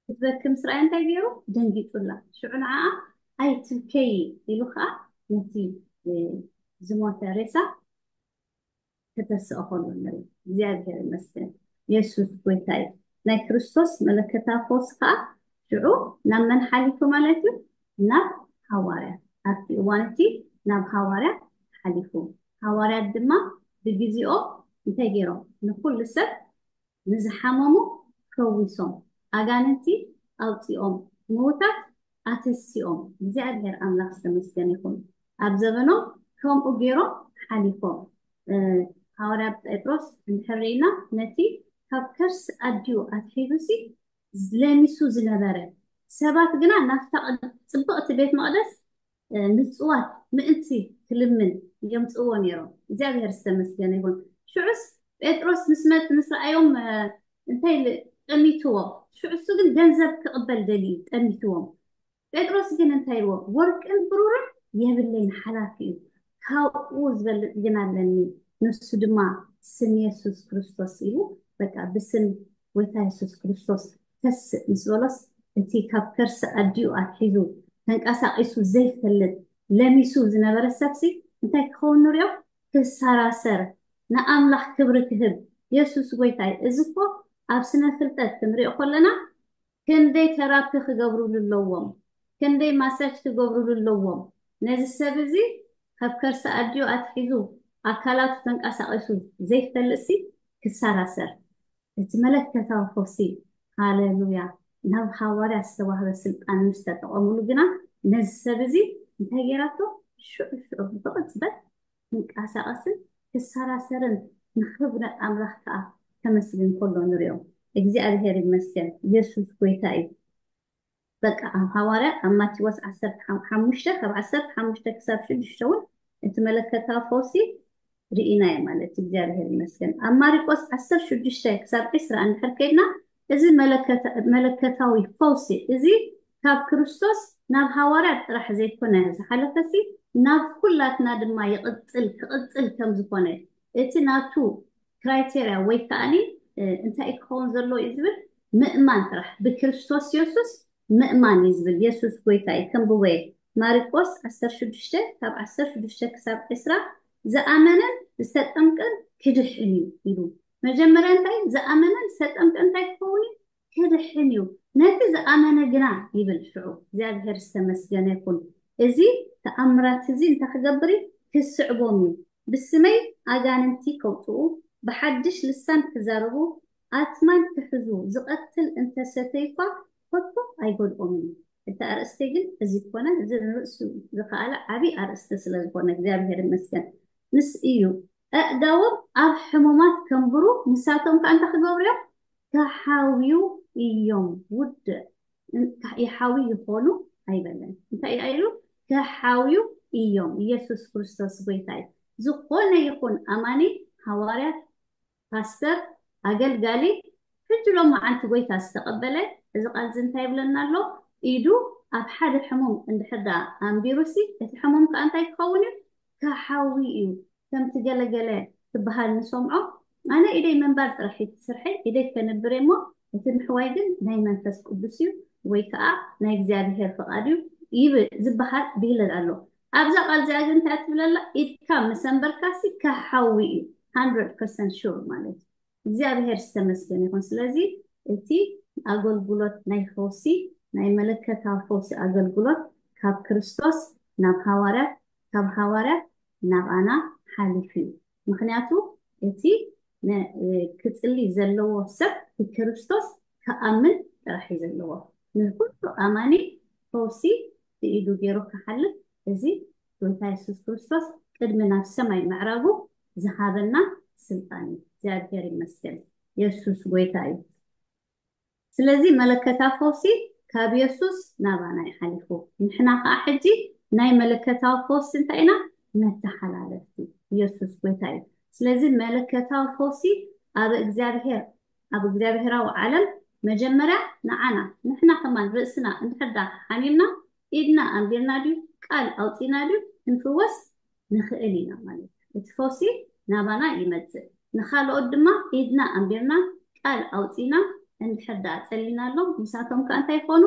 ክትበኪ ምስ ረኣያ እንታይ ገይሩ? ደንጊጹላ። ሽዑ ንዓኣ ኣይትብከዪ ኢሉ ከዓ ነቲ፣ እ፣ ዝሞተ ሬሳ ከተስኦ ከሎ ንርኢ። እግዚኣብሔር ይመስገን። የሱስ ጎይታ እዩ። ናይ ክርስቶስ መለከታዊ ፈውሲ ከዓ ሽዑ ናብ መን ሓሊፉ ማለት እዩ? ናብ ሃዋርያት። ኣብቲ እዋን እቲ ናብ ሃዋርያት ሓሊፉ። ሃዋርያት ድማ ብግዜኦም እንታይ ገይሮም? ንኩሉ ሰብ፣ ንዝሓመሙ ፈዊሶም፣ ኣጋንንቲ ኣውፂኦም፣ ምዉታት ኣተሲኦም። እግዚኣብሔር ኣምላኽ ዝተመስገነ ይኹን። ኣብ ዘበኖም ከምኡ ገይሮም ሓሊፎም። እ፣ ሃዋርያ ጴጥሮስ እንድሕር ርኢና፣ ነቲ ካብ ከርሲ ኣዲኡ ኣትሒዙ ሲ ለሚሱ ዝነበረ፣ ሰባት ግና ናብታ ቅድ-፣ ጽብቕቲ ቤት መቕደስ፣ እ፣ ምጽዋት ምእንቲ ክልምን የምጽእዎ ነይሮም። እግዚኣብሔር ዝተመስገነ ይኹን። ሽዑስ ጴጥሮስ ምስ መጽ-፣ ምስ ረኣዮም፣ እ፣ እንታይ ኢሉ? ጠሚትዎ። ሽዑ እሱ ግን ገንዘብ ክቕበል ደልዩ ጠሚትዎም። ጴጥሮስ ግን እንታይ ኢልዎ? ወርቅን ብሩርን የብለይን፣ ሓላፊ እዩ፣ ካብኡ ዝበልጥ ግን ኣለኒ፣ ንሱ ድማ ስም የሱስ ክርስቶስ ኢሉ፣ በቃ ብስም ጎይታ የሱስ ክርስቶስ ተስእ ምስ በሎስ፣ እቲ ካብ ከርሲ ኣዲኡ ኣትሒዙ ተንቀሳቒሱ ዘይፈልጥ ለሚሱ ዝነበረ ሰብሲ እንታይ ክኸውን ንሪኦ? ክሰራሰር፣ ንኣምላኽ ክብሪ ክህብ። የሱስ ጎይታ እዩ። እዚ እኮ ኣብ ስነ ፍልጠት ክንሪኦ ከለና ክንደይ ተራፒ ክገብሩሉ ኣለዎም፣ ክንደይ ማሳጅ ክገብሩሉ ኣለዎም። ነዚ ሰብ እዚ ካብ ከርሲ ኣዲኡ ኣትሒዙ ኣካላቱ ተንቀሳቒሱ ዘይፈልጥሲ ክሳራሰር፣ እቲ መለከታዊ ፈውሲ፣ ሃሌሉያ፣ ናብ ሃዋርያት ዝተዋህበ ስልጣን ምስ ተጠቐሙሉ ግና፣ ነዚ ሰብ እዚ እንታይ ገይራቶ? ሽዑ ሽዑ ብቕጽበት ክንቀሳቐስን ክሰራሰርን ንኽብረ ኣምላኽ ከኣ ከመስግን ከሎ ንሪኦ። እግዚኣብሔር ይመስገን። የሱስ ጎይታ እዩ። በቃ ኣብ ሃዋርያ ኣብ ማቴዎስ ዓሰርተ ሓሙሽተ ካብ ዓሰርተ ሓሙሽተ ክሳብ ሽዱሽተ እውን እቲ መለከታዊ ፈውሲ ርኢናዮ ማለት እዩ። እግዚኣብሔር ይመስገን። ኣብ ማሪቆስ ዓሰርተ ሽዱሽተ ክሳብ ዕስራ እንድሕር ከይድና እዚ መለከታዊ ፈውሲ እዚ ካብ ክርስቶስ ናብ ሃዋርያት ጥራሕ ዘይኮነ ዝሓለፈሲ ናብ ኩላትና ድማ ይቕጽል ክቕጽል ከም ዝኾነ እቲ ናቱ ክራይቴርያ ወይ ከዓኒ እንታይ ክኸውን ዘለዎ እዩ ዝብል ምእማን ጥራሕ ብክርስቶስ የሱስ ምእማን እዩ ዝብል። የሱስ ጎይታ እዩ። ከንብቦ እየ። ማርቆስ ዓሰርተ ሽዱሽተ ካብ ዓሰርተ ሽዱሽተ ክሳብ ዕስራ ዝኣመነን ዝተጠምቀን ክድሕን እዩ ኢሉ። መጀመርያ እንታይ ዝኣመነን ዝተጠምቀ እንታይ ክኸውን እዩ? ክድሕን እዩ። ነቲ ዝኣመነ ግና ይብል ሽዑ። እግዚኣብሔር ዝተመስገነ ይኹን። እዚ ተኣምራት እዚ እንታይ ክገብር እዩ? ክስዕቦም እዩ። ብስመይ ኣጋንንቲ ከውፅኡ፣ ብሓድሽ ልሳን ክዛረቡ፣ ኣትማን ክሕዙ፣ ዝቐትል እንተሰተይኳ ከቶ ኣይጎድኦምን እዩ። እቲ ኣርእስቲ ግን እዚ ኮነ፣ እዚ ንርእሱ ዝኸኣለ ዓብዪ ኣርእስቲ ስለ ዝኾነ እግዚኣብሔር ይመስገን። ምስ እዩ ኣእዳዎም ኣብ ሕሙማት ከንብሩ፣ ንሳቶም ከዓ እንታይ ክገብሩ እዮም? ክሓውዩ እዮም። ውድእ ይሓዊ ይኾኑ ኣይበለን። እንታይ እዩ ኢሉ? ክሓውዩ እዮም። ኢየሱስ ክርስቶስ ጎይታ እዩ። ዝኾነ ይኹን ኣማኒ፣ ሃዋርያት፣ ፓስተር፣ ኣገልጋሊ፣ ሕጂ ሎማዓንቲ ጎይታ ዝተቐበለ እዚ ቃል እዚ እንታይ ይብለና ኣሎ? ኢዱ ኣብ ሓደ ሕሙም እንድሕር ደኣ ኣንቢሩሲ እቲ ሕሙም ከዓ እንታይ ክኸውን እዩ? ክሓዊ እዩ። ከምቲ ገለገለ ክበሃል ንሰምዖ፣ ኣነ ኢደይ ምንባር ጥራሕ እዩ እቲ ስርሐይ፣ ኢደይ ከንብር እየ እሞ እቲ ምሕዋይ ግን ናይ መንፈስ ቅዱስ እዩ ወይ ከዓ ናይ እግዚኣብሔር ፍቓድ እዩ ይብል ዝበሃል ብሂል ኣሎ። ኣብዛ ቃል እዚኣ ግን እንታይ ትብለላ? ኢድካ ምስ ኣንበርካሲ ክሓዊ እዩ። ሃንድረድ ፐርሰንት ሹር ማለት እዩ። እግዚኣብሔር ዝተመስገነ ይኹን። ስለዚ እቲ ኣገልግሎት ናይ ፈውሲ ናይ መለከታዊ ፈውሲ ኣገልግሎት ካብ ክርስቶስ ናብ ሃዋርያት ካብ ሃዋርያት ናባና ሓሊፉ እዩ። ምኽንያቱ እቲ ክጽሊ ዘለዎ ሰብ ብክርስቶስ ክኣምን ጥራሕ እዩ ዘለዎ። ንኩሉ ኣማኒ ፈውሲ ብኢዱ ገይሩ ክሓልፍ እዚ ጎይታ የሱስ ክርስቶስ ቅድሚ ናብ ሰማይ ምዕራጉ ዝሃበና ስልጣን እዩ። እግዚኣብሔር ይመስገን። የሱስ ጎይታ እዩ። ስለዚ መለከታዊ ፈውሲ ካብ የሱስ ናባና እዩ ሓሊፉ። ንሕና ከዓ ሕጂ ናይ መለከታዊ ፈውሲ እንታይ ኢና? መተሓላለፍቲ። የሱስ ጎይታ እዩ። ስለዚ መለከታዊ ፈውሲ ኣብ እግዚኣብሔር ኣብ እግዚኣብሔራዊ ዓለም መጀመርያ ንዓና ንሕና ከማን ርእስና እንድሕር ዳ ሓሚምና ኢድና ኣንቢርና ድዩ ቃል ኣውፂና ድዩ ክንፍወስ ንኽእል ኢና ማለት እዩ። እቲ ፈውሲ ናባና ይመፅእ። ንኻልኦት ድማ ኢድና ኣንቢርና ቃል ኣውፂና እንድሕር ደኣ ፀሊናሎም ንሳቶም ከዓ እንታይ ይኾኑ?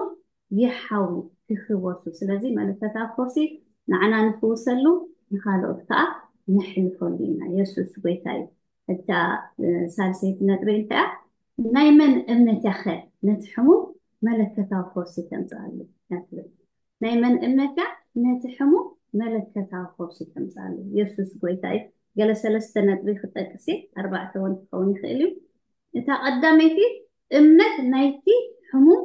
ይሓዊ ክፍወሱ። ስለዚ መለከታዊ ፈውሲ ንዓና ንፍውሰሉ ንኻልኦት ከዓ ነሕልፈሉ ኢና። የሱስ ጎይታ እዩ። እታ ሳልሰይቲ ነጥበይ እንታይ እያ? ናይ መን እምነት እያ ኸ ነቲ ሕሙም መለከታዊ ፈውሲ ተምፅኣሉ እያ ትብል። ናይ መን እምነት እያ ነቲ ሕሙም መለከታዊ ፈውሲ ተምፅኣሉ? የሱስ ጎይታ እዩ። ገለ ሰለስተ ነጥቢ ክጠቅስ እየ፣ ኣርባዕተ እውን ክኸውን ይኽእል እዩ። እታ ቀዳመይቲ እምነት ናይቲ ሕሙም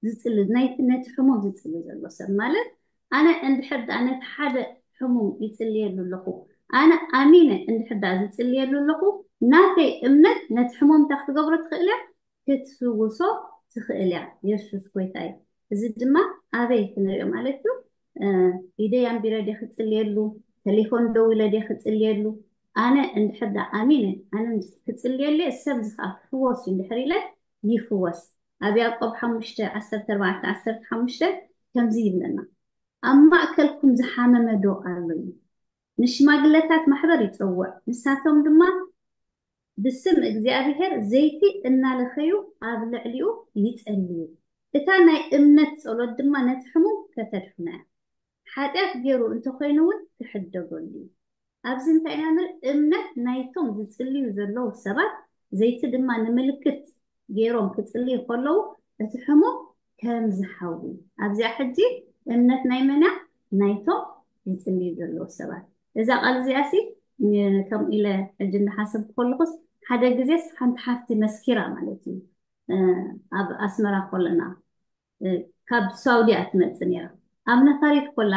ዝፅሊ ናይቲ ነቲ ሕሙም ዝፅሊ ዘሎ ሰብ ማለት ኣነ እንድሕር ደኣ ነቲ ሓደ ሕሙም ይፅልየሉ ኣለኹ ኣነ ኣሚነ እንድሕር ደኣ ዝፅልየሉ ኣለኹ ናተይ እምነት ነቲ ሕሙም እንታይ ክትገብሮ ትኽእል እያ ክትፍውሶ ትኽእል እያ የሱስ ጎይታ እዩ እዚ ድማ ኣበይ ክንሪኦ ማለት እዩ ኢደይ ኣንቢረ ደ ክፅልየሉ ተሌፎን ደው ኢለ ደ ክፅልየሉ ኣነ እንድሕር ደኣ ኣሚነ ኣነ ክፅልየሉ ሰብ ዝኸኣ ክፍወስ እዩ እንድሕር ኢለ ይፍወስ ኣብ ያዕቆብ ሓሙሽተ ዓሰርተ ኣርባዕተ ዓሰርተ ሓሙሽተ ከምዚ ይብለና፣ ኣብ ማእከልኩም ዝሓመመ ዶ ኣሎ እዩ? ንሽማግለታት ማሕበር ይጸውዕ፣ ንሳቶም ድማ ብስም እግዚኣብሔር ዘይቲ እናለኸዩ ኣብ ልዕሊኡ ይጸልዩ። እታ ናይ እምነት ጸሎት ድማ ነቲ ሕሙም ከተድሕኖ እያ። ሓጢኣት ገይሩ እንተኾይኑ እውን ክሕደገሉ እዩ። ኣብዚ እንታይ ኢና ንርኢ? እምነት ናይቶም ዝጽልዩ ዘለዉ ሰባት ዘይቲ ድማ ንምልክት ገይሮም ክጽልዩ ከለዉ እቲ ሕሙም ከም ዝሓዊ ኣብዚኣ ሕጂ እምነት ናይ መን እያ? ናይቶም ዝጽልዩ ዘለዉ ሰባት። እዛ ቃል እዚኣ ሲ ከምኡ ኢለ ሕጂ እንዳሓሰብኩ ከለኹስ ሓደ ግዜስ ሓንቲ ሓፍቲ መስኪራ ማለት እዩ። ኣብ ኣስመራ ከለና ካብ ሳውዲ እያ ትመጽእ ነይራ። ኣብ ነፋሪት ኮላ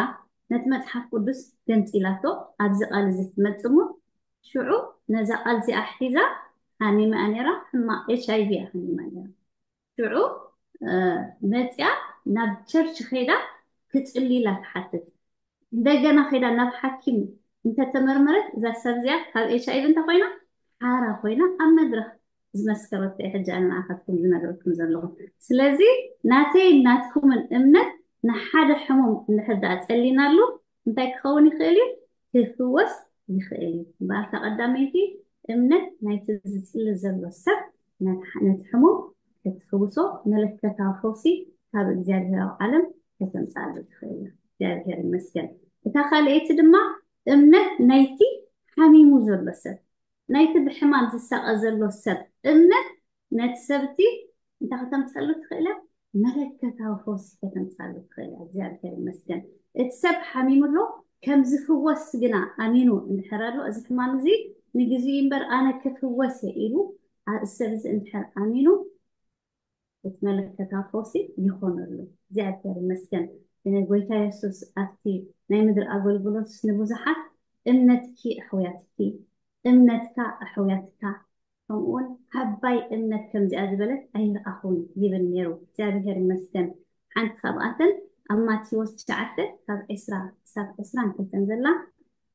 ነቲ መጽሓፍ ቅዱስ ገንጺላቶ ኣብዚ ቃል እዚ ትመጽእ እሞ ሽዑ ነዛ ቃል እዚኣ ሒዛ ሓሚማ ነይራ። ሕማቕ ኤች ኣይ ቪ እያ ሓሚማ ነይራ። ሽዑ መጽያ ናብ ቸርች ኸይዳ ክጽልይላ ትሓትት። እንደገና ኸይዳ ናብ ሓኪም እንተተመርመረት እዛ ሰብ እዚኣ ካብ ኤች ኣይ ቪ እንተኮይና ሓራ ኮይና ኣብ መድረኽ ዝመስከረቶ ሕጂ ኣነ ንዓኻትኩም ዝነግረኩም ዘለኹ። ስለዚ ናተይ ናትኩምን እምነት ንሓደ ሕሙም እንድሕር ደኣ ጸሊናሉ እንታይ ክኸውን ይኽእል እዩ? ክፍወስ ይኽእል እዩ። እምበኣር እታ ቀዳመይቲ እምነት ናይቲ ዝጽሊ ዘሎ ሰብ ነቲ ሕሙም ክትፍውሶ መለከታዊ ፈውሲ ካብ እግዚኣብሔር ኣብ ዓለም ከተምጽኣሉ ትኽእል እያ። እግዚኣብሔር ይመስገን። እታ ካልኣይቲ ድማ እምነት ናይቲ ሓሚሙ ዘሎ ሰብ፣ ናይቲ ብሕማም ዝሳቐ ዘሎ ሰብ እምነት ነቲ ሰብቲ እንታይ ከተምጸሉ ትኽእል እያ? መለከታዊ ፈውሲ ከተምጻሉ ትኽእል እያ። እግዚኣብሔር ይመስገን። እቲ ሰብ ሓሚሙ ኣሎ ከም ዝፍወስ ግና ኣሚኑ እንድሕር ኣሎ እዚ ሕማም እዚ ንግዜኡ እምበር ኣነ ክፍወስ እየ ኢሉ እዚ ሰብ እዚ እንድሕር ኣሚኑ እቲ መለከታዊ ፈውሲ ይኾነሉ። እግዚኣብሔር ይመስገን። ጎይታ የሱስ ኣብቲ ናይ ምድሪ ኣገልግሎት ንብዙሓት እምነትኪ ኣሕውያትኪ፣ እምነትካ ኣሕውያትካ ከምኡውን ዓባይ እምነት ከምዚኣ ዝበለት ኣይረኣኹን ይብል ነይሩ። እግዚኣብሔር ይመስገን። ሓንቲ ካብኣተን ኣብ ማቴዎስ ትሽዓተ ካብ ዕስራ ክሳብ ዕስራን ክልተን ዘላ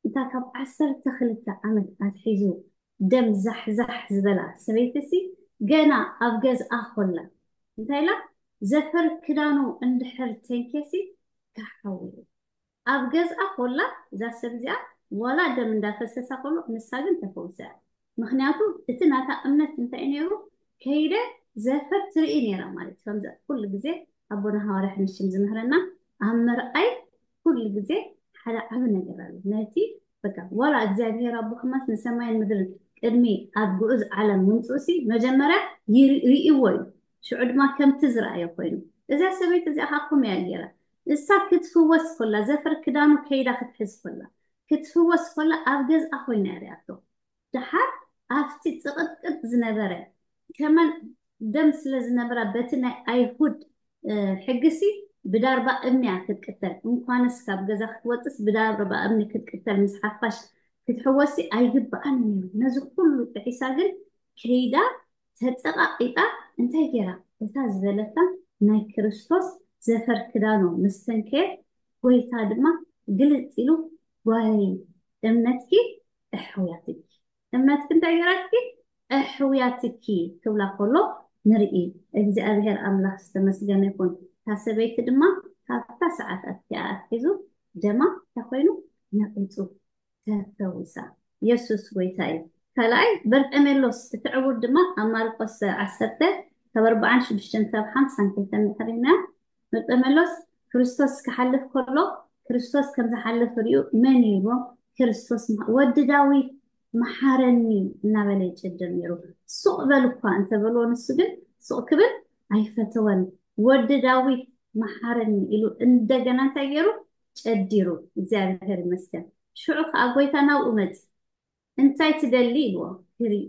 እታ ካብ ዓሰርተ ክልተ ዓመት ኣትሒዙ ደም ዛሕዛሕ ዝበላ ሰበይትሲ ገና ኣብ ገዝኣ ኮላ እንታይ ኢላ? ዘፈር ክዳኑ እንድሕር ተንኬሲ ካሓዊ ኣብ ገዝኣ ኮላ እዛ ሰብ እዚኣ ዋላ ደም እንዳፈሰሳ ኮሎ ንሳ ግን ተፈውሳ። ምክንያቱ እቲ ናታ እምነት እንታይ ነይሩ? ከይደ ዘፈር ትርኢ ነይራ ማለት ከምዚ ኩሉ ግዜ ኣቦና ሃዋርያ ሕንሽም ዝምህረና ኣብ ምርኣይ ኩሉ ግዜ ሓደ ዓቢ ነገር ኣሎ። ነቲ በቃ ዋላ እግዚኣብሔር ኣቦ ከማስ ንሰማይን ምድርን ቅድሚ ኣብ ግዑዝ ዓለም ምምፅኡሲ መጀመርያ ይር- ይርእይዎ እዩ። ሽዑ ድማ ከምቲ ዝረኣዮ ኮይኑ እዛ ሰበይቲ እዚኣ ካኩም እያ ገይራ እሳ ክትፍወስ ኮላ ዘፈር ክዳኑ ከይዳ ክትሕዝ ኮላ ክትፍወስ ኮላ ኣብ ገዝኣ ኮይና እያ ሪኣቶ። ደሓር ኣብቲ ጽቕጥቅጥ ዝነበረ ከመን ደም ስለ ዝነበራ በቲ ናይ ኣይሁድ ሕግሲ ብዳርባ እምኒ እያ ክትቅተል። እንኳንስ ካብ ገዛ ክትወፅስ ብዳርባ እምኒ ክትቅተል ምስ ሓፋሽ ክትሕወሲ ኣይግብኣን ነይሩ። ነዚ ኩሉ ጥሒሳ ግን ከይዳ ተፀቓቒጣ እንታይ ገይራ? እታ ዝበለታ ናይ ክርስቶስ ዘፈር ክዳኑ ምስ ተንከየት ጎይታ ድማ ግልፅ ኢሉ ጓይ እምነትኪ እሕውያትኪ እምነትኪ እንታይ ገይራትኪ? እሕውያትኪ ክብላ ከሎ ንርኢ። እግዚኣብሔር ኣምላኽ ዝተመስገነ ይኹን። እታ ሰበይቲ ድማ ካብታ ሰዓት ኣትኪኣ ኣትሒዙ ደማ እንታይ ኮይኑ ነቒጹ ተፈዊሳ። የሱስ ጎይታ እዩ። ካልኣይ በርጠሜሎስ እቲ ዕውር ድማ ኣብ ማርቆስ ዓሰርተ ካብ ኣርባዓን ሽዱሽተን ካብ ሓምሳን ክልተን ንሕርና በርጠሜሎስ ክርስቶስ ክሓልፍ ከሎ ክርስቶስ ከም ዝሓልፍ ሪኡ መን እዩ ኢልዎ? ክርስቶስ ወዲ ዳዊት መሓረኒ እናበለ ይጨድር ነይሩ። ሱቕ በል እኳ እንተበልዎ ንሱ ግን ሱቕ ክብል ኣይፈተወን። ወዲ ዳዊት መሓረኒ ኢሉ እንደገና እንታይ ገይሩ? ጨዲሩ። እግዚኣብሔር ይመስገን። ሽዑ ከዓ ጎይታ ናብኡ መጽ እንታይ ትደሊ ኢልዎ። ክርኢ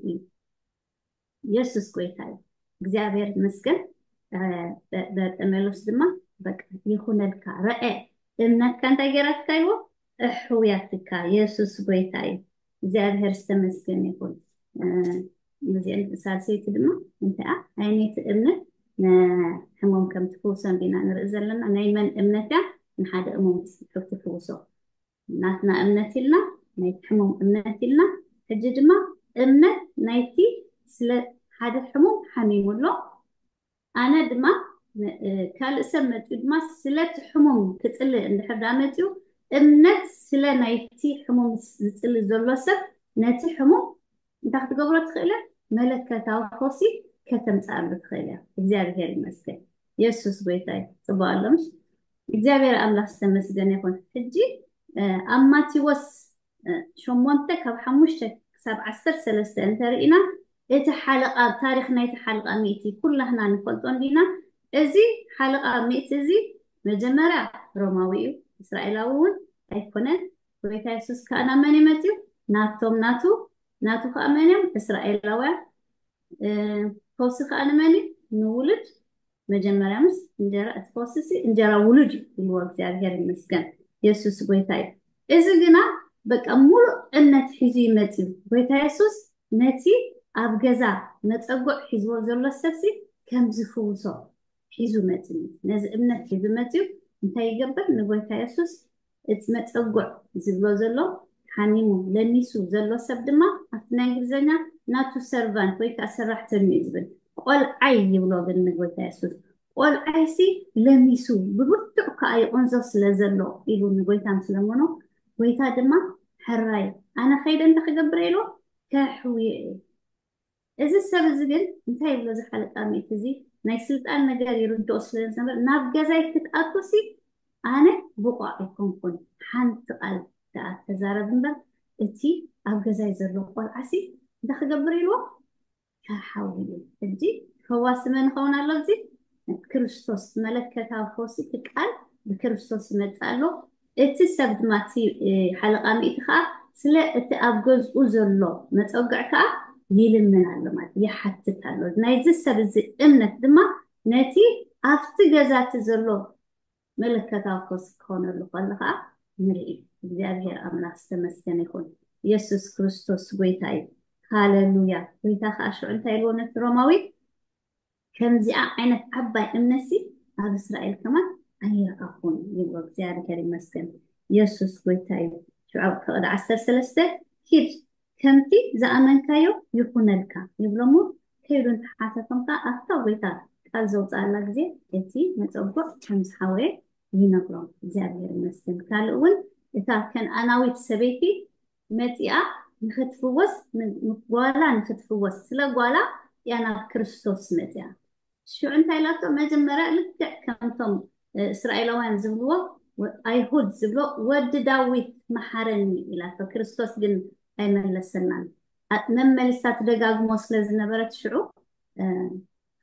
የሱስ ጎይታ እዩ። እግዚኣብሔር ይመስገን። በርጠሜሎስ ድማ በቃ ይኹነልካ ረአ እምነትካ እንታይ ገይራትካ ይዎ እሕውያትካ የሱስ ጎይታ እዩ። እግዚኣብሔር ዝተመስገን ይኹን። እዚአን ሳልሰይቲ ድማ እንታይ ዓይነይቲ እምነት ንሕሞም ከም ትፍውሶም ዲና ንርኢ ዘለና ናይ መን እምነት እያ ንሓደ እሙን ትፍውሶ ናትና እምነት ኢልና ናይ ሕሙም እምነት ኢልና ሕጂ ድማ እምነት ናይቲ ስለ ሓደ ሕሙም ሓሚሙ ኣሎ ኣነ ድማ ካልእ ሰብ መፅኡ ድማ ስለቲ ሕሙም ክፅልእ እንድሕር ዳ መፅኡ እምነት ስለ ናይቲ ሕሙም ዝፅሊ ዘሎ ሰብ ነቲ ሕሙም እንታይ ክትገብሮ ትኽእል እያ መለከታዊ ፈውሲ ከተምፅኣሉ ትኽእል እያ እግዚኣብሔር ይመስገን የሱስ ጎይታ እዩ ፅቡቅ ኣሎ ምሽ እግዚኣብሔር ኣምላኽ ዝተመስገነ ይኹን ሕጂ ኣብ ማቴዎስ ሸሞንተ ካብ ሓሙሽተ ክሳብ ዓሰርተ ሰለስተ እንተርኢና እቲ ሓለቃ ታሪክ ናይቲ ሓለቃ ሚእቲ ኩላህና ንፈልጦ እንዲና እዚ ሓለቃ ሚእቲ እዚ መጀመርያ ሮማዊ እዩ እስራኤላዊ እውን ኣይኮነን ጎይታ የሱስ ከዓ ናብ መን እዩ መፅዩ? ናቶም ናቱ ናቱ ከዓ መን እዮም? እስራኤላውያን። ፈውሲ ከዓ ንመን እዩ? ንውሉድ። መጀመርያ ምስ እንጀራ እቲ ፈውሲ ሲ እንጀራ ውሉድ እዩ ኢልዎ። እግዚኣብሔር ይመስገን። የሱስ ጎይታ እዩ። እዚ ግና በቃ ሙሉእ እምነት ሒዙ ይመፅዩ። ጎይታ የሱስ ነቲ ኣብ ገዛ መፀጉዕ ሒዝዎ ዘሎ ሰብሲ ከም ዝፍውሶ ሒዙ መፅዩ። ነዚ እምነት ሒዙ መፅዩ እንታይ ይገብር? ንጎይታ የሱስ እቲ መፀጉዕ ዝብሎ ዘሎ ሓሚሙ ለሚሱ ዘሎ ሰብ ድማ ኣብቲ ናይ እንግሊዝኛ ናቱ ሰርቫንት ወይ ከዓ ሰራሕተኛ እዩ ዝብል። ቆልዓይ ይብሎ ግን ንጎይታ የሱስ ቆልዓይሲ ለሚሱ ብብርቱዕ ከዓ ይቆንዞ ስለ ዘሎ ኢሉ ንጎይታ ምስ ለመኖ ጎይታ ድማ ሕራይ ኣነ ከይደ እንተ ክገብር ኢሉ ከሕውዮ እዩ። እዚ ሰብ እዚ ግን እንታይ ይብሎ ዝሓለቃ ሚእቲ እዚ ናይ ስልጣን ነገር ይርድኦ ስለ ዝነበር ናብ ገዛይ ክትኣቱ ሲ ኣነ ብቑዕ ኣይኮንኩን ሓንቲ ቃል ደኣ ተዛረብ እምበር እቲ ኣብ ገዛይ ዘሎ ቆልዓ ሲ እንታይ ክገብር ኢልዎ ከሓውዩ። ሕጂ ፈዋሲ መን ይኸውን ኣሎ? እዚ ክርስቶስ መለከታዊ ፈውሲ እቲ ቃል ብክርስቶስ ይመጽእ ኣሎ። እቲ ሰብ ድማ እቲ ሓለቃ ሚእቲ ከዓ ስለ እቲ ኣብ ገዝኡ ዘሎ መፀግዕ ከዓ ይልምን ኣሎ ማለት ይሓትት ኣሎ። ናይዚ ሰብ እዚ እምነት ድማ ነቲ ኣብቲ ገዛ እቲ ዘሎ መለከታዊ ፈውሲ ክኾነሉ ከሎ ከዓ ንርኢ። እግዚኣብሔር ኣምላኽ ዝተመስገነ ይኹን። የሱስ ክርስቶስ ጎይታ እዩ። ሃለሉያ። ጎይታ ከዓ ሽዑ እንታይ ኢልዎ ነቲ ሮማዊ? ከምዚኣ ዓይነት ዓባይ እምነትሲ ኣብ እስራኤል ከማን ኣይረኣኹን ይብሎ። እግዚኣብሔር ይመስገን። የሱስ ጎይታ እዩ። ሽዑ ኣብ ፍቕዲ ዓሰርተ ሰለስተ ኪድ ከምቲ ዝኣመንካዮ ይኹነልካ ይብሎሞ። ከይዱ እንተሓተቶም ከዓ ኣብታ ጎይታ ቃል ዘውፅኣላ ግዜ እቲ መፀጉዕ ከም ዝሓወየ ይነግሮም። እግዚኣብሔር ይመስገን። ካልእ እውን እታ ከነኣናዊት ሰበይቲ መፂኣ ንክትፍወስ ጓላ ንክትፍወስ ስለ ጓላ እያ ናብ ክርስቶስ መፂኣ። ሽዑ እንታይ ኢላቶ? መጀመርያ ልክዕ ከምቶም እስራኤላውያን ዝብልዎ ኣይሁድ ዝብሎ ወዲ ዳዊት መሓረኒ ኢላቶ። ክርስቶስ ግን ኣይመለሰናን። መመሊሳ ትደጋግሞ ስለ ዝነበረት ሽዑ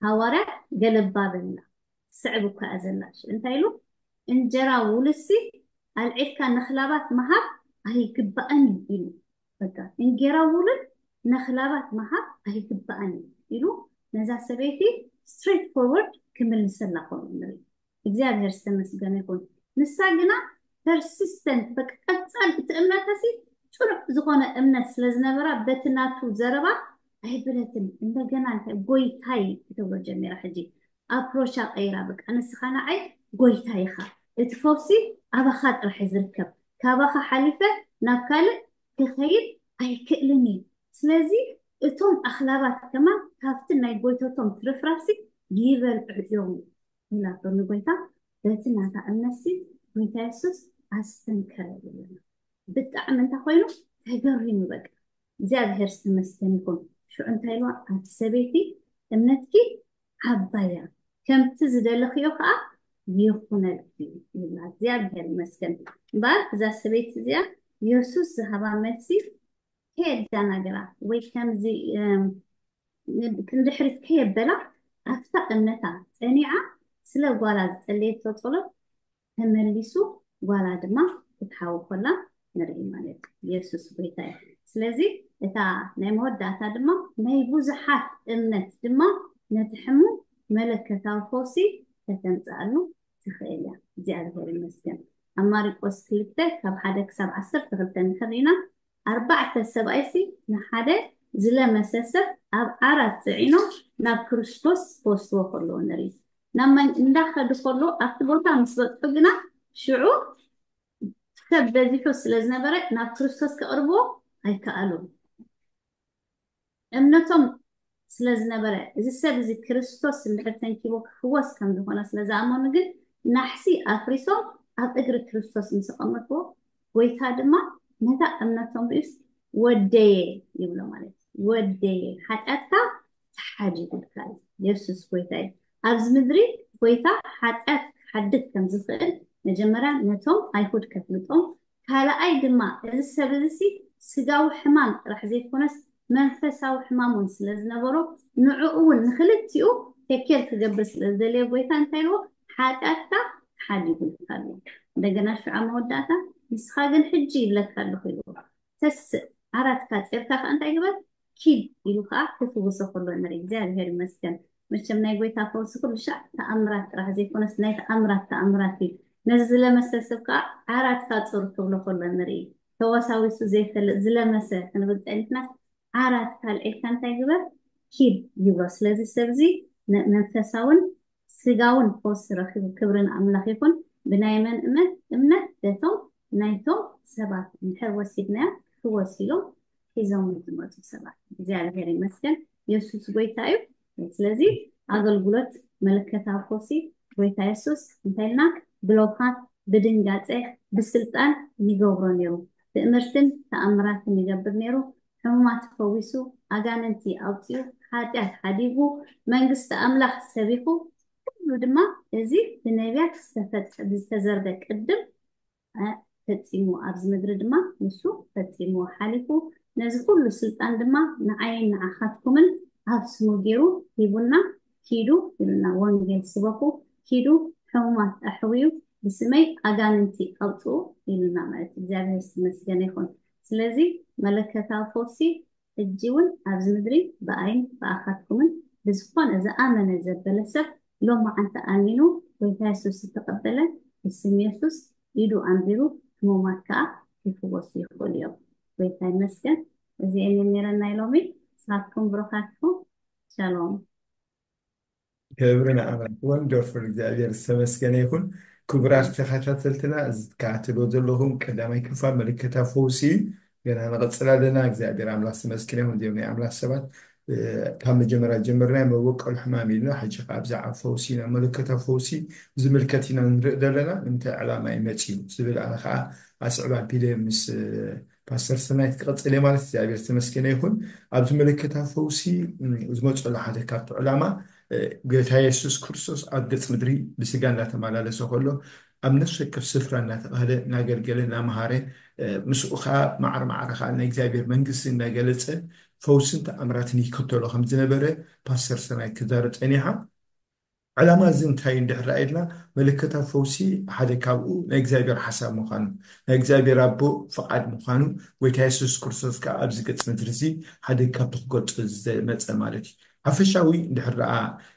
ሃዋርያ ገለባ በላ። ስዕብ እኳ እያ ዘላ። ሽዑ እንታይ ኢሉ? እንጀራ ውልሲ ኣልዒልካ ንክላባት ምሃብ ኣይግባእን እዩ ኢሉ። በቃ እንጌራ ውሉድ ነኽላባት ምሃብ ኣይግባእን እዩ ኢሉ ነዛ ሰበይቲ ስትሬት ፎርወርድ ክምልሰላ ከሎ ንርኢ። እግዚኣብሔር ዝተመስገነ ይኹን። ንሳ ግና ፐርሲስተንት በቃ ቀጻል እቲ እምነታሲ ጽኑዕ ዝኾነ እምነት ስለ ዝነበራ በቲ ናቱ ዘረባ ኣይበለትን። እንደገና እንታይ ጎይታይ ክትብሎ ጀሚራ። ሕጂ ኣፕሮቻ ቀይራ በቃ ንስኻ ንዓይ ጎይታ ኢኻ፣ እቲ ፈውሲ ኣባኻ ጥራሕ እዩ ዝርከብ፣ ካባኻ ሓሊፈ ናብ ካልእ ክኸይድ ኣይክእልን እዩ። ስለዚ እቶም ኣኽላባት ከማን ካብቲ ናይ ጎይቶቶም ትርፍራፍሲ ይበልዑ እዮም ኢላቶ ንጎይታ። በቲ ናታ እምነትሲ ጎይታ የሱስ ኣስተንከረ ይብለና። ብጣዕሚ እንታይ ኮይኑ ተገሪሙ በቃ እግዚኣብሔር ዝተመስገን ይኹን። ሽዑ እንታይ ኢልዋ ኣቲ ሰበይቲ እምነትኪ ዓባያ ከምቲ ዝደለኽዮ ከዓ ይኹነልኪ ይብላ። እግዚኣብሔር ይመስገን። እምበኣር እዛ ሰበይቲ እዚኣ የሱስ ዝሃባ መልሲ ከየዳናገራ ወይ ከምዚ ንድሕሪት ከየበላ ኣብታ እምነታ ፀኒዓ ስለ ጓላ ዝፀለየቶ ፀሎት ተመሊሱ ጓላ ድማ ክትሓዊ ኮላ ንርኢ ማለት እዩ። የሱስ ጎይታ እዩ። ስለዚ እታ ናይ መወዳእታ ድማ ናይ ብዙሓት እምነት ድማ ነቲ ሕሙም መለከታዊ ፈውሲ ከተምፅኣሉ ትኽእል እያ። እግዚኣብሔር ይመስገን። ኣብ ማርቆስ ክልተ ካብ ሓደ ክሳብ ዓሰርተ ክልተ እንድሕር ርኢና ኣርባዕተ ሰብኣይሲ ንሓደ ዝለመሰ ሰብ ኣብ ዓራት ፅዒኖም ናብ ክርስቶስ ክወስድዎ ከለዉ ንርኢ። ናብ መን እንዳኸዱ ከለዉ ኣብቲ ቦታ ምስ በፅሑ ግና ሽዑ ሰብ በዚሑ ስለ ዝነበረ ናብ ክርስቶስ ከቕርብዎ ኣይከኣሉን። እምነቶም ስለ ዝነበረ እዚ ሰብ እዚ ክርስቶስ እንድሕር ተንኪቦ ክፍወስ ከም ዝኾነ ስለ ዝኣመኑ ግን ናሕሲ ኣፍሪሶም ኣብ እግሪ ክርስቶስ ምስ ኣቐመጥዎ ጎይታ ድማ ነታ እምነቶም ርእዩስ ወደየ ይብሎ ማለት እዩ። ወደየ ሓጢኣትካ ተሓዲጉልካ እዩ። የሱስ ጎይታ እዩ። ኣብዚ ምድሪ ጎይታ ሓጢኣት ክሓድግ ከም ዝኽእል መጀመርያ ነቶም ኣይሁድ ከፍልጦም ካልኣይ ድማ እዚ ሰብ እዚ ሲ ስጋዊ ሕማም ጥራሕ ዘይኮነስ መንፈሳዊ ሕማም እውን ስለ ዝነበሮ ንዕኡ እውን ንክልቲኡ ቴኬር ክገብር ስለ ዝደለየ ጎይታ እንታይ ኢልዎ ሓጢኣትካ ሓዲጉልካ ኣሎ። እንደገና ሽዑ ኣብ መወዳእታ ንስኻ ግን ሕጂ ይብለካ ኣለኹ ኢልዎ። ተስእ፣ ዓራትካ ጼርካ ከኣ እንታይ ግበር? ኪድ ኢሉ ከኣ ክፍውሶ ከሎ ንርኢ። እግዚኣብሔር ይመስገን። መቸም ናይ ጎይታ ፈውሲ ኩሉ ሻዕ ተኣምራት ጥራሕ ዘይኮነስ ናይ ተኣምራት ተኣምራት እዩ። ነዚ ዝለመሰ ሰብ ከኣ ዓራትካ ጹር ክብሎ ከሎ ንርኢ። ተወሳዊሱ ዘይፈልጥ ዝለመሰ ክንብል ጸኒሕና ዓራትካ ኣልዒልካ እንታይ ግበር? ኪድ ይብሎ። ስለዚ ሰብዚ ነ-፣ መንፈሳውን ስጋውን ፈውሲ ረኺቡ። ክብሪ ንኣምላኽ ይኹን። ብናይ መን እመ-፣ እምነት? በቶም ናይቶም ሰባት እንድሕር ወሲድናዮ ክወስ ኢሎም ሒዞም ዝመፁ ሰባት። እግዚኣብሔር ይመስገን። የሱስ ጎይታ እዩ። ስለዚ ኣገልግሎት መለከታዊ ፈውሲ ጎይታ የሱስ እንታይ ኢልና ብለውሃት ብድንጋፀ ብስልጣን ይገብሮ ነይሩ። ትእምርትን ተኣምራትን ይገብር ነይሩ። ሕሙማት ፈዊሱ፣ ኣጋንንቲ ኣውፂኡ፣ ሓጢኣት ሓዲጉ፣ መንግስቲ ኣምላኽ ሰቢኹ፣ ኩሉ ድማ እዚ ብነቢያት ዝተፈጸ-፣ ዝተዘርበ ቅድም፣ እ፣ ፈጺሙ ኣብዚ ምድሪ ድማ ንሱ ፈጺሙ ሓሊፉ፣ ነዚ ኩሉ ስልጣን ድማ ንዓይን ንዓኻትኩምን ኣብ ስሙ ገይሩ ሂቡና፣ ኪዱ ኢሉና፣ ወንጌል ስበኹ፣ ኪዱ ሕሙማት ኣሕውዩ፣ ብስመይ ኣጋንንቲ ኣውፅኡ ኢሉና ማለት እዩ። እግዚኣብሔር ዝተመስገነ ይኹን። ስለዚ መለከታዊ ፈውሲ ሕጂ እውን ኣብዚ ምድሪ ብኣይን ብኣኻትኩምን ብዝኾነ ዝኣመነ ዘበለ ሰብ ሎማዓንቲ ኣሚኑ ጎይታ የሱስ ዝተቐበለ ብስም የሱስ ኢዱ ኣንቢሩ ሕሙማት ከዓ ክፍወሱ ይኽእሉ እዮም። ጎይታ ይመስገን። እዚአን ነይረን ናይ ሎሚ። ንስኻትኩም ብሩኻት ኢኹም። ሻሎም። ክብሪ ንኣምላኽ። ወንደርፉል። እግዚኣብሔር ዝተመስገነ ይኹን። ክቡራት ተኸታተልትና፣ እዚ ትከታተልዎ ዘለኹም ቀዳማይ ክፋል መለከታዊ ፈውሲ እዩ። ገና ንቐጽል ኣለና። እግዚኣብሔር ኣምላኽ ዝተመስገነ ይኹን። እዚኦም ናይ ኣምላኽ ሰባት፣ እ፣ ካብ መጀመርያ ጀምርና መበቆል ሕማም ኢልና፣ ሕጂ ከዓ ብዛዕባ ፈውሲ ኢና፣ መለከታዊ ፈውሲ ዝምልከት ኢና ንርኢ ዘለና። ንምንታይ ዕላማ እዩ መጺኡ ዝብል ኣነ ከዓ ኣስዕብ ኣቢለ ምስ፣ እ፣ ፓስተር ሰናይት ክቐጽል እየ ማለት። እግዚኣብሔር ዝተመስገነ ይኹን። ኣብዚ መለከታዊ ፈውሲ፣ እ፣ ዝመጸሉ ሓደ ካብቲ ዕላማ፣ እ፣ ጎይታ የሱስ ክርስቶስ ኣብ ገጽ ምድሪ ብስጋ እናተመላለሰ ከሎ ኣብ ነፍሲ ወከፍ ስፍራ እናተባህለ እናገልገለ እናመሃረ፣ እ፣ ምስኡ ከዓ ማዕረ ማዕረ ከዓ ናይ እግዚኣብሔር መንግስቲ እናገለጸ ፈውስን ተኣምራትን ይከተሎ ከም ዝነበረ ፓስተር ሰናይት ክዛረብ ጸኒሓ። ዕላማ እዚ እንታይ እንድሕር ኢልና፣ መለከታዊ ፈውሲ ሓደ ካብኡ ናይ እግዚኣብሔር ሓሳብ ምዃኑ፣ ናይ እግዚኣብሔር ኣቦ ፍቓድ ምዃኑ፣ ጎይታ የሱስ ክርስቶስ ከዓ ኣብዚ ገጽ ምድሪ እዚ ሓደ ካብቲ ክገልጾ ዝመጸ ማለት እዩ። ሓፈሻዊ እንድሕር ደኣ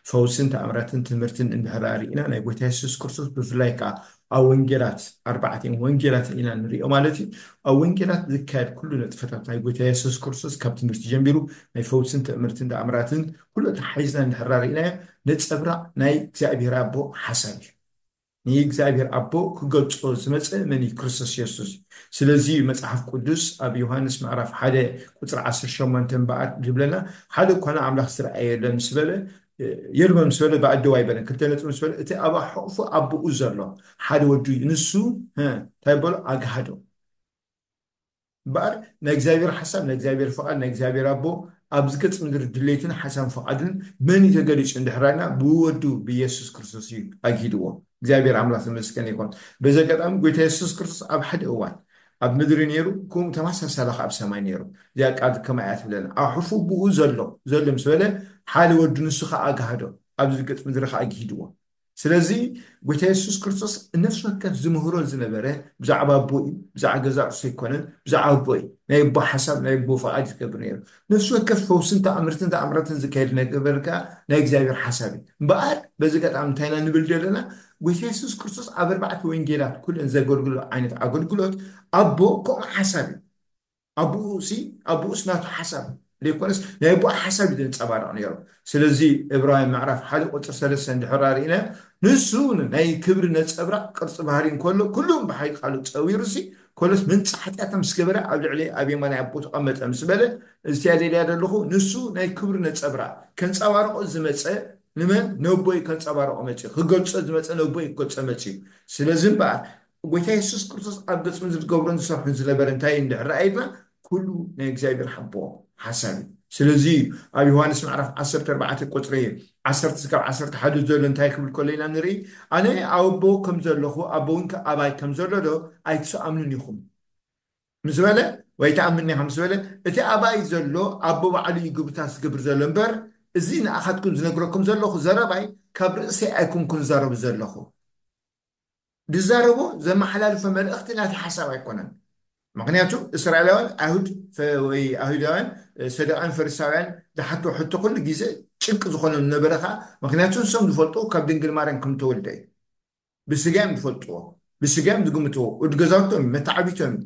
ፈውስን ተኣምራትን ትምህርትን እንድሕር ደኣ ርኢና፣ ናይ ጎይታ የሱስ ክርስቶስ ብፍላይ ከዓ ኣብ ወንጌላት፣ ኣርባዕተ ወንጌላት ኢና ንሪኦ ማለት እዩ። ኣብ ወንጌላት ዝካየድ ኩሉ ንጥፈታት ናይ ጎይታ የሱስ ክርስቶስ ካብ ትምህርቲ ጀሚሩ ናይ ፈውስን ትምህርትን ተኣምራትን ኩሉ ተሓሒዝና እንድሕር ደኣ ርኢናዮ፣ ነጸብራቕ ናይ እግዚኣብሔር ኣቦ ሓሳብ እዩ። ንእግዚኣብሔር ኣቦ ክገልጾ ዝመጸ መን እዩ? ክርስቶስ የሱስ እዩ። ስለዚ መጽሓፍ ቅዱስ ኣብ ዮሃንስ ምዕራፍ ሓደ ቁጽሪ ዓሰርተ ሸሞንተ እምበኣር ዝብለና፣ ሓደ እኳ ንኣምላኽ ዝረኣየ የለን ምስ በለ፣ የልቦን ምስ በለ ብኣደው ኣይበለን። ክልተ ነጥቢ ምስ በለ፣ እቲ ኣብ ሕቑፉ ኣቦኡ ዘሎ ሓደ ወዱ እዩ። ንሱ፣ እ፣ እንታይ በሎ? ኣግሃዶ። እምበኣር ናይ እግዚኣብሔር ሓሳብ፣ ናይ እግዚኣብሔር ፍቓድ፣ ናይ እግዚኣብሔር ኣቦ ኣብዚ ገጽ ምድሪ ድሌትን ሓሳብ ፍቓድን መን እዩ ተገሊጹ እንድሕር ኢልና፣ ብወዱ ብኢየሱስ ክርስቶስ እዩ ኣግሂድዎ። እግዚኣብሔር ኣምላኽ ተመስገን ይኹን። በዚ ኣጋጣሚ ጎይታ የሱስ ክርስቶስ ኣብ ሓደ እዋን ኣብ ምድሪ ነይሩ፣ ከምኡ ተመሳሳሊ ከኣ ኣብ ሰማይ ነይሩ። እዚኣ ቃል ከማይ እያ ትብለና። ኣብ ሕፉ ብኡ ዘሎ፣ ዘሎ ምስ በለ ሓደ ወዱ ንሱ ከኣ ኣግሃዶ፣ ኣብዚ ገጽ ምድሪ ከኣ ኣግሂድዎ። ስለዚ ጎይታ የሱስ ክርስቶስ ነፍሲ ወከፍ ዝምህሮ ዝነበረ ብዛዕባ ኣቦ እዩ፣ ብዛዕባ ገዛ ርእሱ ኣይኮነን፣ ብዛዕባ ኣቦ እዩ። ናይ ኣቦ ሓሳብ፣ ናይ ኣቦ ፍቓድ እዩ ዝገብር ነይሩ። ነፍሲ ወከፍ ፈውስን ተኣምርትን ተኣምራትን ዝካየድ ነገር ከኣ ናይ እግዚኣብሔር ሓሳብ እዩ። እምበኣር በዚ ኣጋጣሚ እንታይ ኢና ንብል ዘለና? ጎይታ የሱስ ክርስቶስ ኣብ ኣርባዕተ ወንጌላት ኩለን ዘገልግሎ ዓይነት ኣገልግሎት ኣቦ ከምኡ ሓሳብ እዩ። ኣቦኡ ሲ፣ ኣቦኡስ ናቱ ሓሳብ ዘይኮነስ ናይ ኣቦኡ ሓሳብ እዩ ዘንጸባርቕ ነይሩ። ስለዚ ዕብራውያን ምዕራፍ ሓደ ቁጽሪ ሰለስተ እንድሕር ርኢና፣ ንሱ ናይ ክብሪ ነጸብራቕ ቅርጺ ባህሪ እንከሎ፣ ኩሉ ብሓይሊ ቃሉ ጸዊሩ ሲ፣ ኮሎስ መንጻ ሓጢኣት ምስ ገበረ ኣብ ልዕሊ ኣብ የማናይ ኣቦኡ ተቐመጠ ምስ በለ፣ እዚኣ ደልያ ዘለኹ፣ ንሱ ናይ ክብሪ ነጸብራቕ ከንጸባርቖ ዝመጸ ንመን? ነቦይ ከንጸባርቖ መጺኡ። ክገልጾ ዝመጸ ነቦይ ክገልጾ መጺኡ። ስለዚ እምበኣር ጎይታ የሱስ ክርስቶስ ኣብ ገጽ ምድሪ ዝገብሮን ዝሰርሖን ዝነበረ እንታይ እንድሕር ረኣይና፣ ኩሉ ናይ እግዚኣብሔር ሓቦ ሓሳብ እዩ። ስለዚ ኣብ ዮሃንስ ምዕራፍ ዓሰርተ ኣርባዕተ ቁጽሪ ዓሰርተ እስካብ ዓሰርተ ሓደ ዘሎ እንታይ ክብል ከሎ ኢና ንርኢ? ኣነ ኣብ ኣቦ ከም ዘለኹ፣ ኣቦ እውን ከ-፣ ኣባይ ከም ዘሎ ዶ ኣይትኣምኑን ኢኹም? ምስ በለ፣ ወይ ትኣምንኒ ኢኻ ምስ በለ፣ እቲ ኣባይ ዘሎ ኣቦ ባዕሉ እዩ ግብርታት ዝገብር ዘሎ እምበር፣ እዚ ንኣኻትኩም ዝነግረኩም ዘለኹ ዘረባይ ካብ ርእሰይ ኣይኮንኩን ዝዛረቡ ዘለኹ። ዝዛረቦ ዘመሓላልፎ መልእኽቲ ናቲ ሓሳብ ኣይኮነን። ምክንያቱ እስራኤላውያን ኣይሁድ ፈ- ወይ ኣይሁዳውያን እ፣ ሰዱቃውያን ፈሪሳውያን ዝሓቶ ሕቶ ኩሉ ግዜ ጭንቂ ዝኾኖም ዝነበረ ከዓ ምክንያቱ ንሶም ዝፈልጡ ካብ ድንግል ማርያም ከም ተወልደ እዩ። ብስጋ እዮም ዝፈልጥዎ፣ ብስጋ እዮም ዝግምትዎ። ወዲ ገዛውቶም እዩ፣ መተዓቢቶም እዩ።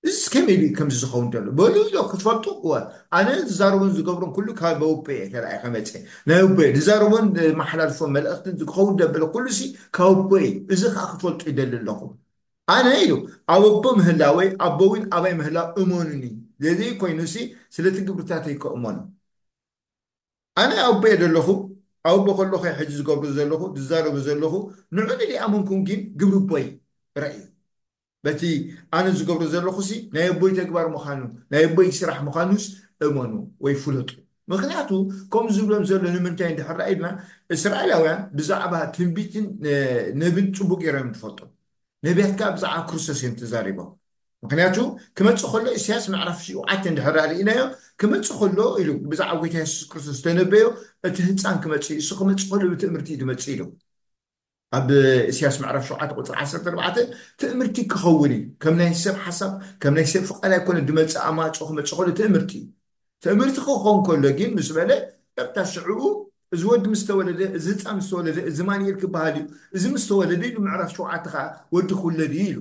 እዚ ከመይ ኢሉ እዩ ከምዚ ዝኸውን ዘሎ በሉ ኢሎ ክትፈልጡ እወ፣ ኣነ ዝዛረቦን ዝገብሮን ኩሉ ካብ ኣቦ እየ ተራእየ ከመፀ ናይ ኣቦ እየ ዝዛረቦን መሓላልፎ መልእክትን ዝኸውን ደበለ ኩሉ ሲ ካብ ኣቦ እዩ። እዚ ከዓ ክትፈልጡ ይደሊ ኣለኹ። ኣነ ኢሉ ኣብ ኣቦ ምህላወይ ኣቦ እውን ኣባይ ምህላው እመኑኒ። ዘይኮይኑ ሲ ስለቲ ግብርታተይ ከእመኑ ኣነ ኣብ ኣቦየ ዘለኹ ኣብ ኣቦ ከለኹ ሕጂ ዝገብሩ ዘለኹ ዝዛረቡ ዘለኹ ንዑ ንሪኣመንኩም ግን ግብሪ ኣቦይ ረእዩ በቲ ኣነ ዝገብሮ ዘለኹ ሲ ናይ ኣቦይ ተግባር ምዃኑ ናይ ኣቦይ ስራሕ ምዃኑስ እመኑ ወይ ፍለጡ። ምክንያቱ ከምኡ ዝብሎም ዘሎ ንምንታይ እንድሕር ኢልና እስራኤላውያን ብዛዕባ ትንቢትን ነብን ፅቡቅ ገይሮም ትፈልጡ። ነቢያት ከዓ ብዛዕባ ክርስቶስ እዮም ተዛሪቦም። ምክንያቱ ክመፅእ ከሎ ኢሳያስ ምዕራፍ ሽውዓተ እንድሕር ርኢናዮ ክመፅእ ከሎ ኢሉ ብዛዕባ ጎይታ የሱስ ክርስቶስ ዝተነበዮ እቲ ህፃን ክመፅእ እዩ እሱ ክመፅእ ከሎ ብትእምርቲ እዩ ዝመፅእ ኢሉ ኣብ ኢሳያስ ምዕራፍ ሸውዓተ ቁፅሪ ዓሰርተ ኣርባዕተ ትእምርቲ ክኸውን እዩ ከም ናይ ሰብ ሓሳብ ከም ናይ ሰብ ፍቃድ ኣይኮነ ዝመፅእ ኣማፅኦ ክመፅእ ከሎ ትእምርቲ እዩ ትእምርቲ ክኸውን ከሎ ግን ምስ በለ ቀጥታ ሽዕኡ እዚ ወዲ ምስ ተወለደ እዚ ህፃን ምስ ተወለደ እዚ ማንኤል ክበሃል እዩ እዚ ምስ ተወለደ ኢሉ ምዕራፍ ሸውዓተ ከዓ ወዲ ክውለድ እዩ ኢሉ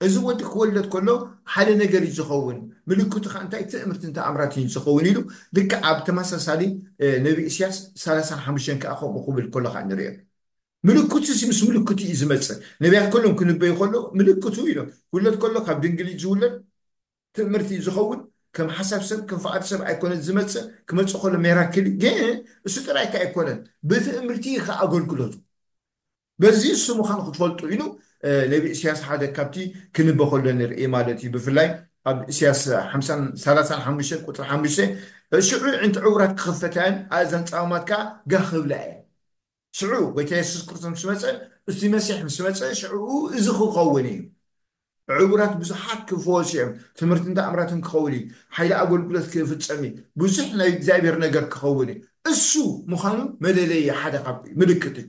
እዚ ወዲ ክወለድ ከሎ ሓደ ነገር እዩ ዝኸውን ምልክቱ ከዓ እንታይ ትእምርትን ተኣምራትን እዩ ዝኸውን ኢሉ ልክዕ ኣብ ተመሳሳሊ ነቢ እስያስ ሰላሳን ሓሙሽተን ከዓ ከምኡ ክብል ከሎ ከዓ ንሪኦ ምልክቱ ሲ ምስ ምልክቱ እዩ ዝመፅእ ነቢያት ከሎም ክንበዩ ከሎ ምልክቱ ኢሎም ክውለድ ከሎ ካብ ድንግል እዩ ዝውለድ ትእምርቲ እዩ ዝኸውን ከም ሓሳብ ሰብ ከም ፍቓድ ሰብ ኣይኮነን ዝመፅእ ክመፅእ ከሎ ሜራክል ግን እሱ ጥራይ ከ ኣይኮነን ብትእምርቲ እዩ ከኣገልግሎቱ በዚ እሱ ምዃኑ ክትፈልጡ ኢሉ ነቢ እስያስ ሓደ ካብቲ ክንበ ከሎ ንርኢ ማለት እዩ ብፍላይ ኣብ እስያስ ሰላሳን ሓሙሽተ ቁፅሪ ሓሙሽተ ሽዑ ዕንቲ ዕውራት ክኸፈታን ኣእዛን ፃማት ከዓ ጋህ ክብላ እየ ሽዑ ጎይታ የሱስ ክርስቶስ ምስ መፀ እቲ መሲሕ ምስ መፀ ሽዑ እዚ ክኸውን እዩ ዕውራት ብዙሓት ክፈወሱ እዮም ትምህርትን ተኣምራትን ክኸውን እዩ ሓይሊ ኣገልግሎት ክፍፀም እዩ ብዙሕ ናይ እግዚኣብሔር ነገር ክኸውን እዩ እሱ ምዃኑ መለለየ ሓደ ካብ ምልክት እዩ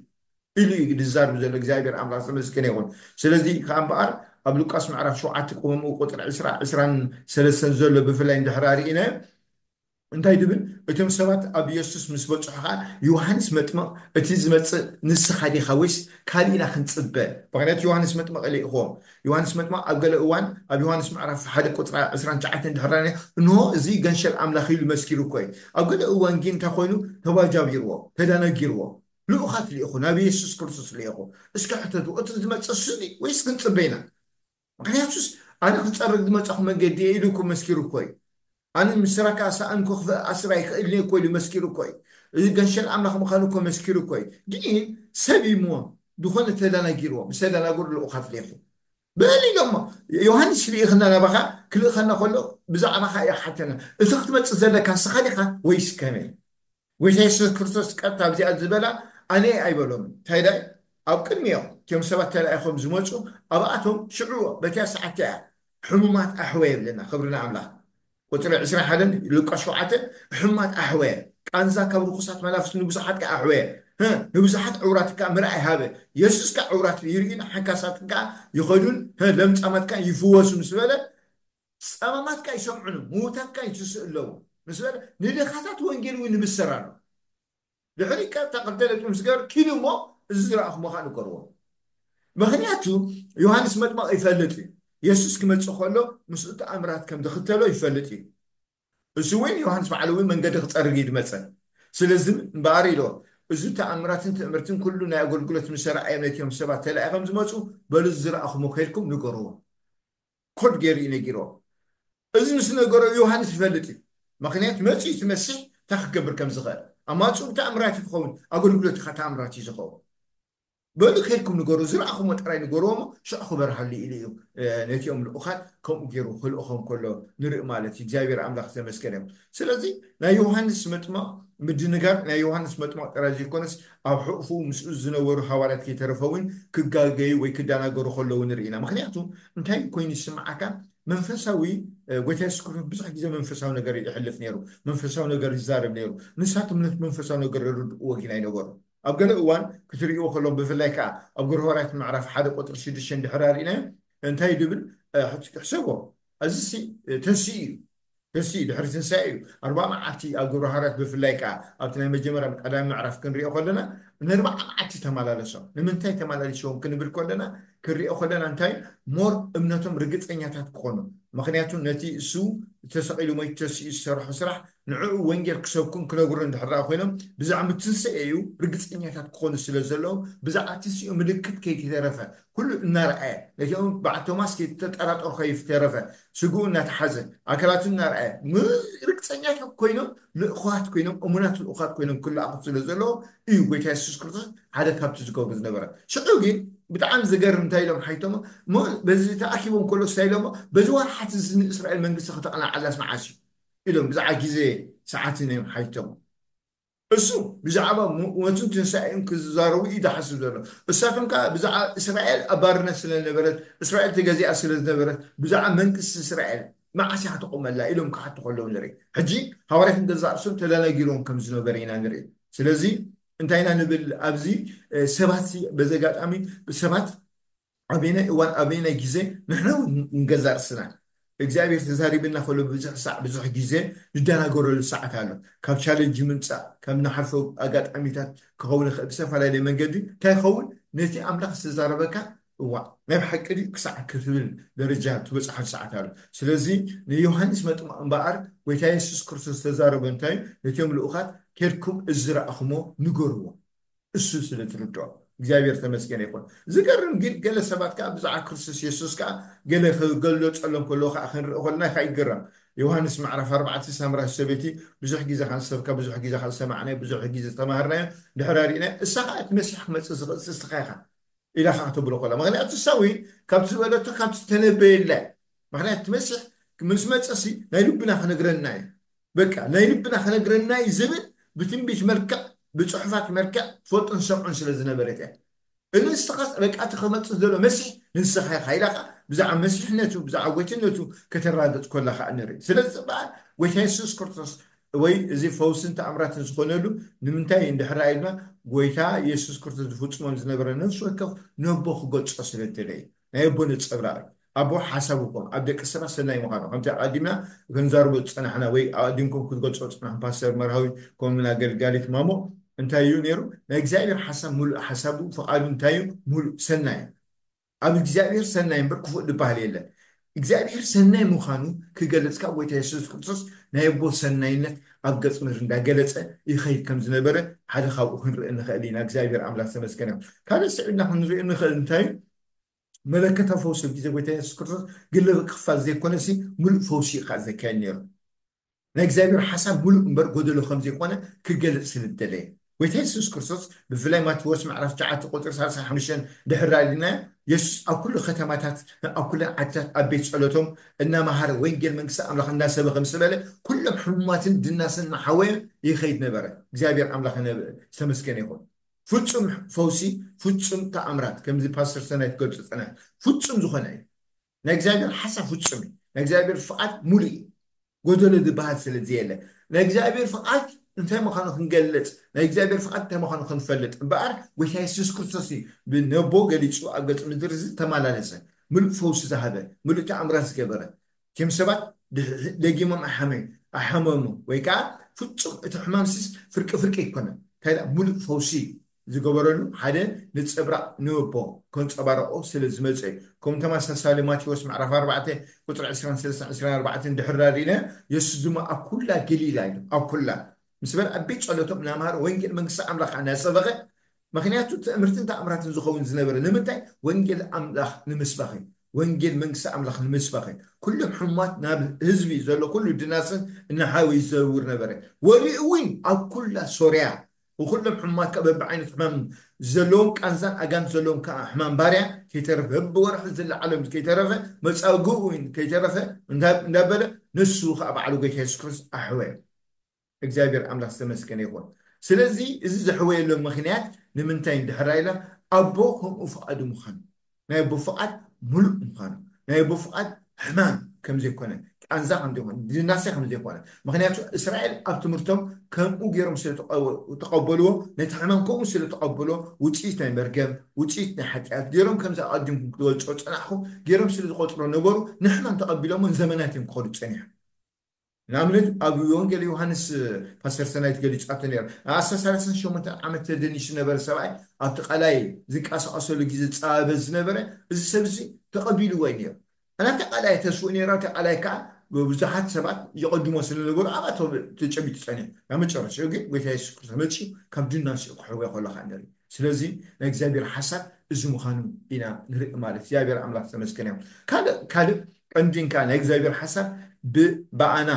ኢሉ እዩ ዝዛርብ ዘሎ እግዚኣብሔር ኣምላክ ዝተመስገነ ይኹን ስለዚ ከዓ እምበኣር ኣብ ሉቃስ ምዕራፍ ሸውዓተ ቆመምኡ ቁፅሪ ዕስራ ዕስራን ሰለስተን ዘሎ ብፍላይ እንድሕራ ርኢናዮ እንታይ ድብል እቶም ሰባት ኣብ የሱስ ምስ በፅሑ ከዓ ዮሃንስ መጥምቕ እቲ ዝመፅእ ንስኻ ዲኻ ወይስ ካልእ ኢና ክንፅበ ምክንያቱ ዮሃንስ መጥምቕ ልኢኽዎም ዮሃንስ መጥምቕ ኣብ ገለ እዋን ኣብ ዮሃንስ ምዕራፍ ሓደ ቁፅራ ዕስራን ትሽዓተን ድሕራኒ እንሆ እዚ ገንሸል ኣምላኽ ኢሉ መስኪሩ እኮ እዩ ኣብ ገለ እዋን ግን እንታይ ኮይኑ ተባጃቢርዎ ተዳነጊርዎ ልኡኻት ልኢኹ ናብ የሱስ ክርስቶስ ልኢኹ እስኪ ሕተቱ እቲ ዝመፅእ እሱ ወይስ ክንፅበ ኢና ምክንያቱስ ኣነ ክፀርግ ዝመፃኹ መንገዲ እየ ኢሉ እኮ መስኪሩ እኮ እዩ ኣነ ምስራካ ሰኣንኩ ክፍእ ኣስር ኣይክእልን እኮ ኢሉ መስኪሩ እኮ እዩ እዚ ገንሸል ኣምላኽ ምዃኑ እኮ መስኪሩ እኮ እዩ ግን ሰብ እሞ ዝኾነ ተደናጊርዎ ምስ ተደናገሩ ልኡኻት ሌኹ በል ኢሎሞ ዮሃንስ ልኢኽና ናባኻ ክልእኸና ከሎ ብዛዕባኻ እያ ሓተና እቲ ክትመፅእ ዘለካ ንስኻ ዲኻ ወይስ ከመይ ጎይታ የሱስ ክርስቶስ ቀጥታ ኣብዚኣ ዝበላ ኣነ ኣይበሎም እንታይ ዳይ ኣብ ቅድሚኦም እቲኦም ሰባት ተላኢኾም ዝመፁ ኣብኣቶም ሽዑ በቲያ ሰዓት እያ ሕሙማት ኣሕወ የብለና ክብሪ ንኣምላኽ ቁፅሪ ዕስራን ሓደን ሉቃስ ሸውዓተ ሕሙማት ኣሕወ ቃንዛ ካብ ርኩሳት መናፍስቲ ንብዙሓት ከዓ ኣሕወ ንብዙሓት ዕውራት ከዓ ምርኣይ ሃበ የሱስ ከዓ ዕውራት ይርእዩን ሓንካሳት ከዓ ይኸዱን ለምፃማት ከዓ ይፍወሱ ምስ በለ ጸማማት ከኣ ይሰምዑ፣ ምዉታት ከኣ ይትስኡ ኣለዉ ምስ በለ፣ ንድኻታት ወንጌል እውን ይብሰር ኣሎ። ድሕሪ ቀጥታ ክልተ ነጥቢ ምስ ገበረ፣ ኪዱ እሞ እዚ ዝረኣኹሞ ከኣ ንገርዎ። ምኽንያቱ ዮሃንስ መጥምቕ ይፈልጥ እዩ፣ የሱስ ክመጽእ ከሎ ምስኡ ተኣምራት ከም ዝኽተሎ ይፈልጥ እዩ። እሱ እውን ዮሃንስ ባዕሉ እውን መንገዲ ክጸርግ እዩ ዝመጸ። ስለዚ እምበኣር ኢሎ፣ እዚ ተኣምራትን ትእምርትን ኩሉ ናይ ኣገልግሎት ምስ ኣርኣዮም ነቲኦም ሰባት ተላኢኾም ዝመጹ፣ በሉ እዚ ዝረኣኹሞ ከይድኩም ንገርዎ። ኮድ ገይሩ እዩ ነጊርዎ። እዚ ምስ ነገሮ ዮሃንስ ይፈልጥ እዩ። ምኽንያት መፂኡ እቲ መሲሕ እንታይ ክገብር ከም ዝኽእል። ኣብ ማፅኡ ብተኣምራት እዩ ክኸውን፣ ኣገልግሎት ከዓ ተኣምራት እዩ ዝኸውን። በሉ ከይድኩም ንገሩ፣ ዝረኣኹሞ ጥራይ ንገርዎ እሞ ሽዑ ክበርሃሉ ኢሉ እዩ። ነቲኦም ልኡኻት ከምኡ ገይሩ ክልእኾም ከሎ ንርኢ ማለት እዩ። እግዚኣብሔር ኣምላኽ ዝተመስገነ ይኹን። ስለዚ ናይ ዮሃንስ መጥምቕ ምድንጋር ናይ ዮሃንስ መጥምቕ ጥራይ ዘይኮነስ ኣብ ሕቑፉ ምስኡ ዝነበሩ ሃዋርያት ከይተረፈ እውን ክጋገዩ ወይ ክደናገሩ ከለዉ ንርኢ ኢና። ምኽንያቱ እንታይ ኮይኑ ይስምዓካ? መንፈሳዊ ጎይታ የሱስ ክርስቶስ ብዙሕ ግዜ መንፈሳዊ ነገር ይሕልፍ ነይሩ፣ መንፈሳዊ ነገር ይዛረብ ነይሩ። ንሳቶም ነቲ መንፈሳዊ ነገር ይርድእዎ ግን ኣይነበሩ። ኣብ ገለ እዋን ክትርእይዎ ከለኹም፣ ብፍላይ ከዓ ኣብ ግብረ ሃዋርያት ምዕራፍ ሓደ ቁፅሪ ሽዱሽተ እንድሕር ኣርኢናዮ እንታይ ድብል፣ እ፣ ሕሰቦ። እዚ ሲ፣ እ፣ ተንስኡ እዩ። ተንስኡ ድሕሪ ትንሳኤ እዩ። ኣርባዓ መዓልቲ ኣብ ግብረ ሃዋርያት ብፍላይ ከዓ ኣብቲ ናይ መጀመርያ ቀዳሚ ምዕራፍ ክንሪኦ ከለና ንኣርባዓ መዓልቲ ተመላለሶም። ንምንታይ ተመላሊሶም ክንብል ከለና፣ ክንሪኦ ከለና እንታይ ሞር እምነቶም ርግፀኛታት ክኾኑ። ምክንያቱ ነቲ እሱ ተሰቒሉ ሞይቱ ተንሲኡ ዝሰርሖ ስራሕ ንዕኡ ወንጌል ክሰብኩን ክነግሩን እንድሕር ደኣ ኮይኖም ብዛዕባ ትንሳኤ እዩ ርግፀኛታት ክኾኑ ስለ ዘለዎም ብዛዕባ ትንሳኤኡ ምልክት ከይተረፈ ኩሉ እናረኣየ ነቲኦም በዓል ቶማስ ከይተጠራጠሩ ከይተረፈ ስግኡ እናተሓዘ ኣካላቱ እናረኣየ ም-፣ ርግፀኛታት ኮይኖም ልእኹዋት ኮይኖም እሙናት ልእኹዋት ኮይኖም ክለኣኹ ስለ ዘለዎም እዩ ጎይታ የሱስ ክርስቶስ ሓደ ካብቲ ዝገብሩ ዝነበረ። ሽዑ ግን ብጣዕሚ ዝገርም እንታይ ኢሎም ሓይቶሞ እሞ በዚ ተኣኪቦም ከሎ እንታይ ኢሎሞ በዚ ወርሓት እዚ ንእስራኤል መንግስቲ ከተቐናዓላስ መዓስ እዩ ኢሎም ብዛዕባ ግዜ ሰዓትን እዮም ሓይቶሞ። እሱ ብዛዕባ ሞ-፣ ሞትን ትንሳኤን ክዛረቡ እዩ ዝሓስብ ዘሎ። እሳቶም ከዓ ብዛዕባ እስራኤል ኣብ ባርነት ስለ ዝነበረት፣ እስራኤል ተገዚኣ ስለ ዝነበረት፣ ብዛዕባ መንግስቲ እስራኤል መዓስ እያ ክትቆመላ ኢሎም ክሓቱ ከለዉ ንርኢ። ሕጂ ሃዋርያት ንገዛእ ርእሶም ተደናጊሮም ከም ዝነበረ ኢና ንርኢ። ስለዚ እንታይ ኢና ንብል ኣብዚ፣ እ፣ ሰባት ሲ-፣ በዚ ኣጋጣሚ ሰባት ኣበየናይ እዋን ኣበየናይ ግዜ ንሕና እውን ንገዛእ ርእስና እግዚኣብሔር ተዛሪብና ከሎ ብዙሕ ሳዕ ብዙሕ ግዜ ንደናገረሉ ሰዓት ኣሎ። ካብ ቻለንጅ ምምፃእ ካብ ንሓልፎ ኣጋጣሚታት ክኸውን ይኽእል ብዝተፈላለየ መንገዲ እንታይ ይኸውን ነቲ ኣምላኽ ዝተዛረበካ እዋ ናይ ብሓቂ ድዩ ክሳዕ ክትብል ደረጃ ትበፅሓሉ ሰዓት ኣሎ። ስለዚ ንዮሃንስ መጥምቕ እምበኣር ጎይታ የሱስ ክርስቶስ ዝተዛረበ እንታይ እዩ? ነቲኦም ልኡኻት ኬድኩም እዚ ዝረኣኹሞ ንገርዎ እሱ ስለ ዝርድኦ እግዚኣብሔር ተመስገነ ይኹን። ዝገርም ግን ገለ ሰባት ከዓ ብዛዕባ ክርስቶስ የሱስ ከዓ ገለ ክገለፀሎም ከለዎ ከዓ ክንርኢ ከለና ከዓ ይገረም። ዮሃንስ ምዕራፍ ኣርባዕተ ሳምራዊት ሰበይቲ ብዙሕ ግዜ ከዓ ዝሰብካ ብዙሕ ግዜ ከዓ ዝሰማዕናዮ ብዙሕ ግዜ ዝተማሃርናዮ ድሕር ኣሪእናዮ እሳ ከዓ እቲ መሲሕ ክመፅእ ዝኽእል እስኻ ኢኻ ኢላ ከዓ ተብሎ ከላ ምክንያቱ እሳ እውን ካብቲ ዝበለቶ ካብቲ ተነበየላ ምክንያቱ እቲ መሲሕ ምስ መፀሲ ናይ ልብና ክነግረና እዩ በቃ ናይ ልብና ክነግረና እዩ ዝብል ብትንቢት መልክዕ ብፅሑፋት መልክዕ ትፈልጡን ሰምዑን ስለ ዝነበረት እያ። ንስኻስ በቃ እቲ ክመፅእ ዘሎ መሲሕ ንስኻ ኢኻ ኢላ ከዓ ብዛዕባ መሲሕነቱ ብዛዕባ ጎይትነቱ ከተረጋግፅ ኮላ ከዓ ንርኢ። ስለዚ ፅባሕ ጎይታ የሱስ ክርስቶስ ወይ እዚ ፈውስን ተኣምራትን ዝኾነሉ ንምንታይ እንድሕር ኢልና ጎይታ የሱስ ክርስቶስ ዝፍፅሞም ዝነበረ ነፍሲ ወከፍ ነቦ ክገልፆ ስለ ዝደለየ ናይ ኣቦ ነፀብራቕ እዩ። ኣቦ ሓሳቡ ከም ኣብ ደቂ ሰባት ሰናይ ምዃኑ ከምቲ ኣቐዲምና ክንዛርቦ ዝፀናሕና ወይ ኣቐዲምኩም ክትገልፆ ዝፀናሕኩም ፓስተር መርሃዊ ከምኡን ኣገልጋሊት ማሞ እንታይ እዩ ነይሩ ናይ እግዚኣብሔር ሓሳብ ሙሉእ ሓሳቡ ፍቓዱ እንታይ እዩ ሙሉእ ሰናይ እዩ። ኣብ እግዚኣብሔር ሰናይ እምበር ክፉእ ዝበሃል የለን። እግዚኣብሔር ሰናይ ምዃኑ ክገልጽ ካብ ጎይታ የሱስ ክርስቶስ ናይ ኣቦ ሰናይነት ኣብ ገጽ ምድሪ እንዳገለጸ ይኸይድ ከም ዝነበረ ሓደ ካብኡ ክንርኢ ንኽእል ኢና። እግዚኣብሔር ኣምላኽ ተመስገን ይኹን። ካልእ ስዒብና ክንሪኦ ንኽእል እንታይ እዩ? መለከታዊ ፈውሲ ኣብ ግዜ ጎይታ የሱስ ክርስቶስ ግለ ክፋል ዘይኮነሲ ሙሉእ ፈውሲ እዩ ከዓ ዘካየድ ነይሩ። ናይ እግዚኣብሔር ሓሳብ ሙሉእ እምበር ጎደሎ ከም ዘይኮነ ክገልጽ ስለ ዝደለየ ጎይታ የሱስ ክርስቶስ ብፍላይ ማቴዎስ ምዕራፍ ትሽዓተ ቁፅሪ ሰላሳ ሓሙሽተ ድሕር ዳሊና የሱስ ኣብ ኩሉ ከተማታት ኣብ ኩለን ዓድታት ኣብ ቤት ጸሎቶም እናመሃረ ወንጌል መንግስቲ ኣምላኽ እናሰበኸ ምስ በለ ኩሎም ሕሙማትን ድናስን እናሓወየ ይኸይድ ነበረ። እግዚኣብሔር ኣምላኽ ዝተመስገነ ይኹን። ፍጹም ፈውሲ ፍጹም ተኣምራት ከምዚ ፓስተር ሰናይ ትገልጹ ጸና ፍጹም ዝኾነ እዩ። ናይ እግዚኣብሔር ሓሳብ ፍጹም እዩ። ናይ እግዚኣብሔር ፍቓድ ሙሉእ እዩ። ጎደሎ ዝበሃል ስለ ዘየለ ናይ እግዚኣብሔር ፍቓድ እንታይ ምዃኑ ክንገልጽ ናይ እግዚኣብሔር ፍቓድ እንታይ ምዃኑ ክንፈልጥ እምበኣር ጎይታ የሱስ ክርስቶስ እዩ ብነቦ ገሊጹ ኣብ ገጽ ምድሪ ዝተመላለሰ ምሉእ ፈውሲ ዝሃበ ምሉእ ተኣምራት ዝገበረ ከም ሰባት ደጊሞም ኣሓመዩ ኣሓመሙ ወይ ከዓ ፍጹም እቲ ሕማም ሲስ ፍርቂ ፍርቂ ኣይኮነን እንታይ ሙሉእ ፈውሲ ዝገበረሉ ሓደ ንፀብራቕ ንወቦ ከንፀባረቆ ስለ ዝመፀ እዩ። ከም ተመሳሳሊ ማቴዎስ ምዕራፍ ኣርባዕተ ቁፅሪ ዕስራን ሰለስተ ዕስራን ኣርባዕተን ድሕር ዳሪነ የሱስ ድማ ኣብ ኩላ ገሊላ እዩ ኣብ ኩላ ምስ በለ ኣብ ቤት ጸሎቶም እናምሃረ ወንጌል መንግስቲ ኣምላኽ እናሰበኸ ምክንያቱ ትእምርትን ተኣምራትን ዝኸውን ዝነበረ ንምንታይ ወንጌል ኣምላኽ ንምስባኽ እዩ። ወንጌል መንግስቲ ኣምላኽ ንምስባኽ እዩ። ኩሎም ሕሙማት ናብ ህዝቢ ዘሎ ኩሉ ድናስን እናሓወ ይዘውር ነበረ። ወዲኡ እውን ኣብ ኩላ ሶርያ ንኹሎም ሕሙማት ከኣ በብዓይነት ሕማም ዘለዎም ቃንዛን ኣጋንንት ዘለዎም ከኣ ሕማም ባርያ ከይተረፈ በብወርሒ ዝለዓሎም ከይተረፈ መጻጉኡ ከይተረፈ እንዳበለ ንሱ ከኣ ባዕሉ ጎይታ የሱስ ክርስቶስ ኣሕወየ እግዚኣብሔር ኣምላኽ ዝተመስገነ ይኹን ስለዚ እዚ ዘሕወየሎም ምኽንያት ንምንታይ እንድሕር ኢላ ኣቦ ከምኡ ፍቓዱ ምዃኑ ናይ ኣቦ ፍቓድ ሙሉእ ምዃኑ ናይ ኣቦ ፍቓድ ሕማም ከም ዘይኮነ ቃንዛ ከም ዘይኮነ፣ ድናሴ ከም ዘይኮነ። ምክንያቱ እስራኤል ኣብ ትምህርቶም ከምኡ ገይሮም ስለ ተቐበልዎ፣ ነቲ ሕማም ከምኡ ስለ ተቐበልዎ፣ ውፅኢት ናይ መርገም፣ ውፅኢት ናይ ሓጢኣት ገይሮም፣ ከምዚ ኣቐዲምኩም ክትገልፆ ፀናሕኩም ገይሮም ስለ ዝቆፅሮ ነበሩ። ንሕማም ተቐቢሎሞ ንዘመናት እዮም ክኸዱ ፀኒሖም። ንኣብነት ኣብ ወንጌል ዮሃንስ ፓስተር ሰናይት ገሊፃቶ ነይሩ። ኣስራ ሰላሳን ሸሞንተን ዓመት ተደኒሱ ነበረ ሰብኣይ ኣብቲ ቃላይ ዝንቀሳቐሰሉ ግዜ ዝፃበበ ዝነበረ እዚ ሰብ እዚ ተቐቢልዎ እዩ ነይሩ። ኣና ተቃላይ ተስፉ ነይራ ተቃላይ ከዓ ብዙሓት ሰባት ይቐድሞ ስለነበሩ ኣብኣ ተጨቢጡ ፀኒሑ ናብ መጨረሻ ግን ጎይታ የሱስ ክርስቶስ መፂኡ ካብ ድናሲኡ ክሕወ ከሎ ከዓ ንርኢ። ስለዚ ናይ እግዚኣብሔር ሓሳብ እዚ ምዃኑ ኢና ንርኢ ማለት እግዚኣብሔር ኣምላኽ ተመስገን እዮም። ካልእ ካልእ ቀንዲንካ ናይ እግዚኣብሔር ሓሳብ ብኣና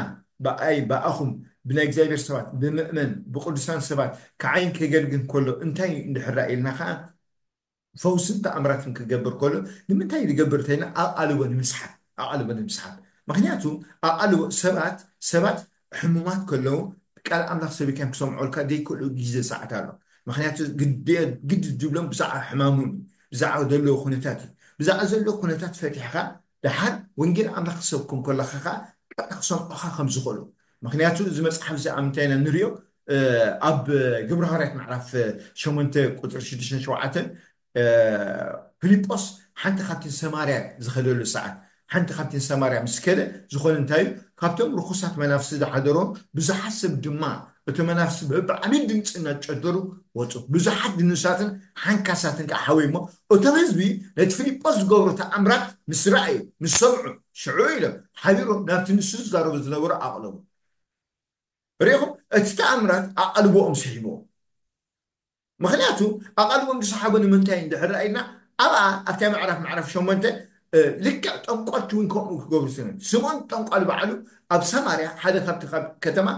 ብኣይ ብኣኹም ብናይ እግዚኣብሔር ሰባት ብምእመን ብቅዱሳን ሰባት ክዓይን ከገልግል ከሎ እንታይ እንድሕር ኢልና ከዓ ፈውስን ተኣምራትን ክገብር ከሎ ንምንታይ ዝገብር እንተይና ኣቓልቦ ንምስሓብ ኣቓልቦ ንምስሓብ። ምክንያቱ ኣቓልቦ ሰባት ሰባት ሕሙማት ከለዉ ቃል ኣምላኽ ሰቢካዮም ክሰምዑልካ ዘይክእሉ ግዜ ሰዓት ኣሎ። ምክንያቱ ግዲ ዝብሎም ብዛዕባ ሕማሞም እዩ፣ ብዛዕባ ዘለዎ ኩነታት እዩ። ብዛዕባ ዘለዎ ኩነታት ፈቲሕካ ደሓር ወንጌል ኣምላኽ ክሰብኩም ከለካ ከዓ ቀጥታ ክሰምዑካ ከም ዝኽእሉ። ምክንያቱ እዚ መፅሓፍ እዚ ኣብ ምንታይ ኢና ንሪኦ? ኣብ ግብረ ሃዋርያት ምዕራፍ ሸሞንተ ቁፅሪ ሽዱሽተን ሸውዓተን ፊልጶስ ሓንቲ ካብቲ ሰማርያ ዝኸደሉ ሰዓት ሓንቲ ካብቲ ሰማርያ ምስ ከደ ዝኾነ እንታይ እዩ? ካብቶም ርኩሳት መናፍስቲ ዝሓደሮም ብዙሓት ሰብ ድማ እቲ መናፍስቲ ብዓብዪ ድምፂ እናጨደሩ ወፁ። ብዙሓት ድኑሳትን ሓንካሳትን ከዓ ሓወይ እሞ እቶም ህዝቢ ነቲ ፊልጶስ ዝገብሮ ተኣምራት ምስ ረኣዩ ምስ ሰምዑ ሽዑ ኢሎም ሓቢሮም ናብቲ ንሱ ዝዛረቡ ዝነበሩ ኣቕለቡ። ርኢኹም እቲ ተኣምራት ኣቓልቦኦም ስሒብዎም። ምክንያቱ ኣቓልቦም ዝሰሓቦ ንምንታይ እንድሕር ኢልና ኣብኣ ኣብታ ምዕራፍ ምዕራፍ ሸሞንተ ልክዕ ጠንቋልቲ እውን ከምኡ ክገብሩ ስነ ስምዖን ጠንቋል በዓሉ ኣብ ሰማርያ ሓደ ካብቲ ካብ ከተማ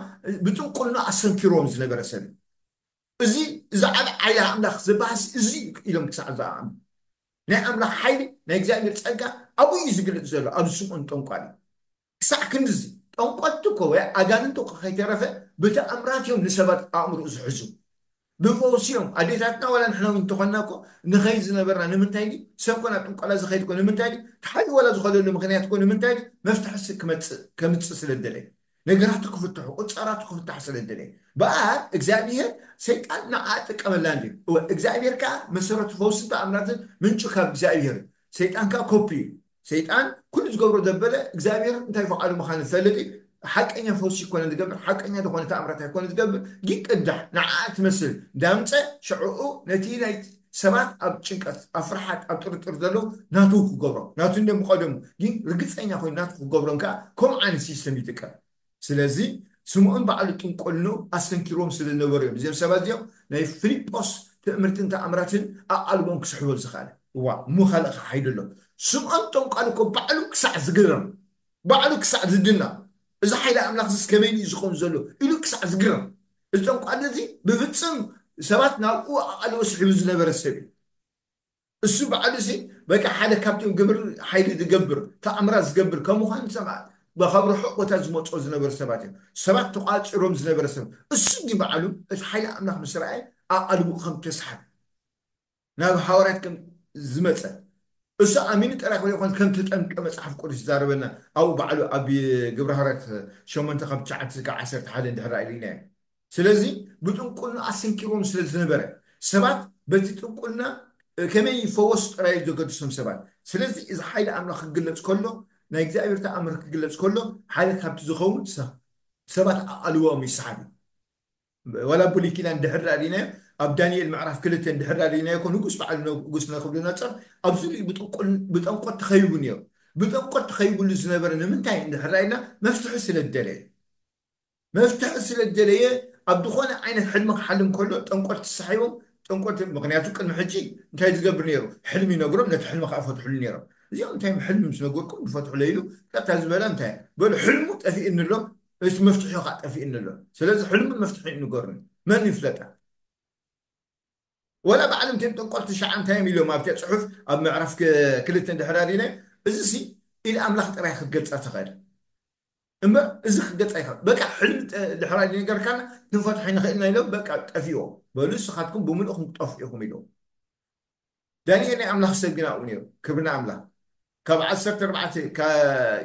ብጥንቁልና ኣሰንኪርዎም ዝነበረ ሰብ እዩ። እዚ እዚ ዓብ ዓይላ ኣምላኽ ዝበሃስ እዚ ኢሎም ክሳዕ ዝኣምኑ ናይ ኣምላኽ ሓይሊ ናይ እግዚኣብሔር ጸጋ ኣብኡ እዩ ዝግለጽ ዘሎ ኣብዚ ስምዖን ጠንቋል እዩ። ክሳዕ ክንድዚ ጠንቆልቲ እኮ ወይ ኣጋንንቲ እኮ ከይተረፈ ብተኣምራት እዮም ንሰባት ኣእምሮ ዝሕዙ። ብፈውሲ እዮም ኣዴታትና ዋላ ንሕና እውን እንተኾንና እኮ ንኸይድ ዝነበርና ንምንታይ ድዩ? ሰብ ኮና ጥንቆላ ዝኸይድ እኮ ንምንታይ ድዩ? ተሓዩ ዋላ ዝኾነሉ ምክንያት እኮ ንምንታይ ድዩ? መፍትሒ ስ- ክመጽእ ከምጽእ ስለ ደለየ ነገራቱ ክፍትሑ ቁጻራቱ ክፍታሕ ስለ ደለየ በኣር እግዚኣብሔር ሰይጣን ንዓ ጥቀመላ እንዲ እወ እግዚኣብሔር ከዓ መሰረቱ ፈውስን ተኣምራትን ምንጩ ካብ እግዚኣብሔር እዩ። ሰይጣን ከዓ ኮፒ እዩ። ሰይጣን ኩሉ ዝገብሮ ዘበለ እግዚኣብሔር እንታይ ፈቃዱ ምዃኑ ዝፈልጥ እዩ። ሓቀኛ ፈውሲ ይኮነ ዝገብር ሓቀኛ ዝኾነ ተኣምራት ኣይኮነ ዝገብር ግን ቅዳሕ ንዓ ትመስል ዳምፀ ሽዕኡ ነቲ ናይ ሰባት ኣብ ጭንቀት ኣብ ፍርሓት ኣብ ጥርጥር ዘለዉ ናቱ ክገብሮም ናቱ እንደ ምቀደሙ ግን ርግፀኛ ኮይኑ ናቱ ክገብሮም ከዓ ከምኡ ዓይነት ሲስተም ይጥቀም። ስለዚ ስምዖን ባዕሉ ጥንቆልንኡ ኣስተንኪርዎም ስለ ዝነበሩ እዮም እዚኦም ሰባት እዚኦም ናይ ፊልጶስ ትእምርትን ተኣምራትን ኣቓልቦም ክስሕቦ ዝኸኣለ። እዋ እሞ ካልእ ከዓ ሓይሊ ኣሎ። ስምዖን ጠንቋል እኮ ባዕሉ ክሳዕ ዝግረም ባዕሉ ክሳዕ ዝድና እዚ ሓይሊ ኣምላኽ ዝስ ከመይ እዩ ዝኸውን ዘሎ ኢሉ ክሳዕ ዝግረም። እዚ ጠንቋል እዚ ብፍፅም ሰባት ናብኡ ኣቓልቦ ስሒቡ ዝነበረ ሰብ እዩ። እሱ ባዕሉ ሲ በቃ ሓደ ካብቶም ግብር ሓይሊ ዝገብር ተኣምራት ዝገብር ከም ምዃኑ ሰማ ካብ ርሑቕ ቦታ ዝመፅኦ ዝነበሩ ሰባት እዮም። ሰባት ተቋፂሮም ዝነበረ ሰብ እሱ ግን ባዕሉ እቲ ሓይሊ ኣምላኽ ምስ ረኣየ ኣቓልቡ ከም ተስሓብ ናብ ሃዋርያት ከም ዝመፀ እሱ ኣሚኑ ጥራይ ክኾን ከም ተጠምቀ መፅሓፍ ቅዱስ ይዛረበና ኣብኡ ባዕሉ ኣብ ግብረ ሃዋርያት ሸሞንተ ካብ ትሽዓተ ክሳብ ዓሰርተ ሓደ እንድሕር ኢልና እዩ። ስለዚ ብጥንቁልና ኣሰንኪርዎም ስለ ዝነበረ ሰባት በቲ ጥንቁልና ከመይ ይፈወሱ ጥራይ ዘገድሶም ሰባት። ስለዚ እዚ ሓይሊ ኣምላኽ ክግለጽ ከሎ ናይ እግዚኣብሔር ተኣምር ክግለጽ ከሎ ሓደ ካብቲ ዝኸውን ሰብ ሰባት ኣቓልቦኦም ይሰሓብ እዩ። ዋላ ብሉይ ኪዳን ድሕር ዳኣ ዲናዮ ኣብ ዳንኤል ምዕራፍ ክልተ ድሕር ዳኣ ዲናዮ እኮ ንጉስ በዓል ንጉስ ነብኩደነፆር ኣብ ዙሪኡ ብጠንቆት ተኸይቡ ነይሩ። ብጠንቆት ተኸይቡሉ ዝነበረ ንምንታይ እንድሕር ኢልና መፍትሒ ስለ ዝደለየ መፍትሒ ስለ ዝደለየ ኣብ ዝኾነ ዓይነት ሕልሚ ክሓልም ከሎ ጠንቆት ተሳሒቦም ጠንቆት ምክንያቱ ቅድሚ ሕጂ እንታይ ዝገብር ነይሩ ሕልሚ ይነግሮም ነቲ ሕልሚ ከዓ ፈትሕሉ ነይሮም። እዚኦም እንታይ ሕልሚ ምስ ነገርኩም ዝፈትሕሎ ኢሉ ቀጥታ ዝበላ እንታይ በሉ ሕልሙ ጠፊእኒ ኣሎ እቲ መፍትሒ ከዓ ጠፊእኒ ኣሎ። ስለዚ ሕልሙን መፍትሒ ንገሩኒ መን ይፍለጣ ወላ ባዕሎም እቶም ጠንቆልቲ ሸዓ እንታይ እዮም ኢሎም ኣብቲ ፅሑፍ ኣብ ምዕራፍ ክልተ ድሕር ኣሪነ እዚ ሲ ኢድ ኣምላኽ ጥራይ ክትገልፃ ትኽእል እምበር እዚ ክትገልፃ ይኽእል በቃ ሕልሚ ድሕር ኣሪ ነገርካና ክንፈትሖ ንኽእልና ኢሎም በቃ ጠፊኦ በሉ ንስኻትኩም ብምልእኹም ክጠፍኡ ኢኹም ኢሎም ዳንኤል ናይ ኣምላኽ ሰብ ግን ኣብኡ ነይሩ ክብሪ ንኣምላኽ ካብ ዓሰርተ ኣርባዕተ፣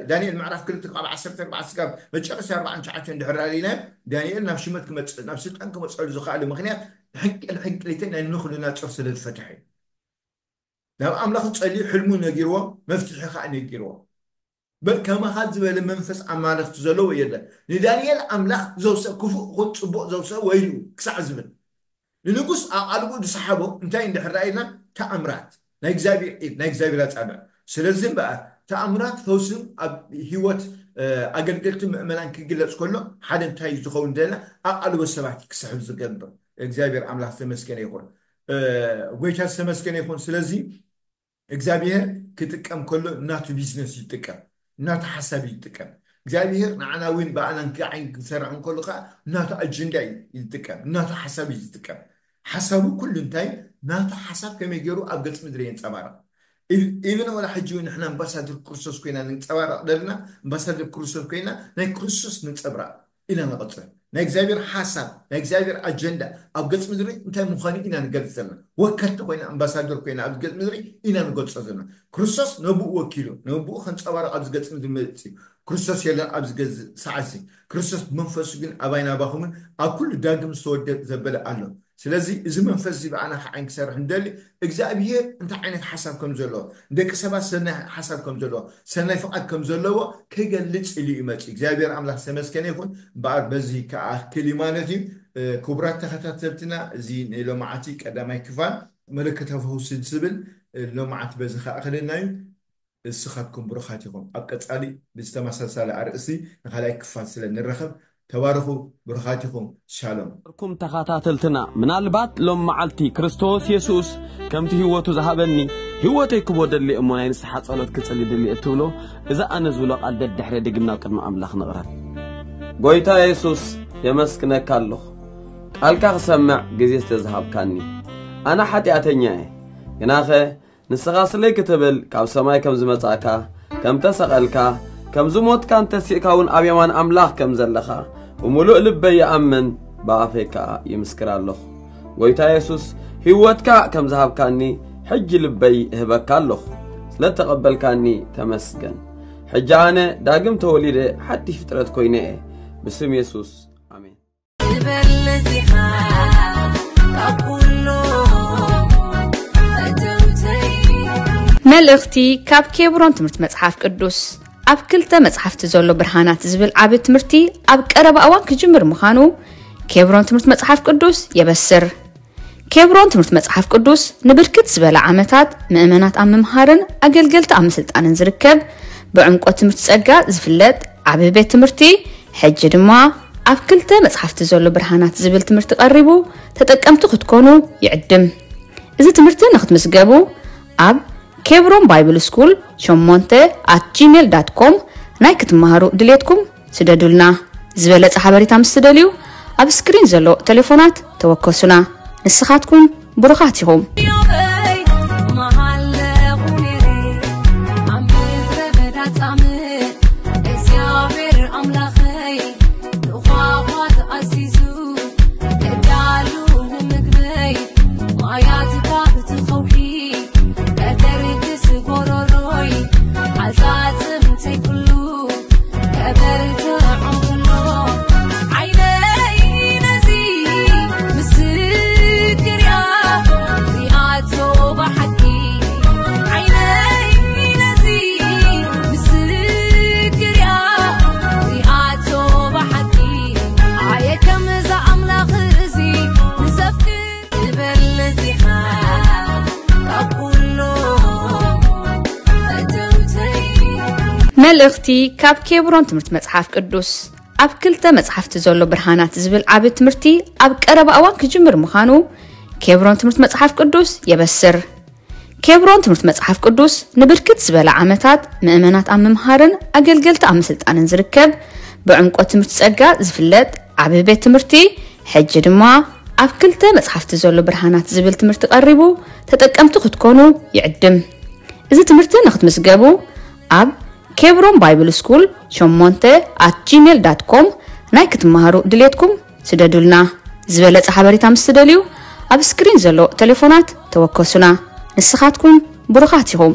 ዳንኤል ምዕራፍ ክልተ ካብ ዓሰርተ ኣርባዕተ ስጋብ መጨረሻ ኣርባዓን ትሽዓተን ድሕር ኣሊና፣ ዳንኤል ናብ ሽመት ክመፅእ፣ ናብ ስልጣን ክመፀሉ ዝኽኣሉ ምክንያት ሕንቅል ሕንቅሊተይ ናይ ንኹልናፀር ስለ ዝፈትሐ እዩ። ናብ ኣምላኽ ጸልዩ፣ ሕልሙ ነጊርዎ፣ መፍትሒ ኸዓ ነጊርዎ። በል ከማኻ ዝበለ መንፈስ ኣማልኽቲ ዘለዎ የለን። ንዳንኤል ኣምላኽ ዘውሰ ክፉእ ኹን ጽቡቕ ዘውሰ ወይሉ ክሳዕ ዝብል ንንጉስ ኣቓልቡ ዝሰሓቦ እንታይ እንድሕር ኢልና፣ ተኣምራት ናይ እግዚኣብሔር ኢድ፣ ናይ እግዚኣብሔር ኣጻብዕ። ስለዚ እምበኣር ተኣምራት ፈውስን ኣብ ህይወት ኣገልገልቲ ምእመናን ክግለጽ ከሎ ሓደ እንታይ ዝኸውን ደና ኣቓልቦ ሰባት ክስሕብ ዝገብር። እግዚኣብሔር ኣምላኽ ዝተመስገነ ይኹን። ጎይታ ዝተመስገነ ይኹን። ስለዚ እግዚኣብሔር ክጥቀም ከሎ እናቱ ቢዝነስ ይጥቀም፣ እናቱ ሓሳብ ይጥቀም። እግዚኣብሔር ንዓና እውን ብኣናን ክዓይን ክሰርሕ እንከሎ ከዓ እናቱ ኣጀንዳ ይጥቀም፣ እናቱ ሓሳብ ይጥቀም። ሓሳቡ ኩሉ እንታይ ናቱ ሓሳብ ከመይ ገይሩ ኣብ ገጽ ምድሪ የንጸባርቕ። ኢብን ወላ ሕጂ እውን ንሕና ኣምባሳደር ክርስቶስ ኮይና ንንጸባረቕ ዘለና፣ ኣምባሳደር ክርስቶስ ኮይና ናይ ክርስቶስ ንንጸብራቕ ኢና ንቐጽል። ናይ እግዚኣብሔር ሓሳብ፣ ናይ እግዚኣብሔር ኣጀንዳ ኣብ ገጽ ምድሪ እንታይ ምዃኑ ኢና ንገልጽ ዘለና። ወከልቲ ኮይና ኣምባሳደር ኮይና ኣብ ገጽ ምድሪ ኢና ንገልጾ ዘለና። ክርስቶስ ነብኡ ወኪሉ ነብኡ ከንጸባረቕ ኣብዚ ገጽ ምድሪ መጽእ። ክርስቶስ የለን ኣብዚ ገጽ ሰዓሲ። ክርስቶስ መንፈሱ ግን ኣባይ ናባኹምን ኣብ ኩሉ ዳግም ዝተወደ ዘበለ ኣሎ። ስለዚ እዚ መንፈስ እዚ ብኣና ክዓይን ክሰርሕ እንደሊ እግዚኣብሔር እንታይ ዓይነት ሓሳብ ከም ዘለዎ፣ ንደቂ ሰባት ሰናይ ሓሳብ ከም ዘለዎ፣ ሰናይ ፍቓድ ከም ዘለዎ ክገልጽ ኢሉ እዩ መጺኡ። እግዚኣብሔር ኣምላኽ ዝተመስገነ ይኹን። እምበኣር በዚ ክኣክል እዩ ማለት እዩ። ክቡራት ተኸታተልትና፣ እዚ ንሎማዓቲ ቀዳማይ ክፋል መለከታዊ ፈውሲ ዝብል ሎማዓቲ በዚ ክኣክለና እዩ። እስኻትኩም ብሩኻት ኢኹም። ኣብ ቀጻሊ ብዝተመሳሳለ ኣርእስቲ ንኻልኣይ ክፋል ስለ ንረኸብ፣ ተባረኹ፣ ብሩኻት ኢኹም። ሻሎም። ኩም ተኸታተልትና፣ ምናልባት ሎም መዓልቲ ክርስቶስ የሱስ ከምቲ ህይወቱ ዝሃበኒ ህይወተይ ክቦ ደሊ እሞ ናይ ንስሓ ጸሎት ክጽሊ ድሊ እትብሎ፣ እዚ ኣነ ዝብሎ ቃል ደድሕሪ ድግምና ቅድሚ ኣምላኽ ንቕረብ። ጎይታ የሱስ፣ የመስግነካ ኣለኹ፣ ቃልካ ክሰምዕ ግዜ ስለ ዝሃብካኒ። ኣነ ሓጢኣተኛ እየ፣ ግናኸ ንስኻ ስለይ ክትብል ካብ ሰማይ ከም ዝመጻእካ፣ ከም ተሰቐልካ፣ ከም ዝሞትካን ተሲእካ እውን ኣብ የማን ኣምላኽ ከም ዘለኻ ብምሉእ ልበይ ይኣምን፣ ብኣፈይ ከኣ ይምስክር ኣለኹ። ጎይታ የሱስ፣ ህይወትካ ከም ዝሃብካኒ ሕጂ ልበይ እህበካ ኣለኹ። ስለ እተቐበልካኒ ተመስገን። ሕጂ ኣነ ዳግም ተወሊደ ሓድሽ ፍጥረት ኮይነ እየ። ብስም የሱስ፣ ኣሜን። ትበልጽ ኢኻ ካብ ኩሉ ፈተውተይ። መልእኽቲ ካብ ኬብሮን ትምህርቲ መጽሓፍ ቅዱስ። ኣብ ክልተ መጽሓፍቲ ዘሎ ብርሃናት ዝብል ዓቢ ትምህርቲ ኣብ ቀረባ እዋን ክጅምር ምዃኑ ኬብሮን ትምህርቲ መጽሓፍ ቅዱስ የበስር። ኬብሮን ትምህርቲ መጽሓፍ ቅዱስ ንብርክት ዝበለ ዓመታት ምእመናት ኣብ ምምሃርን ኣገልገልቲ ኣብ ምስልጣንን ዝርከብ፣ ብዕምቆት ትምህርቲ ጸጋ ዝፍለጥ ዓቢ ቤት ትምህርቲ፣ ሕጂ ድማ ኣብ ክልተ መጽሓፍቲ ዘሎ ብርሃናት ዝብል ትምህርቲ ቀሪቡ ተጠቀምቲ ክትኮኑ ይዕድም። እዚ ትምህርቲ ንክትምዝገቡ ኣብ ኬብሮን ባይብል ስኩል ሸሞንተ ኣት ጂሜል ዳት ኮም ናይ ክትመሃሩ ድሌትኩም ስደዱልና። ዝበለጸ ሓበሬታ ምስ ትደልዩ፣ ኣብ ስክሪን ዘሎ ቴሌፎናት ተወከሱና። ንስኻትኩም ብሩኻት ኢኹም። እግዚኣብሔር ኣምላኸይ ንኳኳት ኣዚዙ፣ ከዳሉ ንምግበይ፣ ማያት ካብ እቲ ከውሒ ከተርግስ ጎሮሮይ፣ ዓጻጽምተይ ኩሉ ከበርትዖም ኩሎ፣ ዓይነይ ነዚ ምስክር እያ ሪኣቶ ብሓቂ። ዓይነይ ነዚ ምስክር እያ ሪኣቶ ብሓቂ። ኣየ ከምዛ ኣምላኽ እዚ ንዘፍቅር ትበልጽ ኢኻ ካብ ኩሎም ፈተውተይ። መልእኽቲ ካብ ኬብሮን ትምህርቲ መጽሓፍ ቅዱስ። ኣብ ክልተ መጽሓፍቲ ዘሎ ብርሃናት ዝብል ዓቢ ትምህርቲ ኣብ ቀረባ እዋን ክጅምር ምዃኑ ኬብሮን ትምህርቲ መጽሓፍ ቅዱስ የበስር። ኬብሮን ትምህርቲ መጽሓፍ ቅዱስ ንብርክት ዝበለ ዓመታት ምእመናት ኣብ ምምሃርን ኣገልገልቲ ኣብ ምስልጣንን ዝርከብ፣ ብዕምቆት ትምህርቲ ጸጋ ዝፍለጥ ዓቢ ቤት ትምህርቲ፣ ሕጂ ድማ ኣብ ክልተ መጽሓፍቲ ዘሎ ብርሃናት ዝብል ትምህርቲ ቀሪቡ ተጠቀምቲ ክትኮኑ ይዕድም። እዚ ትምህርቲ ንክትምዝገቡ ኣብ ኬብሮን ባይብል ስኩል ሸሞንተ ኣት ጂሜል ዳት ኮም ናይ ክትመሃሩ ድሌትኩም ስደዱልና። ዝበለጸ ሓበሬታ ምስ ትደልዩ፣ ኣብ ስክሪን ዘሎ ቴሌፎናት ተወከሱና። ንስኻትኩም ብሩኻት ኢኹም።